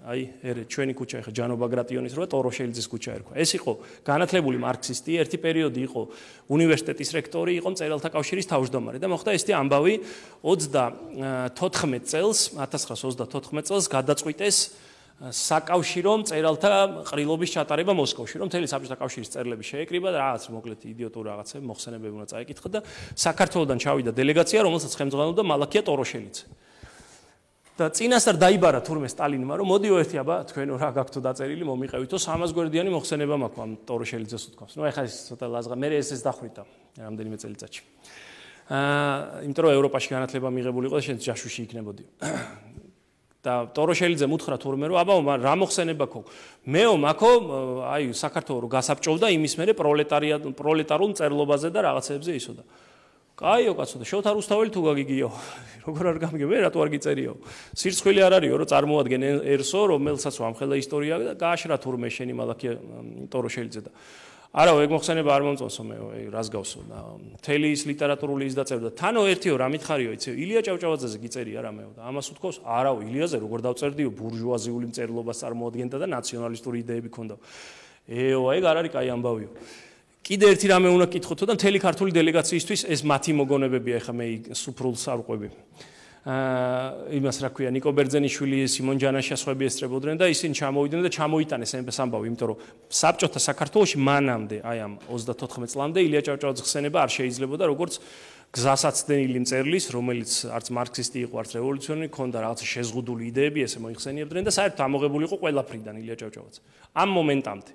აი ერე ჩვენი ქუჩა ეხა ჯანო ბაგრატიონის როა ტოროშელიძეს ქუჩა ერქვა. ეს იყო განათლებული მარქსისტი, ერთი პერიოდი იყო უნივერსიტეტის რექტორი, იყო მწერალთა კავშირის თავმჯდომარე და მოხდა ესეთი ამბავი ოცდათოთხმეტ წელს, ათას ცხრაას ოცდათოთხმეტ წელს გადაწყვიტეს საკავშირო მწერალთა ყრილობის ჩატარება მოსკოვში, რომ მთელი საბჭოთა კავშირის წერილები შეეკრიბა და რაღაც მოკლედ იდიოტური რაღაცები მოხსენებები უნდა წაეკითხა და საქართველოსდან ჩავიდა დელეგაცია, რომელსაც ხელმძღვანელობდა მალაქია ტოროშელიძე. და წინასწარ დაიბარა თურმე სტალინმა, რომ მოდიო ერთი აბა თქვენო რა გაქვთო დაწერილი, მომიყევითო სამას გვერდიანი მოხსენება მაქვს ამ ტოროშელიძეს უთქვამს. ნუ ეხლა ეს ცოტა ლაზღა, მე ეს ეს დახვრიტა რამდენიმე წელიწადში. აა, იმიტომ რომ ევროპაში განათლება მიღებული იყო და შენ ჯაშუში იქნებოდი. და ტოროშელიძე მუთხრა თურმე რომ აბა რა მოხსენება ქო მეო მაქო აი საქართველოს გასაბჭოვდა იმის მერე პროლეტარიატ პროლეტარულ მწერლობაზე და რაღაცებზე ისო და კაიო კაცო და შოთა რუსთაველი თუ გაგიგიო როგორ არ გამიგე მე რატო არ გიწერიო სირცხვილი არ არისო რომ წარმოადგენერსო რომელსაც ვამხელა ისტორია და გააშრა თურმე შენი მალაქია ტოროშელიძე და არა ეგ მოხსენება არ მომწონსო მე რას გავსო და მთელი ის ლიტერატურული ის დაწერდა თანო ერთიო რა მითხარიო იცი ილია ჭავჭავაძეზე გიწერია რა მეო და ამას უთქოს არავ ილიაზე როგორ დავწერდიო ბურჟუაზიული მწერლობას წარმოადგენდა და ნაციონალისტური იდეები ქონდა ეო ეგ არ არის კაი ამბავიო კიდე ერთი რამე უნდა კითხოთო და მთელი ქართული დელეგაციისთვის ეს მათი მოგონებებია ეხა მე სუფრულს არ ვყვები აა იმას რა ქვია ნიკო ბერძენიშვილი სიმონ ჯანაშიასხვები ესწრებოდნენ და ისინი ჩამოვიდნენ და ჩამოიტანეს ეს ამბავი იმიტომ რომ საბჭოთა საქართველოში მანამდე აი ამ ოცდათოთხმეტ წლამდე ილია ჭავჭავაძის ხსენება არ შეიძლებოდა როგორც გზასაცდენილი მწერლის რომელიც არც მარქსისტი იყო არც რევოლუციონერი ქონდა რაღაცა შეზღუდული იდეები ესე მოიხსენიებდნენ და საერთოდ ამოღებული იყო ყველაფრიდან ილია ჭავჭავაძე ამ მომენტამდე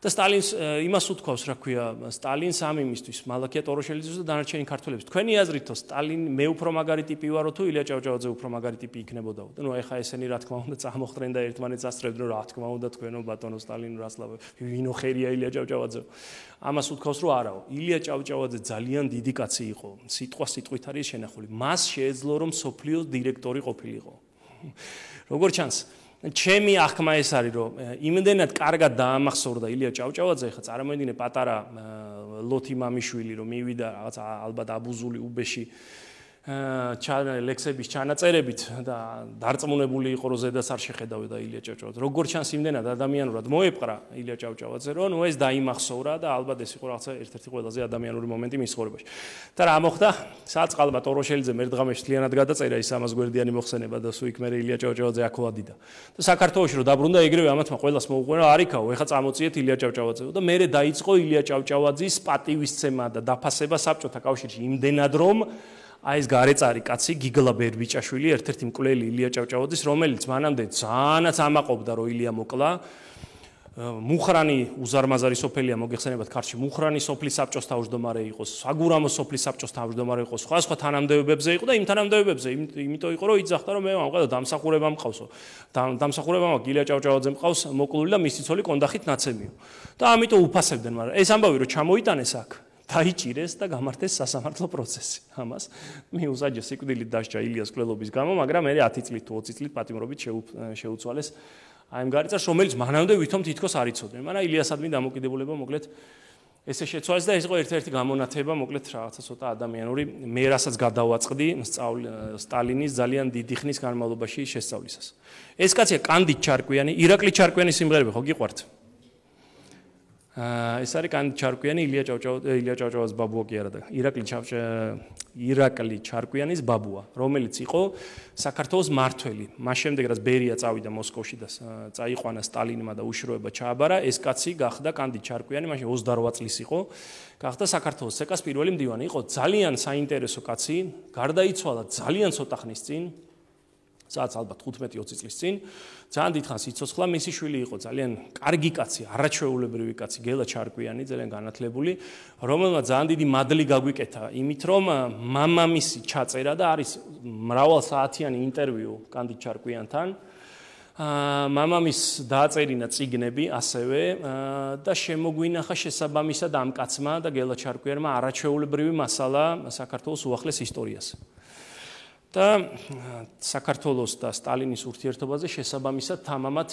და სტალინს იმას უთქვავს რა ქვია სტალინს ამ იმისთვის მალაქია ტოროშელიძეს და დანარჩენი ქართველებს თქვენი აზრითო სტალინ მე უფრო მაგარი ტიპი ვარო თუ ილია ჭავჭავაძე უფრო მაგარი ტიპი იქნებოდაო და ნუ ეხა ესენი რა თქმა უნდა წამოხდნენ და ერთმანეთს ასწრებდნენ რა თქმა უნდა თქვენო ბატონო სტალინ რასლავე ვინო ხერია ილია ჭავჭავაძე ამას უთქვავს რომ არაო ილია ჭავჭავაძე ძალიან დიდი კაცი იყო სიტყვა სიტყვით არის შენახული მას შეეძლო რომ სოფლიოს დირექტორი ყოფილიყო როგორ ჩანს ჩემი ახმა ეს არის რომ იმდენად კარგად დაამახსოვრდა ილია ჭავჭავაძე, ხა წარმოიდგინე პატარა ლოთი მამიშვილი რომ მივიდა რაღაც ალბათ აბუზული უბეში ლექსების ჩანაწერებით და დარწმუნებული იყო რომ ზედაც არ შეხედავდა ილია ჭავჭავაძე. როგორ ჩანს იმდენად ადამიანურად მოეპყრა ილია ჭავჭავაძე, რომ ნუ ეს დაიმახსოვრა და ალბათ ეს იყო რაღაცა ერთ-ერთი ყველაზე ადამიანური მომენტი მის ცხოვრებაში. და რა მოხდა? საწყალმა ტოროშელიძემ ერთ დღამში მთლიანად გადაწერა ის სამას გვერდიანი მოხსენება და სულ იქ მე ილია ჭავჭავაძე აქ ვადიდა. და საქართველოში რომ დაბრუნდა ეგრევე ამათმა ყველას მოუყვება არიქაო, ეხა წამოწიეთ ილია ჭავჭავაძეო და მე დაიწყო ილია ჭავჭავაძის პატივისცემა და დაფასება საბჭოთა კავშირში იმდენად რომ აი ეს გარეწარი კაცი გიგლა ბერბიჭაშვილი ერთ-ერთი მკვლელი ილია ჭავჭავაძის, რომელიც მანამდე ძალიანაც ამაყობდა რომ ილია მოკლა. მუხრანი უზარმაზარი სოფელია მოგეხსენებათ ქართლში, მუხრანი სოფლის საბჭოს თავმჯდომარე იყო, საგურამო სოფლის საბჭოს თავმჯდომარე იყო, სხვა სხვა თანამდებობებზე იყო და იმ თანამდებობებზე იმიტომ იყო რომ იძახდა რომ მე ამყავდა დამსახურება მყავსო. დამსახურება მაქვს ილია ჭავჭავაძე მყავს მოკლული და მისი ცოლი კონდახით ნაცემიო. და ამიტომ უფასებდნენ, მაგრამ ეს ამბავი რომ ჩამოიტანეს აქ დაიჭირეს და გამართეს სასამართლო პროცესი. ამას მიუსაჯა სიკვდილით დასჯა ილიას კვლელობის გამო, მაგრამ მე ათი წლით თუ ოცი წლით პატიმრობით შეუცვალეს აი ამ გარიწას, რომელიც მანამდე ვითომ თითქოს არ იცოდნენ. მაგრამ ილიასადმი დამოკიდებულება მოკლედ ესე შეცვალეს და ეს იყო ერთ-ერთი გამონათება, მოკლედ რაღაცა ცოტა ადამიანური, მე რასაც გადავაწყდი სტალინის ძალიან დიდი ხნის განმავლობაში შესწავლისას. ეს კაცია კანდიდ ჩარკვიანი, ირაკლი ჩარკვიანის სიმღერები ხო გიყვართ? ეს არის კანდიდ ჩარკვიანი, ილია ჭავჭავაძე, ილია ჭავჭავაძის ბაბუა კი არა და ირაკლი ირაკლი ჩარკვიანის ბაბუა, რომელიც იყო საქართველოს მმართველი. მას შემდეგ რაც ბერია წავიდა მოსკოვში და წაიყვანა სტალინმა და უშროება ჩააბარა, ეს კაცი გახდა კანდიდ ჩარკვიანი, მაშინ ოცდარვა წლის იყო, გახდა საქართველოს ცეკას პირველი მდივანი. იყო ძალიან საინტერესო კაცი, გარდაიცვალა ძალიან ცოტა ხნის წინ. სადაც ალბათ ხუთმეტი ოცი წლის წინ, ძალიან დიდხანს იცოცხლა, მისი შვილი იყო ძალიან კარგი კაცი, არაჩვეულებრივი კაცი, გელა ჩარკვიანი, ძალიან განათლებული, რომელმაც ძალიან დიდი მადლი გაგვიკეთა იმით, რომ მამამისი ჩაწერა და არის მრავალსაათიანი ინტერვიუ კანდიდ ჩარკვიანთან. მამამის დააწერინა წიგნები ასევე და შემოგვინახა შესაბამისად ამ კაცმა და გელა ჩარკვიანმა არაჩვეულებრივი მასალა საქართველოს უახლეს ისტორიას. და საქართველოს და სტალინის ურთიერთობაზე შესაბამისად თამამად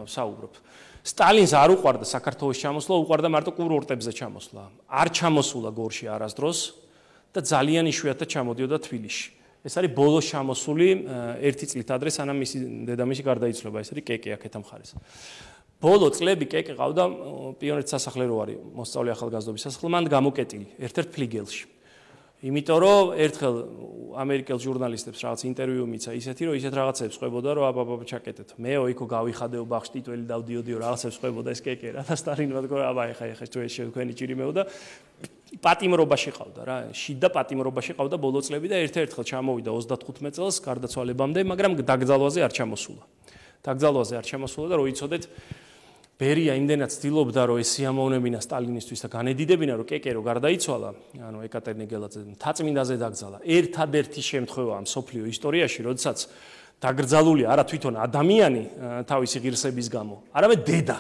საუბრობ. სტალინს არ უყვარდა საქართველოს ჩამოსვლა, უყვარდა მარტო კურორტებზე ჩამოსვლა. არ ჩამოსულა გორში არასდროს და ძალიან იშვიათად ჩამოდიოდა თბილისში. ეს არის ბოლოს ჩამოსული ერთი წლით ადრე, სანამ მისი დედამისი გარდაიცვალა, ეს არის კეკე აქეთა მხარეს. ბოლო წლები კეკე ყავდა პიონერთა სასახლე რო არის, მოსწავლე ახალგაზრდობის სასახლე, მან გამოკეტილი ერთ-ერთ ფლიგელში. იმიტომ რომ ერთხელ ამერიკელ ჟურნალისტებს რაღაც ინტერვიუ მიცა ისეთი რომ ისეთ რაღაცებს ყვებოდა რომ აბა ჩაკეტეთ. მეო იქო გავიხადეო ბაღში ტიტველი დავდიოდიო რაღაცებს ყვებოდა ეს კეკე რა და სტალინმა თქვა აბა ეხა ეხა თუ ეს თქვენი ჭირიმეო და პატიმრობაში ყავდა რა. შიდა პატიმრობაში ყავდა ბოლო წლები და ერთ-ერთხელ ჩამოვიდა ოცდათხუთმეტ წელს გარდაცვალებამდე, მაგრამ დაკრძალვაზე არ ჩამოსულა. დაკრძალვაზე არ ჩამოსულა და რო იცოდეთ ბერია იმდენად ცდილობდა რომ ეს სიამოვნებინა სტალინისტვის და განედიდებინა რომ კეკე რო გარდაიცვალა, ანუ ეკატერინე გელაძე მთაწმინდაზე დაკრძალა. ერთადერთი შემთხვევაა მსოფლიო ისტორიაში, როდესაც დაკრძალული არა თვითონ ადამიანი თავისი ღირსების გამო, არამედ დედა.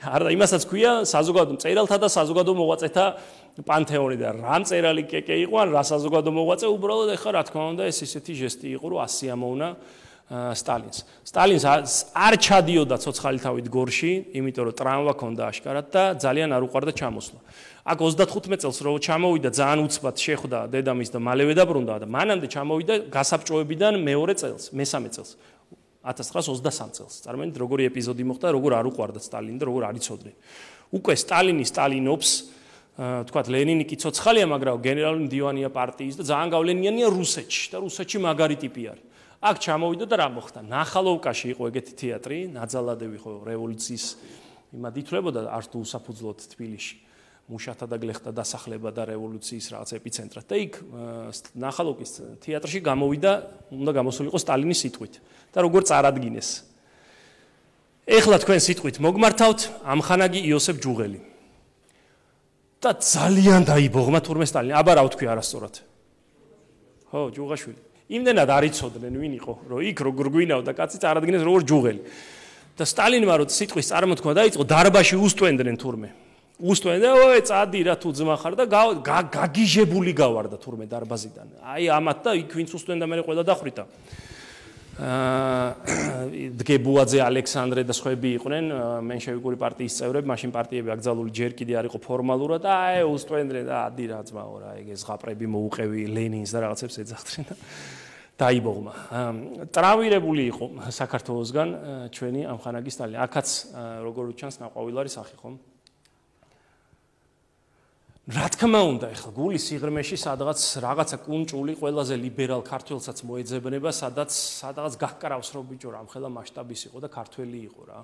არა იმასაც ქვია საზოგადო მწერალთა და საზოგადო მოღვაწეთა პანთეონი და რა მწერალი კეკე იყო, ან რა საზოგადო მოღვაწე, უბრალოდ ეხა რა თქმა უნდა ეს ისეთი ჟესტი იყო რომ ასიამოვნა სტალინს. სტალინს არ ჩადიოდა ცოცხალი თავით გორში, იმიტომ რომ ტრამვა ჰქონდა აშკარად და ძალიან არ უყვარდა ჩამოსვლა. აქ ოცდათხუთმეტ წელს რო ჩამოვიდა, ძალიან უცბად შეხვდა დედამისს და მალევე დაბრუნდა და მანამდე ჩამოვიდა გასაბჭოებიდან მეორე წელს, მესამე წელს, ათას ცხრაას ოცდასამ წელს. წარმოიდგინეთ, როგორი ეპიზოდი მოხდა, როგორ არ უყვარდა სტალინი და როგორ არ იცოდნენ. უკვე სტალინი სტალინობს, თქვათ ლენინი კი ცოცხალია, მაგრამ გენერალური მდივანია პარტიის და ძალიან გავლენიანია რუსეთში და რუსეთში მაგარი ტიპი არის. აქ ჩამოვიდა და რა მოხდა? ნახალოვკაში იყო ეგეთი თეატრი, ნაძალადევი ხო რევოლუციის იმად ითვლებოდა არც თუ უსაფუძვლოდ თბილისში. მუშათა და გლეხთა დასახლება და რევოლუციის რაღაც ეპიცენტრად. და იქ ნახალოვკის თეატრში გამოვიდა, უნდა გამოსულიყო სტალინის სიტყვით და როგორ წარადგინეს. ეხლა თქვენ სიტყვით მოგმართავთ ამხანაგი იოსებ ჯუღელი. და ძალიან დაიბოღმა თურმე სტალინი. აბა რა ვთქვი არასწორად. ხო, ჯუღაშვილი. იმდენად არ იცოდნენ ვინ იყო, რომ იქ როგორ გვინავდა კაცი წარადგინეს როგორ ჯუღელი. და სტალინმა რო სიტყვის წარმოთქმა დაიწყო, დარბაში უსტვენდნენ თურმე. უსტვენდნენ, ой, წადი რა თუ ძმა ხარ და გაგიჟებული გავარდა თურმე დარბაზიდან. აი ამათ და იქ ვინც უსტვენდა მე ყველა დახვრიტა. დგებუაძე ალექსანდრე და სხვები იყვნენ მენშევიკური პარტიის წევრები, მაშინ პარტიები აკრძალული ჯერ კიდე არ იყო ფორმალურად და აი უსტვენდრე და ადი რა ძმაო რა ეგ ზღაპრები მოუყევი ლენინს და რაღაცებს ეძახდნენ და დაიბოღმა. ტრავირებული იყო საქართველოსგან ჩვენი ამხანაგი სტალინი. აქაც როგორ ჩანს ნაყვავილარი სახი ხომ? რა თქმა უნდა, ეხლა გულის სიღრმეში სადღაც რაღაცა კუნჭული ყველაზე ლიბერალ ქართველსაც მოეძებნება, სადაც სადღაც გაკრავს რომ ბიჭო რა ამხელა მასშტაბის იყო და ქართველი იყო რა.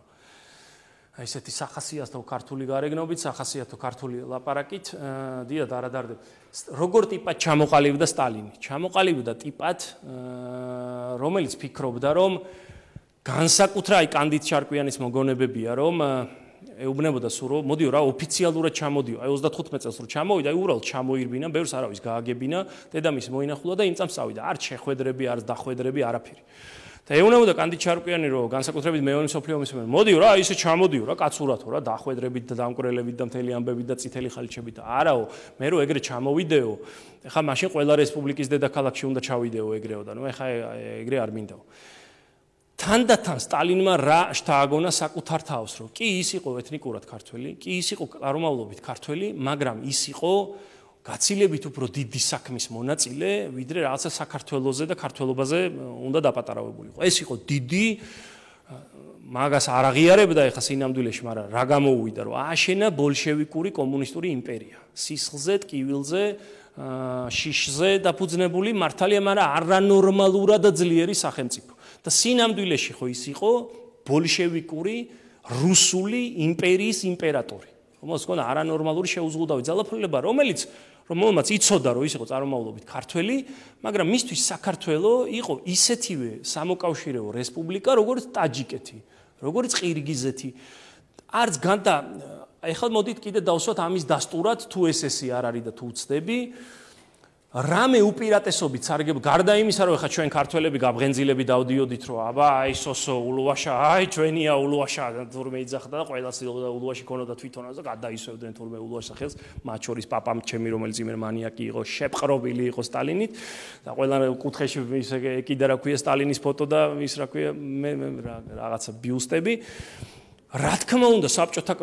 აი ესეთი სახასიათო ქართული გარეგნობით, სახასიათო ქართული ლაპარაკით, დიახ, არადარდებ. როგორ ტიპად ჩამოყალიბდა სტალინი? ჩამოყალიბდა ტიპად, რომელიც ფიქრობდა, რომ განსაკუთრებით აი კანდიდ ჩარკვიანის მოგონებებია, რომ ეუბნებოდა სულ რომ მოდიო რა ოფიციალურად ჩამოდიო აი ოცდათხუთმეტ წელს რომ ჩამოვიდა აი უბრალოდ ჩამოირბინა ბევრს არავის გააგებინა დედამისი მოინახულა და იმ წამს წავიდა არც შეხვედრები არც დახვედრები არაფერი და ეუბნებოდა კანდიდ ჩარკვიანი რომ განსაკუთრებით მეორე მსოფლიო ომის მომენტ მოდიო რა ისე ჩამოდიო რა კაცურათო რა დახვედრებით და დამკვრელებით და მთელი ამბებით და წითელი ხალიჩებით არაო მე რო ეგრე ჩამოვიდეო ეხლა მაშინ ყველა რესპუბლიკის დედაქალაქში უნდა ჩავიდეო ეგრეო და ნუ ეხლა ეგრე არ მინდაო თანდათან სტალინმა რა შთააგონა საკუთარ თავს რომ კი ის იყო ეთნიკურად ქართველი, კი ის იყო წარმომავლობით ქართველი, მაგრამ ის იყო გაცილებით უფრო დიდი საქმის მონაწილე, ვიდრე რაღაცა საქართველოზე და ქართველობაზე უნდა დაპატარავებულიყო. ეს იყო დიდი მაგას არ აღიარებდა ეხა სინამდვილეში, მაგრამ რა გამოუვიდა რომ ააშენა ბოლშევიკური კომუნისტური იმპერია. სისხლზე, ტკივილზე, შიშზე დაფუძნებული მართალია, მაგრამ არანორმალურად ძლიერი სახელმწიფო. და სინამდვილეში ხო ის იყო ბოლშევიკური რუსული იმპერიის იმპერატორი. რომელს ჰქონდა არანორმალური შეუზღუდავი ძალაუფლება, რომელიც რომელმაც იცოდა რომ ის იყო წარმომავლობით ქართველი, მაგრამ მისთვის საქართველო იყო ისეთივე სამოკავშირეო რესპუბლიკა, როგორც ტაჯიკეთი, როგორც ყირგიზეთი. არც განდა ეხლა მოდით კიდე დავსვათ ამის დასტურად თუ ესესი არ არის და თუ უცდები რამე უპირატესობით სარგებლო გარდა იმისა რომ ეხლა ჩვენ ქართველები გაბღენძილები დავდიოდით რომ აბა აი სოსო ულუაშა აი ჩვენია ულუაშა თურმე იძახდა და ყველას ულუაში ქონოდა თვითონაც და გადაისვევდნენ თურმე ულუაშს ხელს მათ შორის პაპამ ჩემი რომელიც იმერ მანიაკი იყო შეპყრობილი იყო სტალინით და ყველა კუთხეში ისე ეკიდა რა ქვია სტალინის ფოტო და ის რა ქვია მე რაღაცა ბიუსტები რა თქმა უნდა საბჭოთა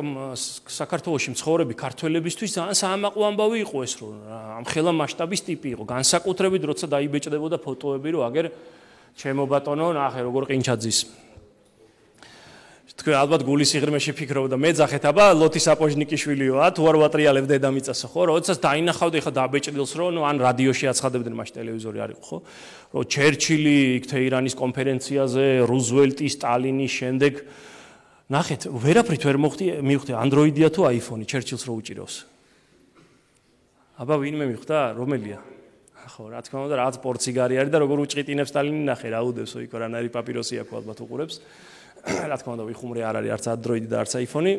საქართველოში მცხოვრები ქართველებისთვის ძალიან საამაყო ამბავი იყო ეს რომ ამხელა მასშტაბის ტიპი იყო განსაკუთრებით როცა დაიბეჭდებოდა ფოტოები რომ აგერ ჩემო ბატონო ნახე როგორ ყინჩაძის თქვენ ალბათ გულის სიღრმეში ფიქრობდა მეძახეთ აბა ლოთი საპოჟნიკიშვილიოა თუ არ ვატრიალებ დედამიწასო ხო როდესაც დაინახავდი ხა დაბეჭდილს რომ ან რადიოში აცხადებდნენ მაშინ ტელევიზორი არ იყო ხო რომ ჩერჩილი იქ თეირანის კონფერენციაზე რუზველტი სტალინი შემდეგ ნახეთ, ვერაფრით ვერ მოხდი, მივხვდი Android-ია თუ iPhone-ი, ჩერჩილს რო უჭირავს. აბა ვინმე მივხვდა, რომელია? ხო, რა თქმა უნდა, რაღაც პორციგარი არის და როგორ უჭყიტინებს სტალინი ნახე, რა უდევსო იქ რანაირი პაპიროსი აქვს ალბათ უყურებს. რა თქმა უნდა, ვიხუმრე არ არის არც Android და არც iPhone-ი.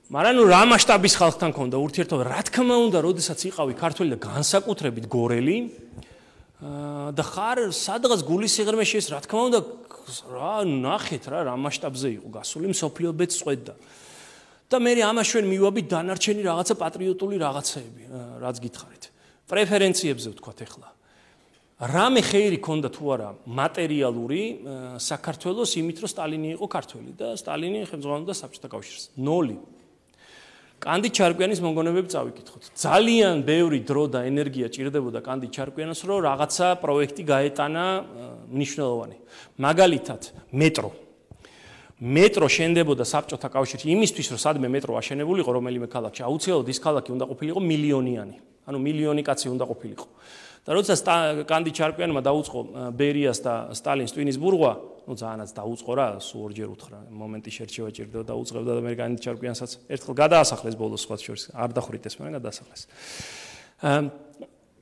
მაგრამ ნუ რა მასშტაბის ხალხთან ქონდა ურთიერთობა, რა თქმა უნდა, როდესაც იყავი ქართველი და განსაკუთრებით გორელი და ხარ სადღაც გულის სიღრმეში ეს რა თქმა უნდა რა ნახეთ რა რა მასშტაბზე იყო გასული მსოფლიობეც წვედა და მე ამას ჩვენ მივაბით დანარჩენი რაღაცა პატრიოტული რაღაცეები რაც გითხარით პრეფერენციებზე ვთქვათ ახლა რამე ხეირი ქონდა თუ არა მატერიალური საქართველოს იმით რომ სტალინი იყო ქართველი და სტალინი ხელმძღვანელობდა საბჭოთა კავშირს ნოლი კანდიდ ჩარკვიანის მოგონებები წავიკითხოთ. ძალიან ბევრი დრო და ენერგია ჭირდებოდა კანდიდ ჩარკვიანს, რომ რაღაცა პროექტი გაეტანა მნიშვნელოვანი. მაგალითად, მეტრო. მეტრო შენდებოდა საბჭოთა კავშირში იმისთვის, რომ სადმე მეტრო აშენებულიყო რომელიმე ქალაქში, აუცილებლად ის ქალაქი უნდა ყოფილიყო მილიონიანი. ანუ მილიონი კაცი უნდა ყოფილიყო. და როდესაც კანდიდ ჩარკვიანმა დაუწყო ბერიას და სტალინს ტვინის ბურღვა, ну ძალიანაც დაუწყო რა, სულ ორჯერ უთხრა, მომენტი შერჩევა ჭირდება და უწყებდა და მე კანდიდ ჩარკვიანსაც ერთხელ გადაასახლეს ბოლოს სხვა შორის, არ დახვრიტეს, მაგრამ გადაასახლეს.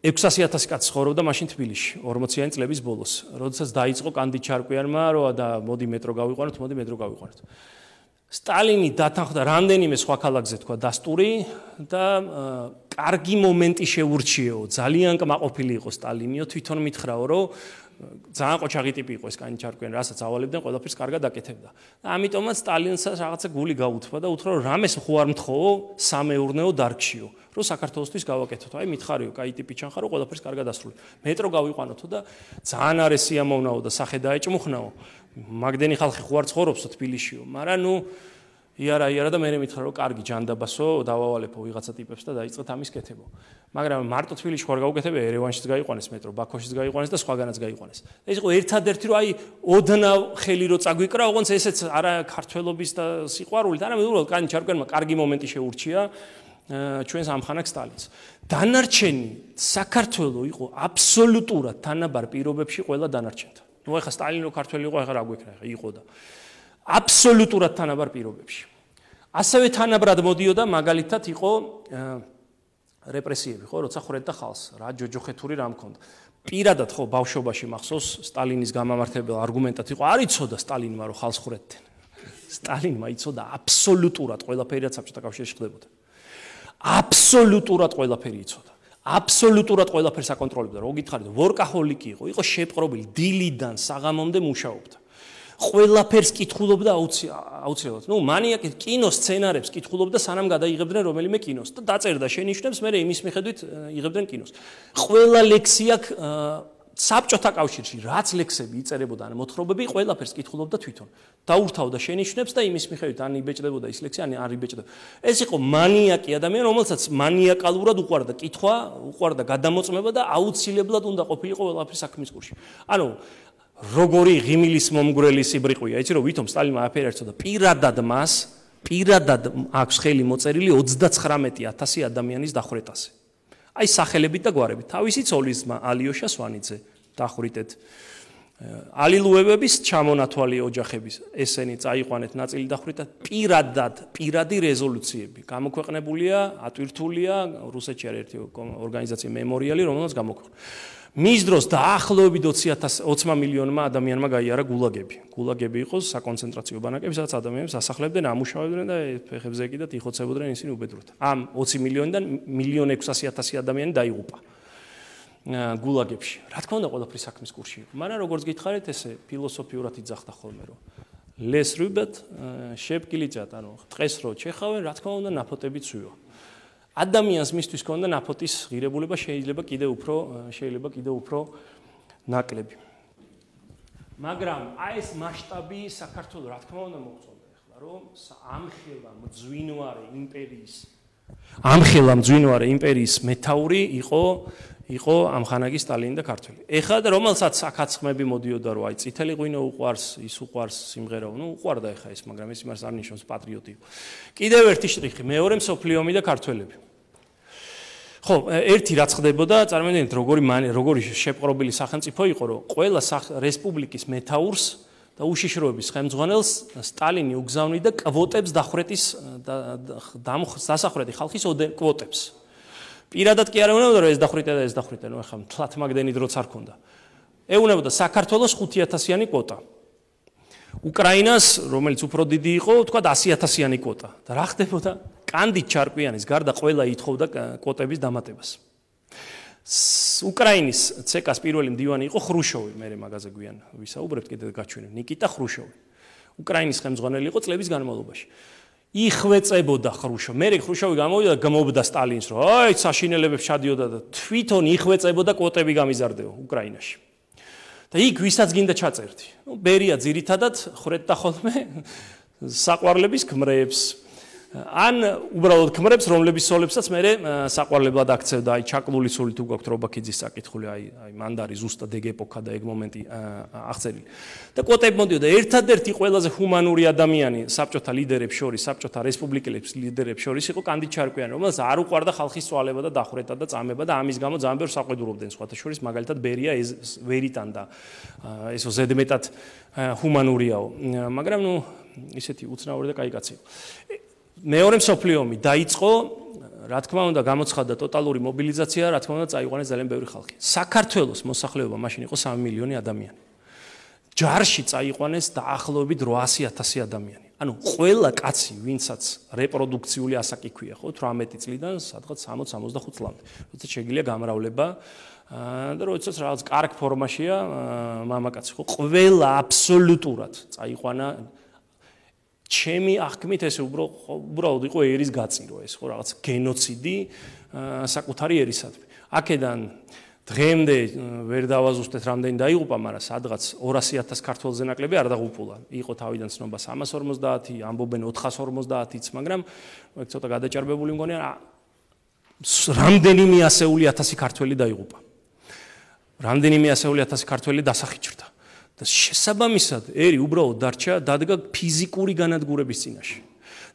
ექვსასი ათასი კაცი ცხოვრობდა მაშინ თბილისში, ორმოციანი წლების ბოლოს, როდესაც დაიწყო კანდიდ ჩარკვიანმა, რომ და მოდი მეტრო გავიყვანოთ, მოდი მეტრო გავიყვანოთ. სტალინი დათანხმდა რამდენიმე სხვა ქალაქზე თქვა დასტური და კარგი მომენტი შეურჩიეო, ძალიან კმაყოფილი იყო სტალინიო, თვითონ მითხრაო, რომ ძალიან ყოჩაღი ტიპი იყო ეს კანდიდ ჩარკვიანი, რასაც ავალებდნენ, ყველაფერს კარგად აკეთებდა. და ამიტომაც სტალინსაც რაღაცა გული გაუთქვა და უთხრა, რომ რამეს ხო არ მთხოვო სამეურნეო დარგშიო, რომ საქართველოსთვის გავაკეთოთ. აი მითხარიო, კაი ტიპი ჩანხარო, ყველაფერს კარგად ასრულებ. მეტრო გავიყვანოთო და ძალიან არის სიამოვნაო და სახე დაეჭმუხნაო. მაგდენი ხალხი ხო არ ცხოვრობსო თბილისშიო, მაგრამ ნუ იარა იარა და მე მითხარ რომ კარგი ჯანდაბასო, დავავალებო ვიღაცა ტიპებს და დაიწყეთ ამის კეთებო. მაგრამ მარტო თბილისში ხარ გავუკეთებია, ერევანშიც გაიყვანეს მეტრო, ბაქოშიც გაიყვანეს და სხვაგანაც გაიყვანეს. ეს იყო ერთადერთი რომ აი ოდნავ ხელი რო წაგვიკრა, ოღონდ ესეც არა ქართველობის და სიყვარულით, არამედ უბრალოდ კანი ჩარკვენმა კარგი მომენტი შეურჩია ჩვენს ამხანაგ სტალინს. დანარჩენი საქართველო იყო აბსოლუტურად თანაბარ პირობებში ყველა დანარჩენთან. ნუ ახლა სტალინო ქართველი იყო, ახლა რა გვექნა, ახლა იყო და აბსოლუტურად თანაბარ პირობებში. ასევე თანაბრად მოდიოდა მაგალითად იყო რეპრესიები, ხო, როცა ხრედდა ხალხს, რა ჯოჯოხეთური რა მქონდა. პირადად ხო ბავშვობაში მახსოვს სტალინის გამამართებელ არგუმენტად იყო, არ იცოდა სტალინმა რომ ხალხს ხრედდნენ. სტალინმა იცოდა აბსოლუტურად ყველაფერი რაც საბჭოთა კავშირში ხდებოდა. აბსოლუტურად ყველაფერი იცოდა. აბსოლუტურად ყველაფერს აკონტროლებდა. რო გითხარით, ვორკაჰოლიკი იყო, იყო შეპყრობილი, დილიდან საღამომდე მუშაობდა. ყველაფერს კითხულობდა აუცილებლად. ნუ მანიაკი კინოს სცენარებს კითხულობდა სანამ გადაიღებდნენ რომელიმე კინოს და დაწერდა შენიშვნებს, მე იმის მიხედვით იღებდნენ კინოს. ყველა ლექსია საბჭოთა კავშირში, რაც ლექსები იწერებოდა ან მოთხრობები, ყველაფერს კითხულობდა თვითონ. დაურთავდა შენიშვნებს და იმის მიხედვით ან იბეჭდებოდა ის ლექსი, ან არ იბეჭდებოდა. ეს იყო მანიაკი ადამიანი, რომელსაც მანიაკალურად უყვარდა კითხვა, უყვარდა გადამოწმება და აუცილებლად უნდა ყოფილიყო ყველაფერი საქმის კურსში. ანუ როგორი ღიმილის მომგვრელი სიბრიყვია, იცი რომ ვითომ სტალინმა აფერი არწოდა პირადად მას, პირადად აქვს ხელი მოწერილი ოცდაცხრამეტი ათასი ადამიანის დახვრეტაზე. აი სახელებით და გვარებით. თავისი ცოლის ძმა ალიოშა სვანიძე დახვრიტეთ. ალილუებების ჩამონათვალი ოჯახების ესენი წაიყვანეთ ნაწილი დახვრიტა პირადად, პირადი რეზოლუციები. გამოქვეყნებულია, ატვირთულია რუსეთში არის ერთი ორგანიზაცია მემორიალი, რომელსაც გამოქვეყნდა. მის დროს დაახლოებით ოცი მილიონმა ადამიანმა გაიარა გულაგები. გულაგები იყო საკონცენტრაციო ბანაკები, სადაც ადამიანებს ასახლებდნენ, ამუშავებდნენ და ფეხებზე ეკიდათ, იხოცებოდნენ ისინი უბედურად. ამ ოცი მილიონიდან მილიონ ექვსასი ათასი ადამიანი დაიღუპა გულაგებში. რა თქმა უნდა, ყველაფერი საქმის კურსში იყო. მაგრამ როგორც გითხარით, ესე ფილოსოფიურად იძახდა ხოლმე, რომ ლეს რუბეთ, შეპკილიჭათ, ანუ დღეს რო ჩეხავენ, რა თქმა უნდა, ნაფოტები ცვივა. ადამიანს მისთვის ქონდა ნაფოტის ღირებულება შეიძლება კიდევ უფრო შეიძლება კიდევ უფრო ნაკლები. მაგრამ აი ეს მასშტაბი საქართველოს რა თქმა უნდა მოხდა ახლა რომ ამხელა მძვინვარე იმპერიის ამხელა მძვინვარე იმპერიის მეთაური იყო იყო ამხანაგი სტალინი და ქართველი. ეხლა და რომელსაც საკაცხმები მოდიოდა რომ აი წითელი ღვინო უყვარს, ის უყვარს სიმღერა, ნუ უყვარდა ეხლა ეს, მაგრამ ეს იმას არ ნიშნავს პატრიოტი. კიდევ ერთი შტრიხი, მეორე მსოფლიო ომი და ქართველები. ხო, ერთი რაც ხდებოდა, წარმოიდგინეთ, როგორი როგორი შეპყრობილი სახელმწიფო იყო, რომ ყველა რესპუბლიკის მეთაურს და უშიშროების ხელმძღვანელს სტალინი უგზავნიდა კვოტებს დახვრეტის დასახვრეტი ხალხის კვოტებს. პირადად კი არ ეუბნებოდა რომ ეს დახვრიტე და ეს დახვრიტე, ნუ ახლა თლათ მაგდენი დროც არ ქონდა. ეუბნებოდა საქართველოს ხუთი ათასიანი კვოტა. უკრაინას, რომელიც უფრო დიდი იყო, თქვა ასი ათასიანი კვოტა. და რა ხდებოდა? კანდით ჩარკვიანის გარდა ყველა ითხოვდა კვოტების დამატებას. უკრაინის ცეკას პირველი მდივანი იყო ხრუშოვი, მე მაგაზე გვიან ვისაუბრებთ, კიდევ გაჩვენებ, ნიკიტა ხრუშოვი. უკრაინის ხელმძღვანელი იყო წლების განმავლობაში. იხვეწებოდა ხრუშოვი. მე ხრუშოვი გამოვიდა და გამობდა სტალინს, რომ აი საშინელებებს ჩადიოდა და თვითონ იხვეწებოდა კვოტები გამიზარდეო უკრაინაში. და იქ ვისაც გინდა ჩაწერდი. ნუ ბერია ძირითადად ხრედდა ხოლმე საყვარლების ქმრებს. ან უბრალოდ ქმრებს, რომლების სოლებსაც მე საყვარლებლად აქცევდა, აი ჩაკლული სული თუ გაქვთ რობაქიძის საკითხული, აი აი მანდარი ზუსტად ეგ ეპოქა და ეგ მომენტი აღწერილი. და კვოტები მოდიოდა ერთადერთი ყველაზე ჰუმანური ადამიანი საბჭოთა ლიდერებს შორის, საბჭოთა რესპუბლიკელების ლიდერებს შორის იყო კანდით ჩარკვიანი, რომელსაც არ უყვარდა ხალხის წვალება და დახვრეტა და წამება და ამის გამო ძალიან ბევრს აყვედურობდნენ სხვათა შორის, მაგალითად ბერია ვერიტან და ესო ზედმეტად ჰუმანურიაო. მაგრამ ნუ ისეთი უცნაური და კაი კაცი. მეორე მსოფლიო ომი დაიწყო, რა თქმა უნდა, გამოცხადდა ტოტალური მობილიზაცია, რა თქმა უნდა, წაიყვანეს ძალიან ბევრი ხალხი. საქართველოს მოსახლეობა მაშინ იყო სამი მილიონი ადამიანი. ჯარში წაიყვანეს დაახლოებით რვაასი ათასი ადამიანი. ანუ ყველა კაცი, ვინცაც რეპროდუქციული ასაკი ქვია, ხო, თვრამეტი წლიდან სადღაც სამოცი სამოცდახუთ წლამდე. როცა შეგიძლია გამრავლება და როდესაც რაღაც კარგ ფორმაშია მამაკაცი, ხო, ყველა აბსოლუტურად წაიყვანა ჩემი აღქმით ეს უბრალოდ იყო ერის გაწირო, ეს ხო რაღაც გენოციდი საკუთარი ერისადმი. აქედან დღემდე ვერ დავაზუსტეთ რამდენი დაიღუპა, მაგრამ სადღაც ორასი ათასი ქართველზე ნაკლები არ დაღუპულა. იყო თავიდან ცნობა სამას ორმოცდაათი, ამბობენ ოთხას ორმოცდაათიც, მაგრამ ეგ ცოტა გადაჭარბებული მგონია, რამდენიმე ასეული ათასი ქართველი დაიღუპა. რამდენიმე ასეული ათასი ქართველი დასახიჭრდა. და შესაბამისად ერი უბრალოდ დარჩა დადგა ფიზიკური განადგურების წინაშე.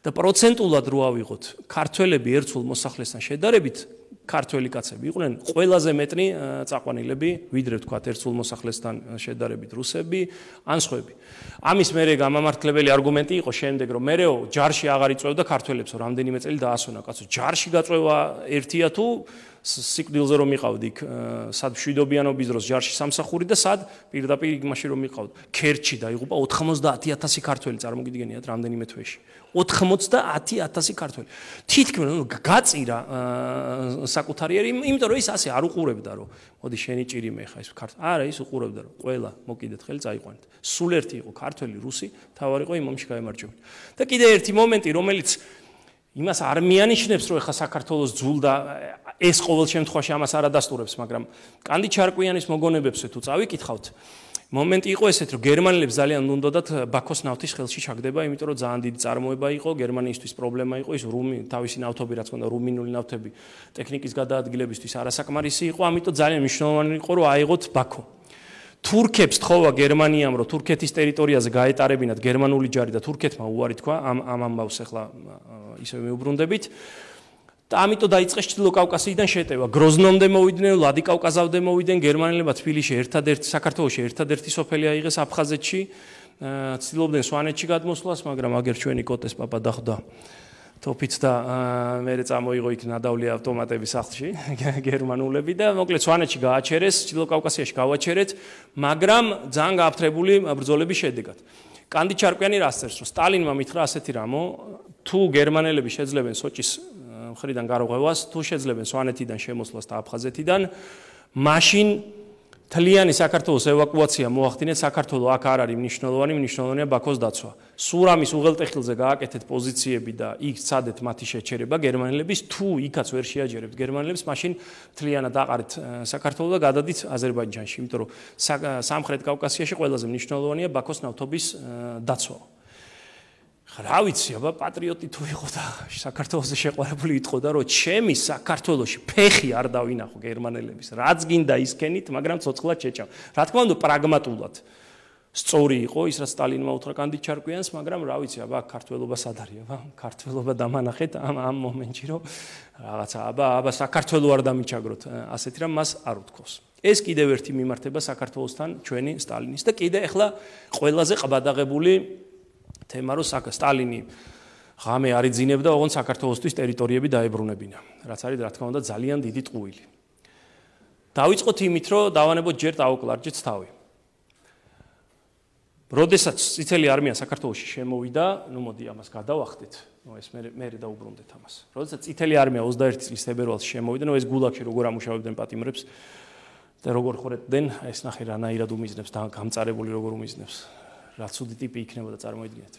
და პროცენტულად რო ავიღოთ, ქართველები ერთ სულ მოსახლესთან შედარებით ქართველი კაცები იყვნენ ყველაზე მეტნი წაყვანილები, ვიდრე ვთქვათ ერთ სულ მოსახლესთან შედარებით რუსები ან სხვები. ამის მერე გამამართლებელი არგუმენტი იყო შემდეგ, რომ მერეო ჯარში აღარ იწვევდა ქართველებსო, რამდენიმე წელი დაასვენა კაცო. ჯარში გაწვევა ერთია თუ სიკვდილზე რომ მიყავდი სად მშვიდობიანობის დროს ჯარში სამსახური და სად პირდაპირ იმაში რომ მიყავდი. ქერჩი დაიღუპა ოთხმოცდაათი ათასი ქართველი, წარმოგიდგენიათ რამდენიმე თვეში. ოთხმოცდაათი ათასი ქართველი. თითქმის გაწირა საკუთარი ერი, იმიტომ რომ ის ასე არ უყურებდა, რომ მოდი შენი ჭირიმე ხა ის ქართველი. არა, ის უყურებდა, რომ ყველა მოკიდეთ ხელი წაიყვანეთ. სულ ერთი იყო ქართველი, რუსი, თავარი იყო იმ ომში გაემარჯვებინა. და კიდე ერთი მომენტი, რომელიც იმას არ მიანიშნებს, რომ ეხა საქართველოს ძულდა ეს ყოველ შემთხვევაში ამას არ ადასტურებს, მაგრამ კანდი ჩარკვიანის მოგონებებზე თუ წავიკითხავთ, მომენტი იყო ესეთ, რომ გერმანელებს ძალიან უნდათ ბაქოს ნავთის ხელში ჩაგდება, იმიტომ რომ ძალიან დიდი წარმოება იყო, გერმანიისთვის პრობლემა იყო ის რუმი თავისი ნავთობი, რაც ჰქონდა რუმინული ნავთები ტექნიკის გადაადგილებისთვის არასაკმარისი იყო, ამიტომ ძალიან მნიშვნელოვანი იყო, რომ აიღოთ ბაქო. თურქებს თხოვა გერმანიამ, რომ თურქეთის ტერიტორიაზე გაეტარებინათ გერმანული ჯარი და თურქეთმა უარი თქვა ამ ამ ამბავს ახლა ისე მეუბრუნდებით. და ამიტომ დაიწყეს ჩრდილო კავკასიიდან შეტევა. გროზნომდე მოვიდნენ, ვლადიკავკაზამდე მოვიდნენ, გერმანელებმა თბილისში ერთადერთი საქართველოში ერთადერთი სოფელი აიღეს აფხაზეთში, ცდილობდნენ სვანეთში გადმოსვლას, მაგრამ აგერ ჩვენი კოტეს პაპა დახვდა თოფით და მერე წამოიღო იქ ნადავლი ავტომატები სახლში გერმანულები და მოკლედ სვანეთში გააჩერეს, ჩრდილო კავკასიაში გავაჩერეთ, მაგრამ ძალიან გააფთრებული ბრძოლების შედეგად. კანდი ჩარკვიანი რას წერს, რომ სტალინმა მითხრა ასეთი რამო, თუ გერმანელები შეძლებენ სოჭის მხრიდან გარღვევას, თუ შეძლებენ სვანეთიდან შემოსვლას და აფხაზეთიდან, მაშინ თლიანი საქართველოს ევაკუაცია მოახდინეთ, საქართველოს აქ არ არის მნიშვნელოვანი, მნიშვნელოვანია ბაქოს დაცვა. სურამის უღელტეხილზე გააკეთეთ პოზიციები და იქ სცადეთ მათი შეჩერება გერმანელების, თუ იქაც ვერ შეაჯერებთ გერმანელებს, მაშინ თლიანად აყარეთ საქართველოს და გადადით აზერბაიჯანში, იმიტომ რომ სამხრეთ კავკასიაში ყველაზე მნიშვნელოვანია ბაქოს ნავთობის დაცვა. რა ვიცი, აბა პატრიოტი თუ იყო და საქართველოსზე შეყვარებული იტყოდა, რომ ჩემი საქართველოში ფეხი არ დავინახო გერმანელების, რაც გინდა ისქენით, მაგრამ ცოცხლად შეჭამ. რა თქმა უნდა, პრაგმატულად სწორი იყო ის, რაც სტალინმა უთხრა კანდი ჩარკვიანს, მაგრამ რა ვიცი, აბა ქართველობა სად არის, აბა ქართველობა დამანახეთ ამ ამ მომენტში, რომ რაღაცა აბა აბა საქართველო არ დამიჩაგროთ, ასეთი რამ მას არ უთქოს. ეს კიდევ ერთი მიმართება საქართველოსთან ჩვენი სტალინის და კიდე ახლა ყველაზე ყბადაღებული თემა რო სტალინი ღამე არ იძინებდა, ოღონდ საქართველოსთვის ტერიტორიები დაებრუნებინა, რაც არის რა თქმა უნდა ძალიან დიდი ტყუილი. დავიწყოთ იმით, რომ დავანებოთ ჯერ დაუკლარჯეთ თავი. როდესაც წითელი არმია საქართველოში შემოვიდა, ნუ მოდი ამას გადავახდეთ, ნუ ეს მე მე დაუბრუნდეთ ამას. როდესაც წითელი არმია ოცდაერთი წლის თებერვალში შემოვიდა, ნუ ეს გულაგში როგორ ამუშავებდნენ პატიმრებს და როგორ ხორეთდნენ, ეს ნახე რანაირად უმიზნებს და გამწარებული როგორ უმიზნებს. რა ცუდი ტიპი იქნებოდა წარმოიდგინეთ.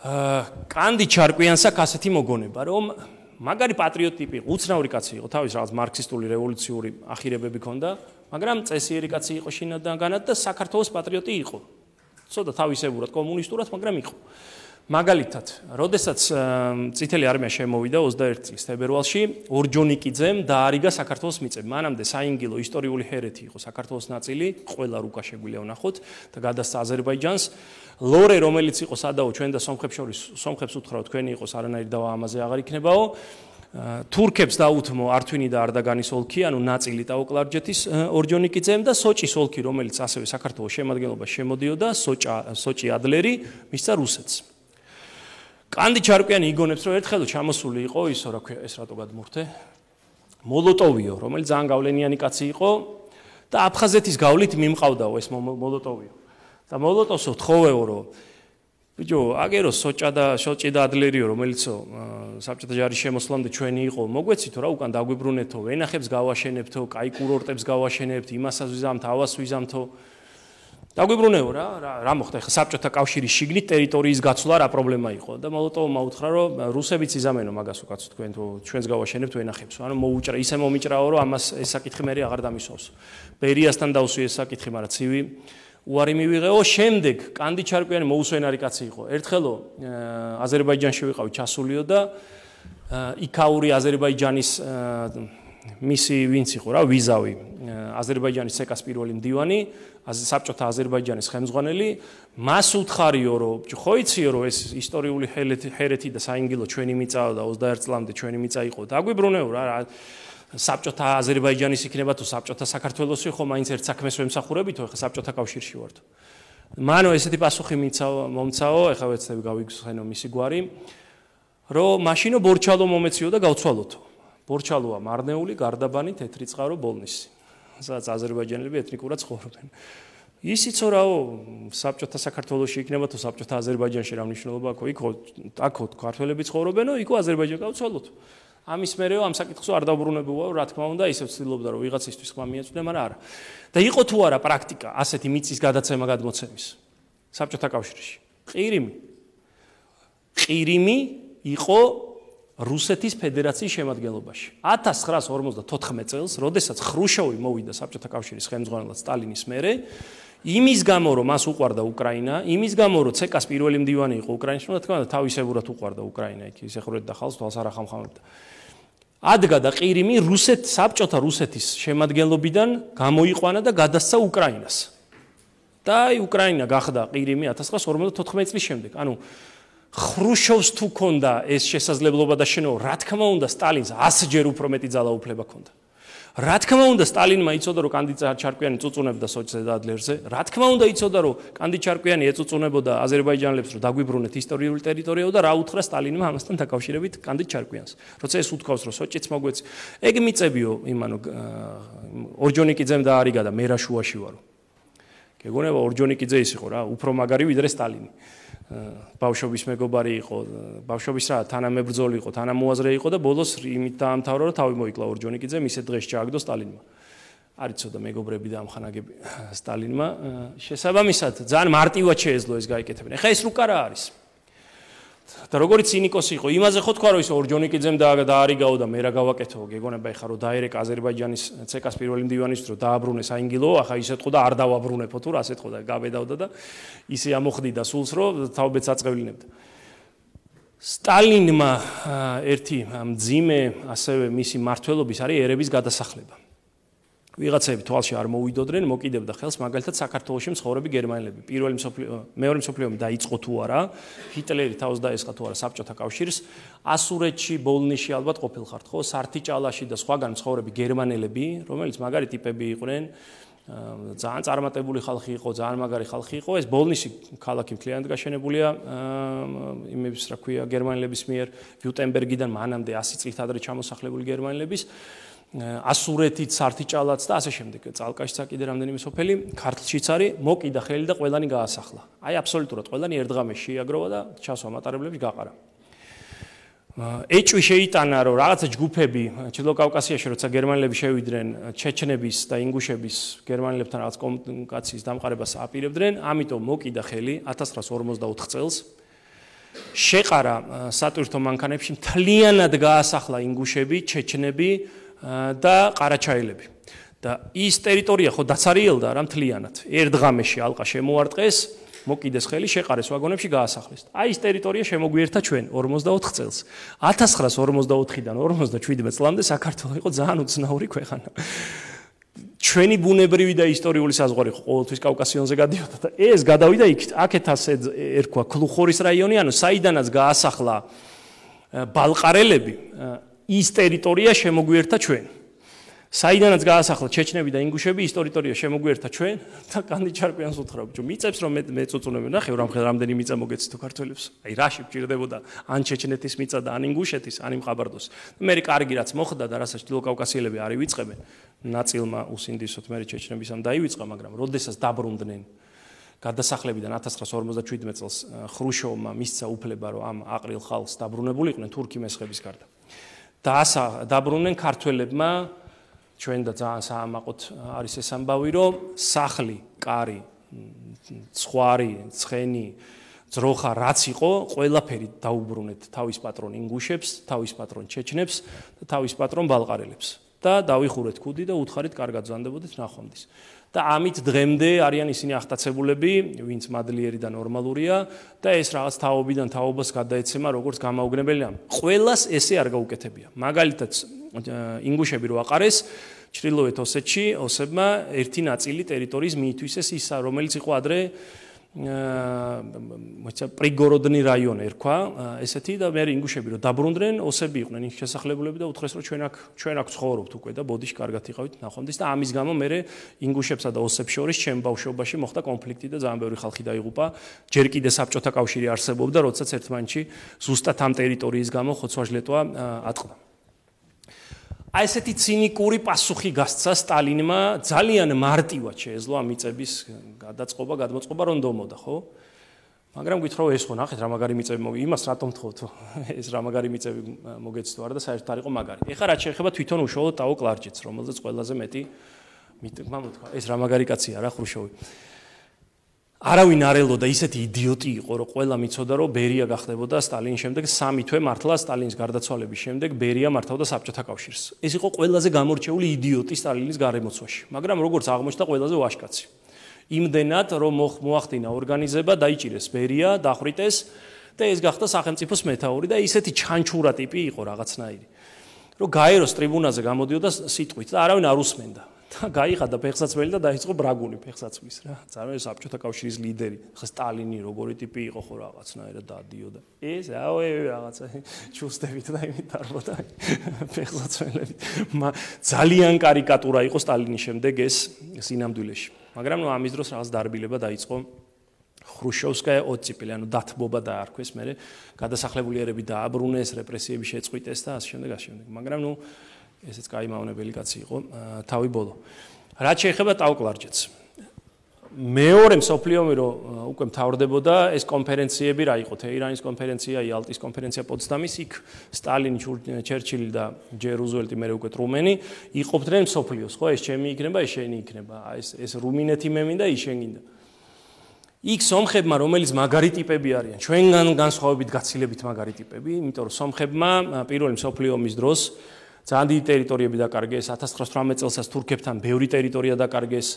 აა კანდი ჩარკვიანსა ასეთი მოგონება, რომ მაგარი პატრიოტი ტიპი, უცნაური კაცი იყო, თავის რაღაც მარქსისტული რევოლუციური ახირებები ჰქონდა, მაგრამ წესიერი კაცი იყო შინაგანად და საქართველოს პატრიოტი იყო. ცოტა თავისებურად კომუნისტურად, მაგრამ იყო. მაგალითად, როდესაც წითელი არმია შემოვიდა ოცდაერთი წლის თებერვალში, ორჯონიკიძემ დაარიგა საქართველოს მიწები. მანამდე საინგილო ისტორიული ჰერეთი იყო საქართველოს ნაწილი, ყველა რუკა შეგვიძლია ვნახოთ და გადასცა აზერბაიჯანს. ლორე, რომელიც იყო სადაო ჩვენ და სომხებს შორის, სომხებს უთხრა თქვენი იყოს არანაირი დავა ამაზე აღარ იქნებაო. თურქებს დაუთმო ართვინი და არდაგანის ოლქი, ანუ ნაწილი ტაოკლარჯეთის ორჯონიკიძემ და სოჭის ოლქი, რომელიც ასევე საქართველოს შემადგენლობაში შემოდიოდა, სოჭა სოჭი ადლერი, მისცა რუსეთს. კანდი ჩარკვიანი იგონებს, რომ ერთხელ ჩამოსული იყო ისო, რა ქვია, ეს რატო გადმურთე? მოლოტოვიო, რომელიც ძალიან გავლენიანი კაცი იყო და აფხაზეთის გავლით მიმყავდაო ეს მოლოტოვიო. და მოლოტოვსო თხოვეო, რომ ბიჭო, აგერო სოჭა და სოჭი და ადლერიო, რომელიცო საბჭოთა ჯარის შემოსვლამდე ჩვენი იყო, მოგვეცითო რა უკან დაგვიბრუნეთო, ვენახებს გავაშენებთო, კაი კურორტებს გავაშენებთ, იმასაც ვიზამთ, ავას ვიზამთო. დაგვიბრუნეო რა, რა მოხდა ახლა საბჭოთა კავშირის შიგნით ტერიტორიის გაცვლა რა პრობლემა იყო და მოლოტოვმა უთხრა რომ რუსებიც იზამენო მაგას უკაცო თქვენ თუ ჩვენს გავაშენებთ ვენახებს ანუ მოუჭრა ისე მომიჭრაო რომ ამას ეს საკითხი მე აღარ დამისვავს ბერიასთან დავსვი ეს საკითხი მაგრამ ცივი უარი მივიღეო შემდეგ კანდი ჩარკვიანი მოუსვენარი კაცი იყო ერთხელო აზერბაიჯანში ვიყავი ჩასულიო და იქაური აზერბაიჯანის მისი ვინც იყო რა ვიზავი აზერბაიჯანის ცეკას პირველი მდივანი საბჭოთა აზერბაიჯანის ხელმძღვანელი მას უთხარიო რომ ხო იციო რომ ეს ისტორიული ჰერეთი და საინგილო ჩვენი მიწაა და ოცდაერთი წლამდე ჩვენი მიწა იყო დაგვიბრუნეო რა საბჭოთა აზერბაიჯანის იქნება თუ საბჭოთა საქართველოსი ხო მაინც ერთ საქმეს ვემსახურებითო ეხა საბჭოთა კავშირში ვართ მანო ესეთი პასუხი მიცაო მომცაო ეხა ვეცდები გავიგზავნო მისი გვარი რომ მაშინო ბორჩალო მომეციო და გავცვალოთო ბორჩალოა მარნეული გარდაბანი თეთრი წყარო ბოლნისი სადაც აზერბაიჯანელები ეთნიკურად ცხოვრობენ ისიცო რაო საბჭოთა საქართველოსში იქნება თუ საბჭოთა აზერბაიჯანში რა მნიშვნელობა აქვს იქ აქ ქართველები ცხოვრობენო იქო აზერბაიჯანი გავცვალოთ ამის მერეო ამ საკითხს არ დაუბრუნებუაო რა თქმა უნდა ისევ ცდილობდა რომ ვიღაცისთვის ხმა მიეწვდე მაგრამ არა და იყო თუ არა პრაქტიკა ასეთი მიწის გადაცემა გადმოცემის საბჭოთა კავშირში ყირიმი ყირიმი იყო რუსეთის ფედერაციის შემადგენლობაში ათას ცხრაას ორმოცდათოთხმეტ წელს როდესაც ხრუშოვი მოვიდა საბჭოთა კავშირის ხელმძღვანელად სტალინის მერე იმის გამო რომ მას უყვარდა უკრაინა იმის გამო რომ ცეკას პირველი მდივანი იყო უკრაინაში რა თქმა უნდა თავისებურად უყვარდა უკრაინა იქ ისეხურეთ და ხალხს თვალს არ ახამხამებდა ადგა და ყირიმი რუსეთ საბჭოთა რუსეთის შემადგენლობიდან გამოიყვანა და გადასცა უკრაინას და აი უკრაინა გახდა ყირიმი ათას ცხრაას ორმოცდათოთხმეტ წლის შემდეგ ანუ ხრუშოვს თუ ქონდა ეს შესაძლებლობა და შენო რა თქმა უნდა სტალინს ასჯერ უფრო მეტი ძალაუფლება ქონდა რა თქმა უნდა სტალინმა იცოდა რომ კანდი ჩარკვიანი წუწუნებდა სოჭზე და ადლერზე რა თქმა უნდა იცოდა რომ კანდი ჩარკვიანი ეწუწუნებოდა აზერბაიჯანელებს რომ დაგვიბრუნეთ ისტორიული ტერიტორიაო და რა უთხრა სტალინმა ამასთან დაკავშირებით კანდი ჩარკვიანს როცა ეს უთქვავს რომ სოჭიც მოგვეც ეგ მიწებიო იმანო ორჯონიკიძემ დაარიგა და მე რა შუაში ვარო გეგონება ორჯონიკიძე ის იყო რა უფრო მაგარი ვიდრე სტალინი ბავშვობის მეგობარი იყო ბავშვობის რა თანამებრძოლი იყო თანამოაზრე იყო და ბოლოს იმით დაამთავრა რომ თავი მოიკლა ორჯონიკიძე მისე დღეს ჩააგდო სტალინმა არ იცოდა მეგობრები და ამხანაგები სტალინმა შესაბამისად ძალიან მარტივად შეეძლო ეს გაიკეთებინა ეხა ეს რუკა რა არის და როგორიც ცინიკოსი იყო იმაზე ხო თქვა რომ ის ორჯონიკიძემ დაარიგაო და მე რა გავაკეთო გეგონება ეხა რომ დაერეკა აზერბაიჯანის ცეკას პირველი მდივანის რომ დააბრუნე საინგილო ახა ისე თქო და არ დავაბრუნებო თუ რას ეთქო და გაბედავდა და ისე ამოხდიდა სულს რომ თავბეც აწევილნებდა სტალინმა ერთი მძიმე ასევე მისი მმართველობის არის ერების გადასახლება ვიღაცები თვალში არ მოვიდოდნენ მოკიდებდა ხელს მაგალითად საქართველოში მცხოვრები გერმანელები პირველი მსოფლიო მეორე მსოფლიო ომი დაიწყო თუ არა ჰიტლერი თავს დაესხა თუ არა საბჭოთა კავშირს ასურეთში ბოლნისში ალბათ ყოფილხართ ხო სართიჭალაში და სხვაგან მცხოვრები გერმანელები რომელიც მაგარი ტიპები იყვნენ ძალიან წარმატებული ხალხი იყო ძალიან მაგარი ხალხი იყო ეს ბოლნისი ქალაქი მთლიანად გაშენებულია იმების რა ქვია გერმანელების მიერ ვიუტენბერგიდან მანამდე ასი წლით ადრე ჩამოსახლებული გერმანელების ასურეთით სართიჭალაც და ასე შემდეგ წალკაშიც კიდე რამდენიმე სოფელი ქართლშიც არის მოკიდა ხელი და ყველანი გაასახლა აი აბსოლუტურად ყველანი ერთ დღამში შეაგროვა და ჩასვა მატარებლებში გაყარა ეჭვი შეიტანა რომ რაღაცა ჯგუფები ჩრდილო კავკასიაში როცა გერმანელები შევიდნენ ჩეჩნების და ინგუშების გერმანელებთან რაღაც კომუნიკაციის დამყარებას აპირებდნენ ამიტომ მოკიდა ხელი ათას ცხრაას ორმოცდაოთხ წელს შეყარა სატვირთო მანქანებში მთლიანად გაასახლა ინგუშები ჩეჩნები და ყარაჩაელები და ის ტერიტორია ხო დაცარიელდა რა მთლიანად ერთ დღამში ალყა შემოარტყეს მოკიდეს ხელი შეყარეს ვაგონებში გაასახლეს აი ის ტერიტორია შემოგვიერთა ჩვენ ორმოცდაოთხ წელს ათას ცხრაას ორმოცდაოთხიდან ორმოცდაშვიდმეტ წლამდე საქართველო იყო ძალიან უცნაური ქვეყანა ჩვენი ბუნებრივი და ისტორიული საზღვარი ხო ყოველთვის კავკასიონზე გადიოდა და ეს გადავიდა იქ აქეთ ასე ერქვა ქლუხორის რაიონი ანუ საიდანაც გაასახლა ბალყარელები ის ტერიტორია შემოგვიერთა ჩვენ საიდანაც გაასახლა ჩეჩნები და ინგუშები ის ტერიტორია შემოგვიერთა ჩვენ და კანდი ჩარკვიანს უთხრა ბიჭო მიწებს რომ მე წუწუნები ნახე რამდენი მიწა მოგეცი თუ ქართველებს აი რაში გჭირდებოდა ან ჩეჩნეთის მიწა და ან ინგუშეთის ან იმყაბარდოს მე კარგი რაც მოხდა და რასაც ჩრდილო კავკასიელები არ ივიწყებენ ნაწილმა უსინდისოთ მე ჩეჩნების ამ დაივიწყა მაგრამ როდესაც დაბრუნდნენ გადასახლებიდან ათას ცხრაას ორმოცდაშვიდმეტ წელს ხრუშოვმა მისცა უფლება რომ ამ აყრილ ხალხს დაბრუნებულიყვნენ თურქი მესხების გარდა და ასა დაბრუნდნენ ქართველებმა ჩვენ და ძალიან საამაყოთ არის ეს ამბავი რომ სახლი, კარი ცხვარი, ცხენი, ძროხა რაც იყო, ყველაფერი დაუბრუნეთ თავის პატრონ ინგუშებს, თავის პატრონ ჩეჩნებს და თავის პატრონ ბალყარელებს. და დავიხურეთ ქუდი და უთხარით კარგად ზანდებოდეთ ნახვამდის. და ამით დღემდე არიან ისინი ახტაცებულები, ვინც მადლიერი და ნორმალურია და ეს რაღაც თაობიდან თაობას გადაეცემა როგორც გამაუგნებელია. ყველას ესე არ გაუკეთებია. მაგალითად, ინგუშები რო აყარეს ჩრდილოეთ ოსეთში, ოსებმა ერთი ნაწილი ტერიტორიის მიითვისეს ის, რომელიც იყო ადრე მოიცა პრიგოროდნი რაიონი ერქვა, ესეთი და მე ინგუშები რო დაბრუნდნენ, ოსები იყვნენ ის შესახლებულები და უთხრეს რომ ჩვენ აქ ჩვენ აქ ცხოვრობთ უკვე და ბოდიში კარგად იყავით ნახვამდის და ამის გამო მე ინგუშებსა და ოსებს შორის ჩემ ბავშვობაში მოხდა კონფლიქტი და ძალიან ბევრი ხალხი დაიღუპა. ჯერ კიდე საბჭოთა კავშირი არსებობდა, როდესაც ერთმანეთში ზუსტად ამ ტერიტორიის გამო ხოცვა-ჟლეტვა ატყდა. აი ესეთი ცინიკური პასუხი გასცა სტალინმა ძალიან მარტივად შეეძლო ამ მიწების გადაწყობა, გადმოწყობა რომ დომოდა, ხო? მაგრამ გითხრა ეს ხო ნახეთ რა მაგარი მიწები მოგ იმას რატომ თხოვთ ეს რა მაგარი მიწები მოგეცდო არა და საერთოდ არ იყო მაგარი. ეხლა რაც შეეხება თვითონ უშუალოდ ტაო კლარჯეთს, რომელზეც ყველაზე მეტი მიტყვა მოთქვა. ეს რა მაგარი კაცია რა ხრუშოვი. არავინ არ ელოდა ისეთი იდიოტი იყო, რომ ყველა მიცოდა, რომ ბერია გახდებოდა სტალინის შემდეგ სამი თვე მართლა სტალინის გარდაცვალების შემდეგ ბერია მართავდა საბჭოთა კავშირს. ეს იყო ყველაზე გამორჩეული იდიოტი სტალინის გარემოცვაში, მაგრამ როგორც აღმოჩნდა ყველაზე ვაჟკაცი. იმდენად რომ მოახდინა ორგანიზება, დაიჭირეს ბერია, დახვრიტეს და ეს გახდა სახელმწიფოს მეთაური და ისეთი ჩანჩურა ტიპი იყო რაღაცნაირი. რომ გაეროს ტრიბუნაზე გამოდიოდა სიტყვით და არავინ არ უსმენდა. და გაიხადა ფეხსაცმელი და დაიწყო ბრაგული ფეხსაცმლის რა. ძალიან საბჭოთა კავშირის ლიდერი. ხა სტალინი როგორი ტიპი იყო ხო რაღაცნაირად დადიოდა. ეს აუე რაღაცა ჩუსტებით და იმით დარბოდა ფეხსაცმელებით. ძალიან კარიკატურა იყო სტალინის შემდეგ ეს სინამდვილეში. მაგრამ ნუ ამის დროს რაღაც დარბილება დაიწყო. ხრუშოვსკაია ოციპელი, ანუ დათბობა დაარქვეს, მე გადასახლებულიერები დააბრუნეს, რეპრესიები შეწყვიტეს და ასე შემდეგ, ასე შემდეგ. მაგრამ ნუ ესეც კაი მავნებელი კაცი იყო თავი ბოლო. რაც შეეხება ტაო კლარჯეთს. მეორე მსოფლიო ომი რო უკვე მთავრდებოდა, ეს კონფერენციები რა იყო? თეირანის კონფერენცია, იალტის კონფერენცია პოტსდამის, იქ სტალინი, ჩერჩილი და ჯერ რუზველტი, მე უკვე ტრუმენი იყოფდნენ მსოფლიოს, ხო? ეს ჩემი იქნება, ეს შენი იქნება. ეს ეს რუმინეთი მე მინდა, ის შენ გინდა. იქ სომხებმა, რომელიც მაგარი ტიპები არიან, ჩვენგან განსხვავებით გაცილებით მაგარი ტიპები, იმიტომ რომ სომხებმა პირველი მსოფლიო ომის დროს ძალიან დიდი ტერიტორიები დაკარგეს, ათას ცხრაას ოცდაოთხ წელსაც თურქებთან ბევრი ტერიტორია დაკარგეს,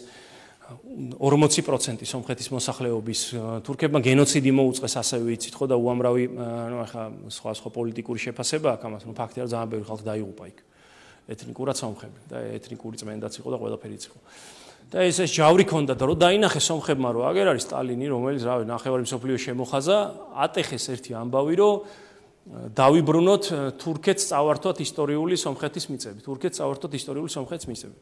ორმოცი პროცენტი სომხეთის მოსახლეობის, თურქებმა გენოციდი მოუწყეს, ასევე იცით ხო და უამრავი, ну ახლა სხვა სხვა პოლიტიკური შეფასება აქვს ამას, ну ფაქტია რომ ძალიან ბევრი ხალხი დაიღუპა იქ. ეთნიკურად სომხები და ეთნიკური წმენდაც იყო და ყველაფერიც იყო. და ეს ეს ჯავრი ქონდა და რომ დაინახეს სომხებმა რომ აგერ არის სტალინი, რომელიც რავი, ნახევარი მსოფლიო შემოხაზა, ატეხეს ერთი ამბავი, რომ დავიბრუნოთ თურქეთს წავართვათ ისტორიული სომხეთის მიწები. თურქეთს წავართვათ ისტორიული სომხეთის მიწები.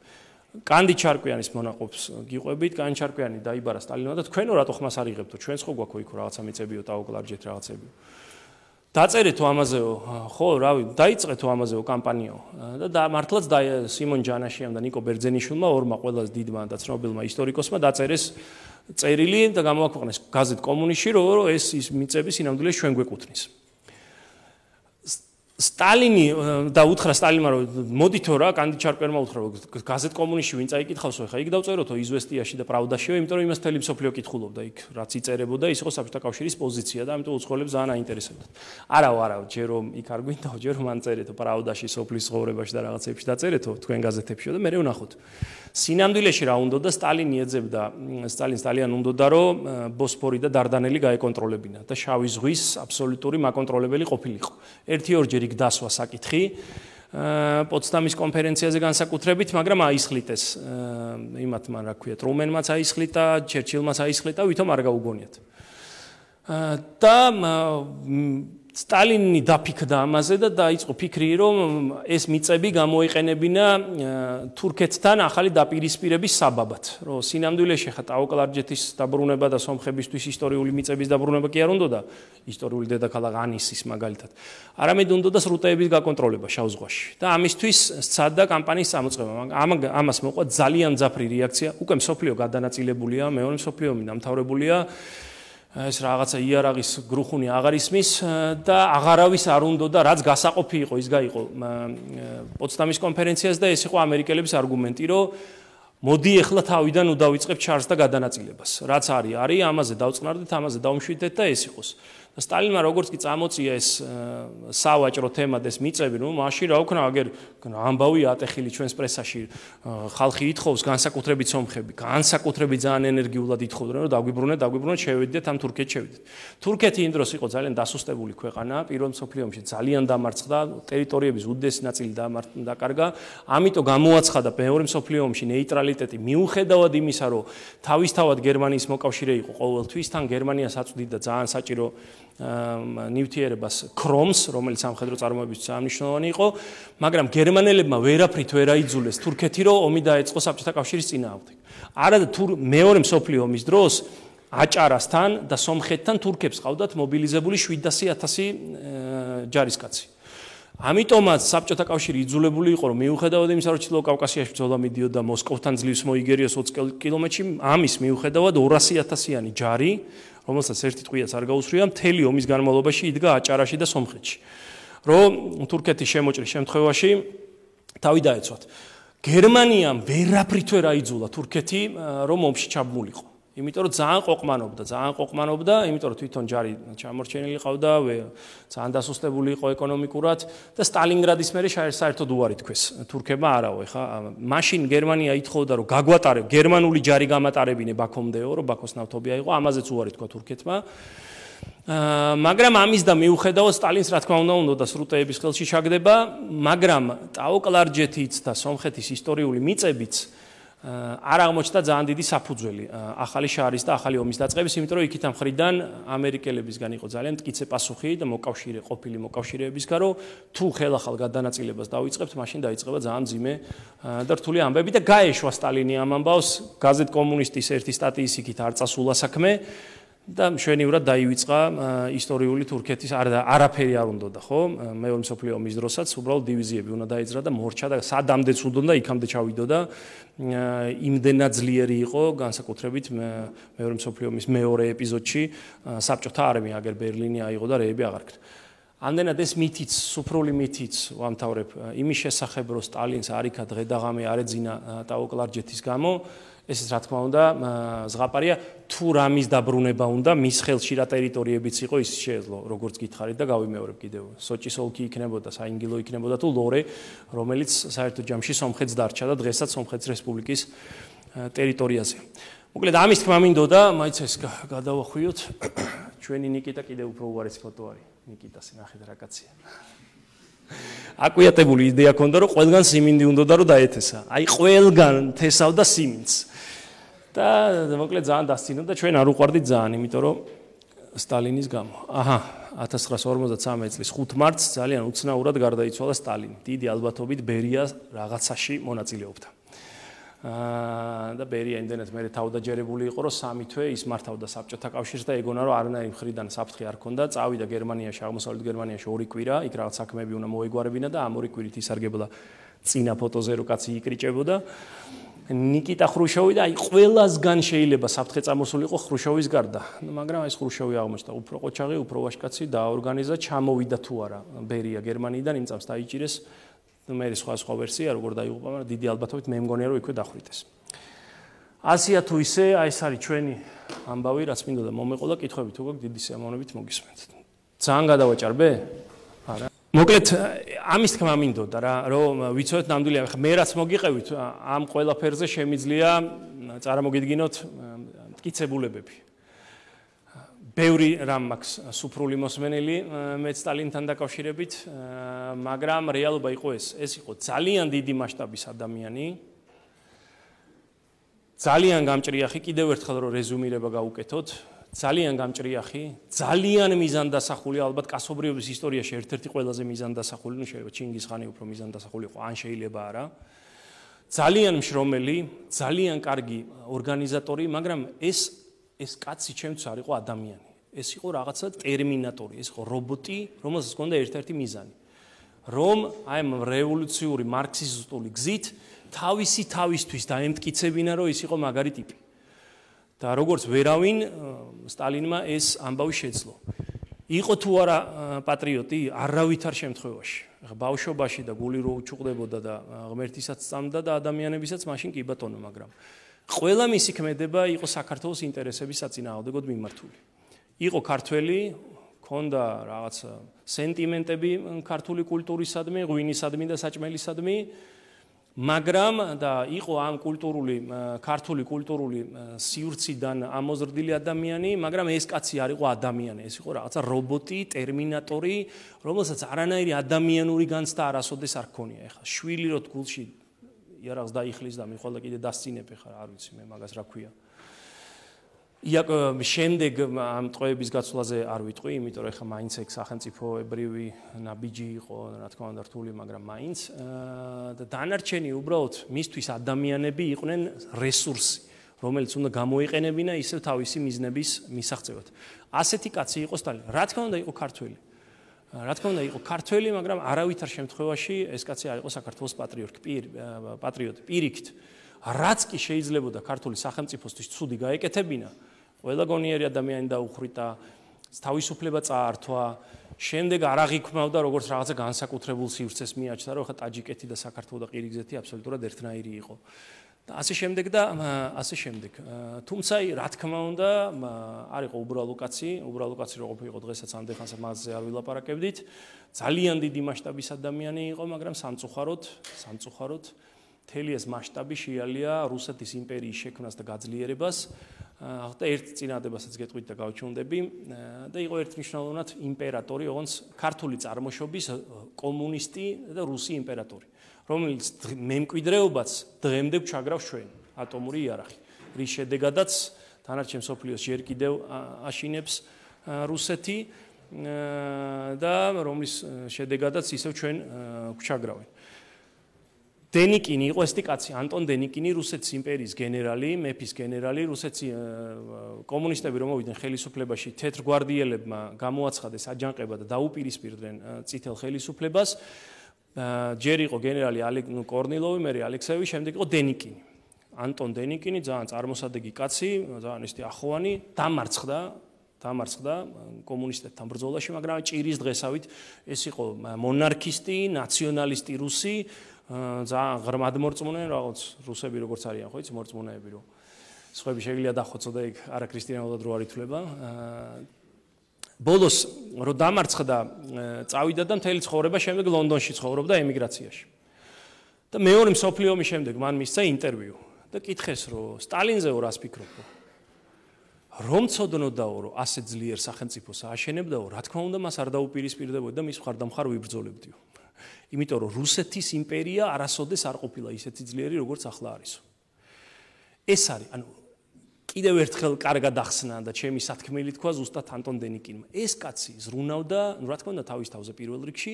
კანდი ჩარკვიანის მონაყოფს გიყვებით, კანდი ჩარკვიანი დაიბარა სტალინმა და თქვენო რატო ხმას არ იღებთო? ჩვენს ხო გვაქვს იქ რაღაცა მიწებიო, ტაო კლარჯეთ რაღაცებიო. დაწერეთო ამაზეო, ხო, რავი, დაიწყეთო ამაზეო კამპანიაო. და მართლაც სიმონ ჯანაშიამ და ნიკო ბერძენიშვილმა, ორმა ყველაზე დიდმა და ცნობილმა ისტორიკოსმა დაწერეს წერილი და გამოაქვეყნეს გაზეთ კომუნისტში, რომ ეს ის მიწები სინამდვილეში ჩვენ გვეკუთვნის. სტალინი და უთხრა სტალინმა რომ მოდითო რა კანდი ჩარკვიანმა უთხრა რომ გაზეთ კომუნისტში ვინ წაიკითხავსო ხა იქ დავწეროთო იზვესტიაში და პრავდაშიო, იმიტომ რომ იმას თელი მსოფლიო კითხულობდა იქ რაც იწერებოდა ის იყო საბჭოთა კავშირის პოზიცია და ამიტომ უცხოელებს ძალიან აინტერესებდათ. არაო, არაო, ჯერ რომ იქ არ გვინდაო, ჯერ რომ ან წერეთო პრავდაში, სოფლის ცხოვრებაში და რაღაცებში დაწერეთო თქვენ გაზეთებშიო და მე ვნახოთ. სინამდვილეში რა უნდა და სტალინი ეძებდა, სტალინს ძალიან უნდა რომ ბოსფორი და დარდანელი გაეკონტროლებინა და შავი ზღვის აბსოლუტური მაკონტროლებელი ყოფილიყო. ერთი ორჯერ იქ დასვა საკითხი პოტსდამის კონფერენციაზე განსაკუთრებით, მაგრამ აისხლიტეს იმათმა, რა ქვია, ტრუმენმაც აისხლითა, ჩერჩილმაც აისხლითა, ვითომ არ გაუგონიათ. და სტალინი დაფიქრდა ამაზე და დაიწყო ფიქრი, რომ ეს მიწები გამოიყენებინა თურქეთთან ახალი დაპირისპირების საბაბად. რომ სინამდვილეში ხა ტაო კლარჯეთის დაბრუნება და სომხებისთვის ისტორიული მიწების დაბრუნება კი არ უნდოდა, ისტორიული დედაქალაქ ანისის მაგალითად. არამედ უნდოდა სრუტეების გაკონტროლება შავ ზღვაში. და ამისთვის სცადა კამპანიის წამოწყება. ამას მოყვა ძალიან მძაფრი რეაქცია. უკვე მსოფლიო გადანაწილებულია, მეორე მსოფლიო ომი დამთავრებულია. ეს რაღაცა იარაღის გრუხუნი აღარ ისმის და აღარავის არ უნდა და რაც გასაყოფი იყო ის გაიყო პოტსდამის კონფერენციას და ეს იყო ამერიკელების არგუმენტი, რომ მოდი ეხლა თავიდან უდავიწყებ ჩარს და გადანაწილებას. რაც არის, არის, ამაზე დავწყნარდეთ, ამაზე დავმშვიდეთ და ეს იყოს. და სტალინმა როგორც კი წამოწია ეს სავაჭრო თემა და ეს მიწები, ნუ მაშინ რა ვქნა, აგერ ამბავი ატეხილი ჩვენს პრესაში, ხალხი ითხოვს განსაკუთრებით სომხები, განსაკუთრებით ძალიან ენერგიულად ითხოვდნენ, რომ დაგვიბრუნეთ, დაგვიბრუნეთ, შევიდეთ ამ თურქეთში შევიდეთ. თურქეთი იმ დროს იყო ძალიან დასუსტებული ქვეყანა, პირველ მსოფლიო ომში ძალიან დამარცხდა, ტერიტორიების უდიდესი ნაწილი დაკარგა, ამიტომ გამოაცხადა მეორე მსოფლიო ომში ნეიტრალიტეტი, მიუხედავად იმისა, რომ თავისთავად გერმანიის მოკავშირე იყო ყოველთვის, თან გერმანიას აწვდიდა ძალიან საჭირო ნივთიერებას ქრომს, რომელიც სამხედრო წარმოებისთვის მნიშვნელოვანი იყო, მაგრამ გერმანელებმა ვერაფრით ვერ აიძულეს თურქეთი, რომ ომი დაეწყო საბჭოთა კავშირის წინააღმდეგ. არადა მეორე მსოფლიო ომის დროს აჭარასთან და სომხეთთან თურქებს ყავდათ მობილიზებული შვიდასი ათასი ჯარისკაცი. ამიტომაც საბჭოთა კავშირი იძულებული იყო, რომ მიუხედავად იმისა, რომ ჩრდილო კავკასიაში ბრძოლა მიდიოდა მოსკოვთან ძლივს მოიგერიოს ოცი კილომეტრში, ამის მიუხედავად ორასი ათასიანი ჯარი, რომელსაც ერთი ტყვიაც არ გაუსწრია, მთელი ომის განმავლობაში იდგა აჭარაში და სომხეთში. რომ თურქეთის შემოჭრის შემთხვევაში თავი დაეცვათ. გერმანიამ ვერაფრით ვერ აიძულა თურქეთი, რომ ომში ჩაბმულიყო. იმიტომ რომ ძალიან ყოყმანობდა, ძალიან ყოყმანობდა, იმიტომ რომ თვითონ ჯარი ჩამორჩენილი ყავდა, ძალიან დასუსტებული იყო ეკონომიკურად და სტალინგრადის მერე საერთოდ უარი თქვეს თურქებმა არაო, ხა, მაშინ გერმანია ითხოვდა, რომ გაგვატარებ, გერმანული ჯარი გამატარებინე ბაქომდეო, რომ ბაქოს ნავთობია იყო, ამაზეც უარი თქვა თურქეთმა. მაგრამ ამის და მიუხედავად სტალინს რა თქმა უნდა უნდა სრუტეების ხელში ჩაგდება, მაგრამ ტაო-კლარჯეთიც და სომხეთის ისტორიული მიწებიც არ აღმოჩნდა ძალიან დიდი საფუძველი ახალი შარის და ახალი ომის დაწყების, იმიტომ რომ იქით ამ ხრიდან ამერიკელებისგან იყო ძალიან მტკიცე პასუხი და მოკავშირე ყოფილი მოკავშირეებისგან, რომ თუ ხელახალ გადანაწილებას დავიწყებთ, მაშინ დაიწყება ძალიან მძიმე და რთული ამბები და გაეშვა სტალინი ამ ამბავს, გაზეთ კომუნისტის ერთი სტატიის იქით არ წასულა საქმე და მშვენივრად დაივიწყა ისტორიული თურქეთის არაფერი არ უნდოდა, ხო? მეორე მსოფლიო ომის დროსაც უბრალოდ დივიზიები უნდა დაეძრა და მორჩა და სადამდეც უნდოდა იქამდე ჩავიდოდა. იმდენად ძლიერი იყო განსაკუთრებით მეორე მსოფლიო ომის მეორე ეპიზოდში საბჭოთა არმია, აგერ ბერლინი აიღო და რეები აღარ ქნა. ამდენად ეს მითიც, სუფრული მითიც ვამთავრებ იმის შესახებ, რომ სტალინს არიქა დღე და ღამე არ ეძინა ტაო-კლარჯეთის გამო, ეს რა თქმა უნდა ზღაპარია, თუ რამის დაბრუნება უნდა მის ხელში რა ტერიტორიებიც იყო, ის შეეძლო, როგორც გითხარით და გავიმეორებ კიდევ. სოჭის ოლქი იქნებოდა, საინგილო იქნებოდა თუ ლორე, რომელიც საერთო ჯამში სომხეთს დარჩა და დღესაც სომხეთის რესპუბლიკის ტერიტორიაზე. მოკლედ ამის თქმა მინდოდა, მაინც ეს გადავახვიოთ. ჩვენი ნიკიტა კიდევ უფრო უარესი ფოტო არის. ნიკიტას ნახეთ რა კაცია. აკვიატებული იდეა ქონდა, რომ ყველგან სიმინდი უნდოდა რომ დაეთესა. აი ყველგან თესავდა სიმინდს. და მოკლედ ძალიან დასცინო და ჩვენ არ უყვარდით ძალიან, იმიტომ რომ სტალინის გამო. აჰა, ათას ცხრაას ორმოცდამეცხრე წლის ხუთ მარტს ძალიან უცნაურად გარდაიცვალა სტალინი. დიდი ალბათობით ბერია რაღაცაში მონაწილეობდა. და ბერია იმდენად მერე თავდაჯერებული იყო, რომ სამი თვე ის მართავდა საბჭოთა კავშირს და ეგონა რომ არანაირი მხრიდან საფრთხე არ ქონდა, წავიდა გერმანიაში, აღმოსავლეთ გერმანიაში ორი კვირა, იქ რაღაც საქმეები უნდა მოეგვარებინა და ამ ორი კვირით ისარგებლა წინა ფოტოზე რო კაცი იკრიჭებოდა. ნიკიტა ხრუშოვი და აი ყველასგან შეიძლება საფრთხე წამოსულიყო ხრუშოვის გარდა, მაგრამ აი ხრუშოვი აღმოჩნდა უფრო ყოჩაღი, უფრო ვაშკაცი დაორგანიზა, ჩამოვიდა თუ არა ბერია გერმანიიდან, იმ წამს დაიჭირეს. მე სხვა სხვა ვერსია როგორ დაიღუპა, მაგრამ დიდი ალბათობით მე მგონია რომ იქვე დახვრიტეს. ასია თუ ისე, აი ეს არის ჩვენი ამბავი, რაც მინდოდა მომეყო და კითხვები თუ გაქვთ დიდი სიამოვნებით მოგისმენთ. ძალიან გადავაჭარბე? არა. მოკლედ ამის თქმა მინდოდა რა, რომ ვიცოდეთ ნამდვილი მე რაც მოგიყევით ამ ყველაფერზე შემიძლია წარმოგიდგინოთ მტკიცებულებები. ბევრი რამ მაქვს სუფრული მოსმენელი მე სტალინთან დაკავშირებით, მაგრამ რეალობა იყო ეს. ეს იყო ძალიან დიდი მასშტაბის ადამიანი. ძალიან გამჭრიახი, კიდევ ერთხელ რომ რეზუმირება გავუკეთოთ, ძალიან გამჭრიახი, ძალიან მიზანდასახული, ალბათ კაცობრიობის ისტორიაში ერთ-ერთი ყველაზე მიზანდასახული, ნუ შეიძლება ჩინგისხანი უფრო მიზანდასახული იყო, ან შეიძლება არა. ძალიან მშრომელი, ძალიან კარგი ორგანიზატორი, მაგრამ ეს ეს კაცი ჩემთვის არ იყო ადამიანი. ეს იყო რაღაცა ტერმინატორი, ეს იყო რობოტი, რომელსაც ჰქონდა ერთ-ერთი მიზანი. რომ აი ამ რევოლუციური მარქსისტული გზით თავისი თავისთვის დაემტკიცებინა, რომ ის იყო მაგარი ტიპი. და როგორც ვერავინ სტალინმა ეს ამბავი შეძლო. იყო თუ არა პატრიოტი, არავითარ შემთხვევაში. ახლა ბავშვობაში და გული რო უჩუყდებოდა და ღმერთისაც სწამდა და ადამიანებისაც მაშინ კი ბატონო, მაგრამ ყველა მისი ქმედება იყო საქართველოს ინტერესების საწინააღმდეგოდ მიმართული. იყო ქართველი, ქონდა რაღაც სენტიმენტები ქართული კულტურისადმი, ღვინისადმი და საჭმელისადმი, მაგრამ და იყო ამ კულტურული ქართული კულტურული სივრციდან ამოზრდილი ადამიანი, მაგრამ ეს კაცი არ იყო ადამიანი, ეს იყო რაღაცა რობოტი, ტერმინატორი, რომელსაც არანაირი ადამიანური განცდა არასოდეს არ ჰქონია. ეხლა შვილი რო გულში იარაღს დაიხლის და მე ხოლმე კიდე დასწინებ, ეხლა არ ვიცი მე მაგას რა ქვია. იაკ შემდეგ ამ ტყვეების გაცვლაზე არ ვიტყვი, იმიტომ რომ ეხლა მაინც ეგ სახელმწიფოებრივი ნაბიჯი იყო, რა თქმა უნდა რთული, მაგრამ მაინც და დანარჩენი უბრალოდ მისთვის ადამიანები იყვნენ რესურსი, რომელიც უნდა გამოიყენებინა ისევ თავისი მიზნების მისაღწევად. ასეთი კაცი იყო სტალინი. რა თქმა უნდა იყო ქართველი. რა თქმა უნდა იყო ქართველი, მაგრამ არავითარ შემთხვევაში ეს კაცი არ იყო საქართველოს პატრიოტი, პატრიოტი. პირიქით, რაც კი შეიძლებოდა ქართული სახელმწიფოსთვის ცუდი გაეკეთებინა, ყველა გონიერი ადამიანი დაუხრიტა, თავისუფლება წაართვა, შემდეგ არ აღიქმავდა როგორც რაღაცა განსაკუთრებულ სივრცეს მიაჩნდა, რომ ხა ტაჯიკეთი და საქართველო და ყირგიზეთი აბსოლუტურად ერთნაირი იყო. და ასე შემდეგ და ასე შემდეგ. თუმცა რა თქმა უნდა, არ იყო უბრალო კაცი, უბრალო კაცი რო ყოფილიყო დღესაც ამდენ ხანს მასზე არ ვილაპარაკებდით. ძალიან დიდი მასშტაბის ადამიანი იყო, მაგრამ სამწუხაროდ, სამწუხაროდ მთელი ეს მასშტაბი შეალია რუსეთის იმპერიის შექმნას და გაძლიერებას. და ერთ წინააღმდეგობასაც გეტყვით და გავჩვენდები და იყო ერთნიშნულოვნად იმპერატორი, ოღონდ ქართული წარმოშობის კომუნისტი და რუსი იმპერატორი, რომელიც მემკვიდრეობაც დღემდე ჩაგრავს ჩვენ ატომური იარაღი, რის შედეგადაც დანარჩენ მსოფლიოს ჯერ კიდევ აშინებს რუსეთი და რომლის შედეგადაც ისევ ჩვენ გვჩაგრავენ. დენიკინი იყო ესეთი კაცი, ანტონ დენიკინი, რუსეთის იმპერიის გენერალი, მეფის გენერალი, რუსეთის კომუნისტები რომ მოვიდნენ ხელისუფლებაში, თეთრგვარდიელებმა გამოაცხადეს აჯანყება და დაუპირისპირდნენ წითელ ხელისუფლებას. ჯერ იყო გენერალი კორნილოვი, მერე ალექსეევი, შემდეგ იყო დენიკინი. ანტონ დენიკინი ძალიან წარმოსადეგი კაცი, ძალიან ესეთი ახოვანი, დამარცხდა დამარცხდა კომუნისტებთან ბრძოლაში, მაგრამ ჭირის დღესავით ეს იყო მონარქისტი, ნაციონალისტი რუსი, ძალიან ღრმად მორწმუნე, რაღაც რუსები როგორც არიან, ხო იცი, მორწმუნეები რომ სხვები შეიძლება დახოცოდა ეგ არაქრისტიანულად რო არ ითვლება. ბოლოს რო დამარცხდა, წავიდა და მთელი ცხოვრება შემდეგ ლონდონში ცხოვრობდა ემიგრაციაში. და მეორე მსოფლიო ომის შემდეგ მან მისცა ინტერვიუ და კითხეს რომ სტალინზეო რას ფიქრობ? რომ ცოდნოდაო რომ ასე ძლიერ სახელმწიფოს ააშენებდაო, რა თქმა უნდა მას არ დაუპირისპირდებოდი და მის მხარდამხარ ვიბრძოლებდიო. იმიტომ რომ რუსეთის იმპერია არასოდეს არ ყოფილა ისეთი ძლიერი როგორც ახლა არისო. ეს არის, ანუ კიდევ ერთხელ კარგად ახსნა და ჩემი სათქმელი თქვა ზუსტად ანტონ დენიკინმა. ეს კაცი ზრუნავდა, ну რა თქმა უნდა თავის თავზე პირველ რიგში,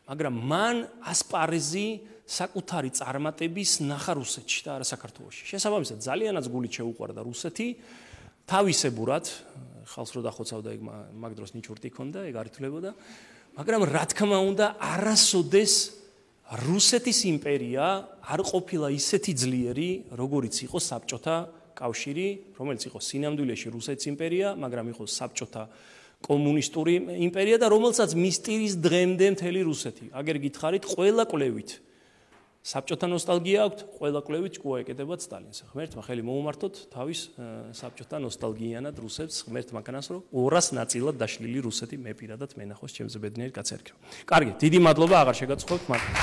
მაგრამ მან ასპარეზი საკუთარი წარმატების ნახა რუსეთში და არა საქართველოში. შესაბამისად ძალიანაც გულით შეუყვარდა რუსეთი, თავისებურად, ხალხს რო დახოცავდა ეგ მაგ დროს ნიჩურტი ქონდა, ეგ არ ითვლებოდა. მაგრამ რა თქმა უნდა, არასოდეს რუსეთის იმპერია არ ყოფილა ისეთი ძლიერი, როგორიც იყო საბჭოთა კავშირი, რომელიც იყო სინამდვილეში რუსეთის იმპერია, მაგრამ იყო საბჭოთა კომუნისტური იმპერია და რომელსაც მისტირის დღემდე მთელი რუსეთი. აგერ გითხარით, ყველა კვლევით საბჭოთა ნოსტალგია აქვს, ყველა კვლევით ჭკუა ეკეთებათ სტალინს. ღმერთმა ხელი მოუმართოთ თავის საბჭოთა ნოსტალგიანად რუსებს, ღმერთ მანქანას რომ ორას ნაწილად დაშლილი რუსეთი მე პირადად მენახოს ჩემზე ბედნიერი კაცი არ იქნება. კარგი, დიდი მადლობა, აღარ შეგაცხობთ, მაგრამ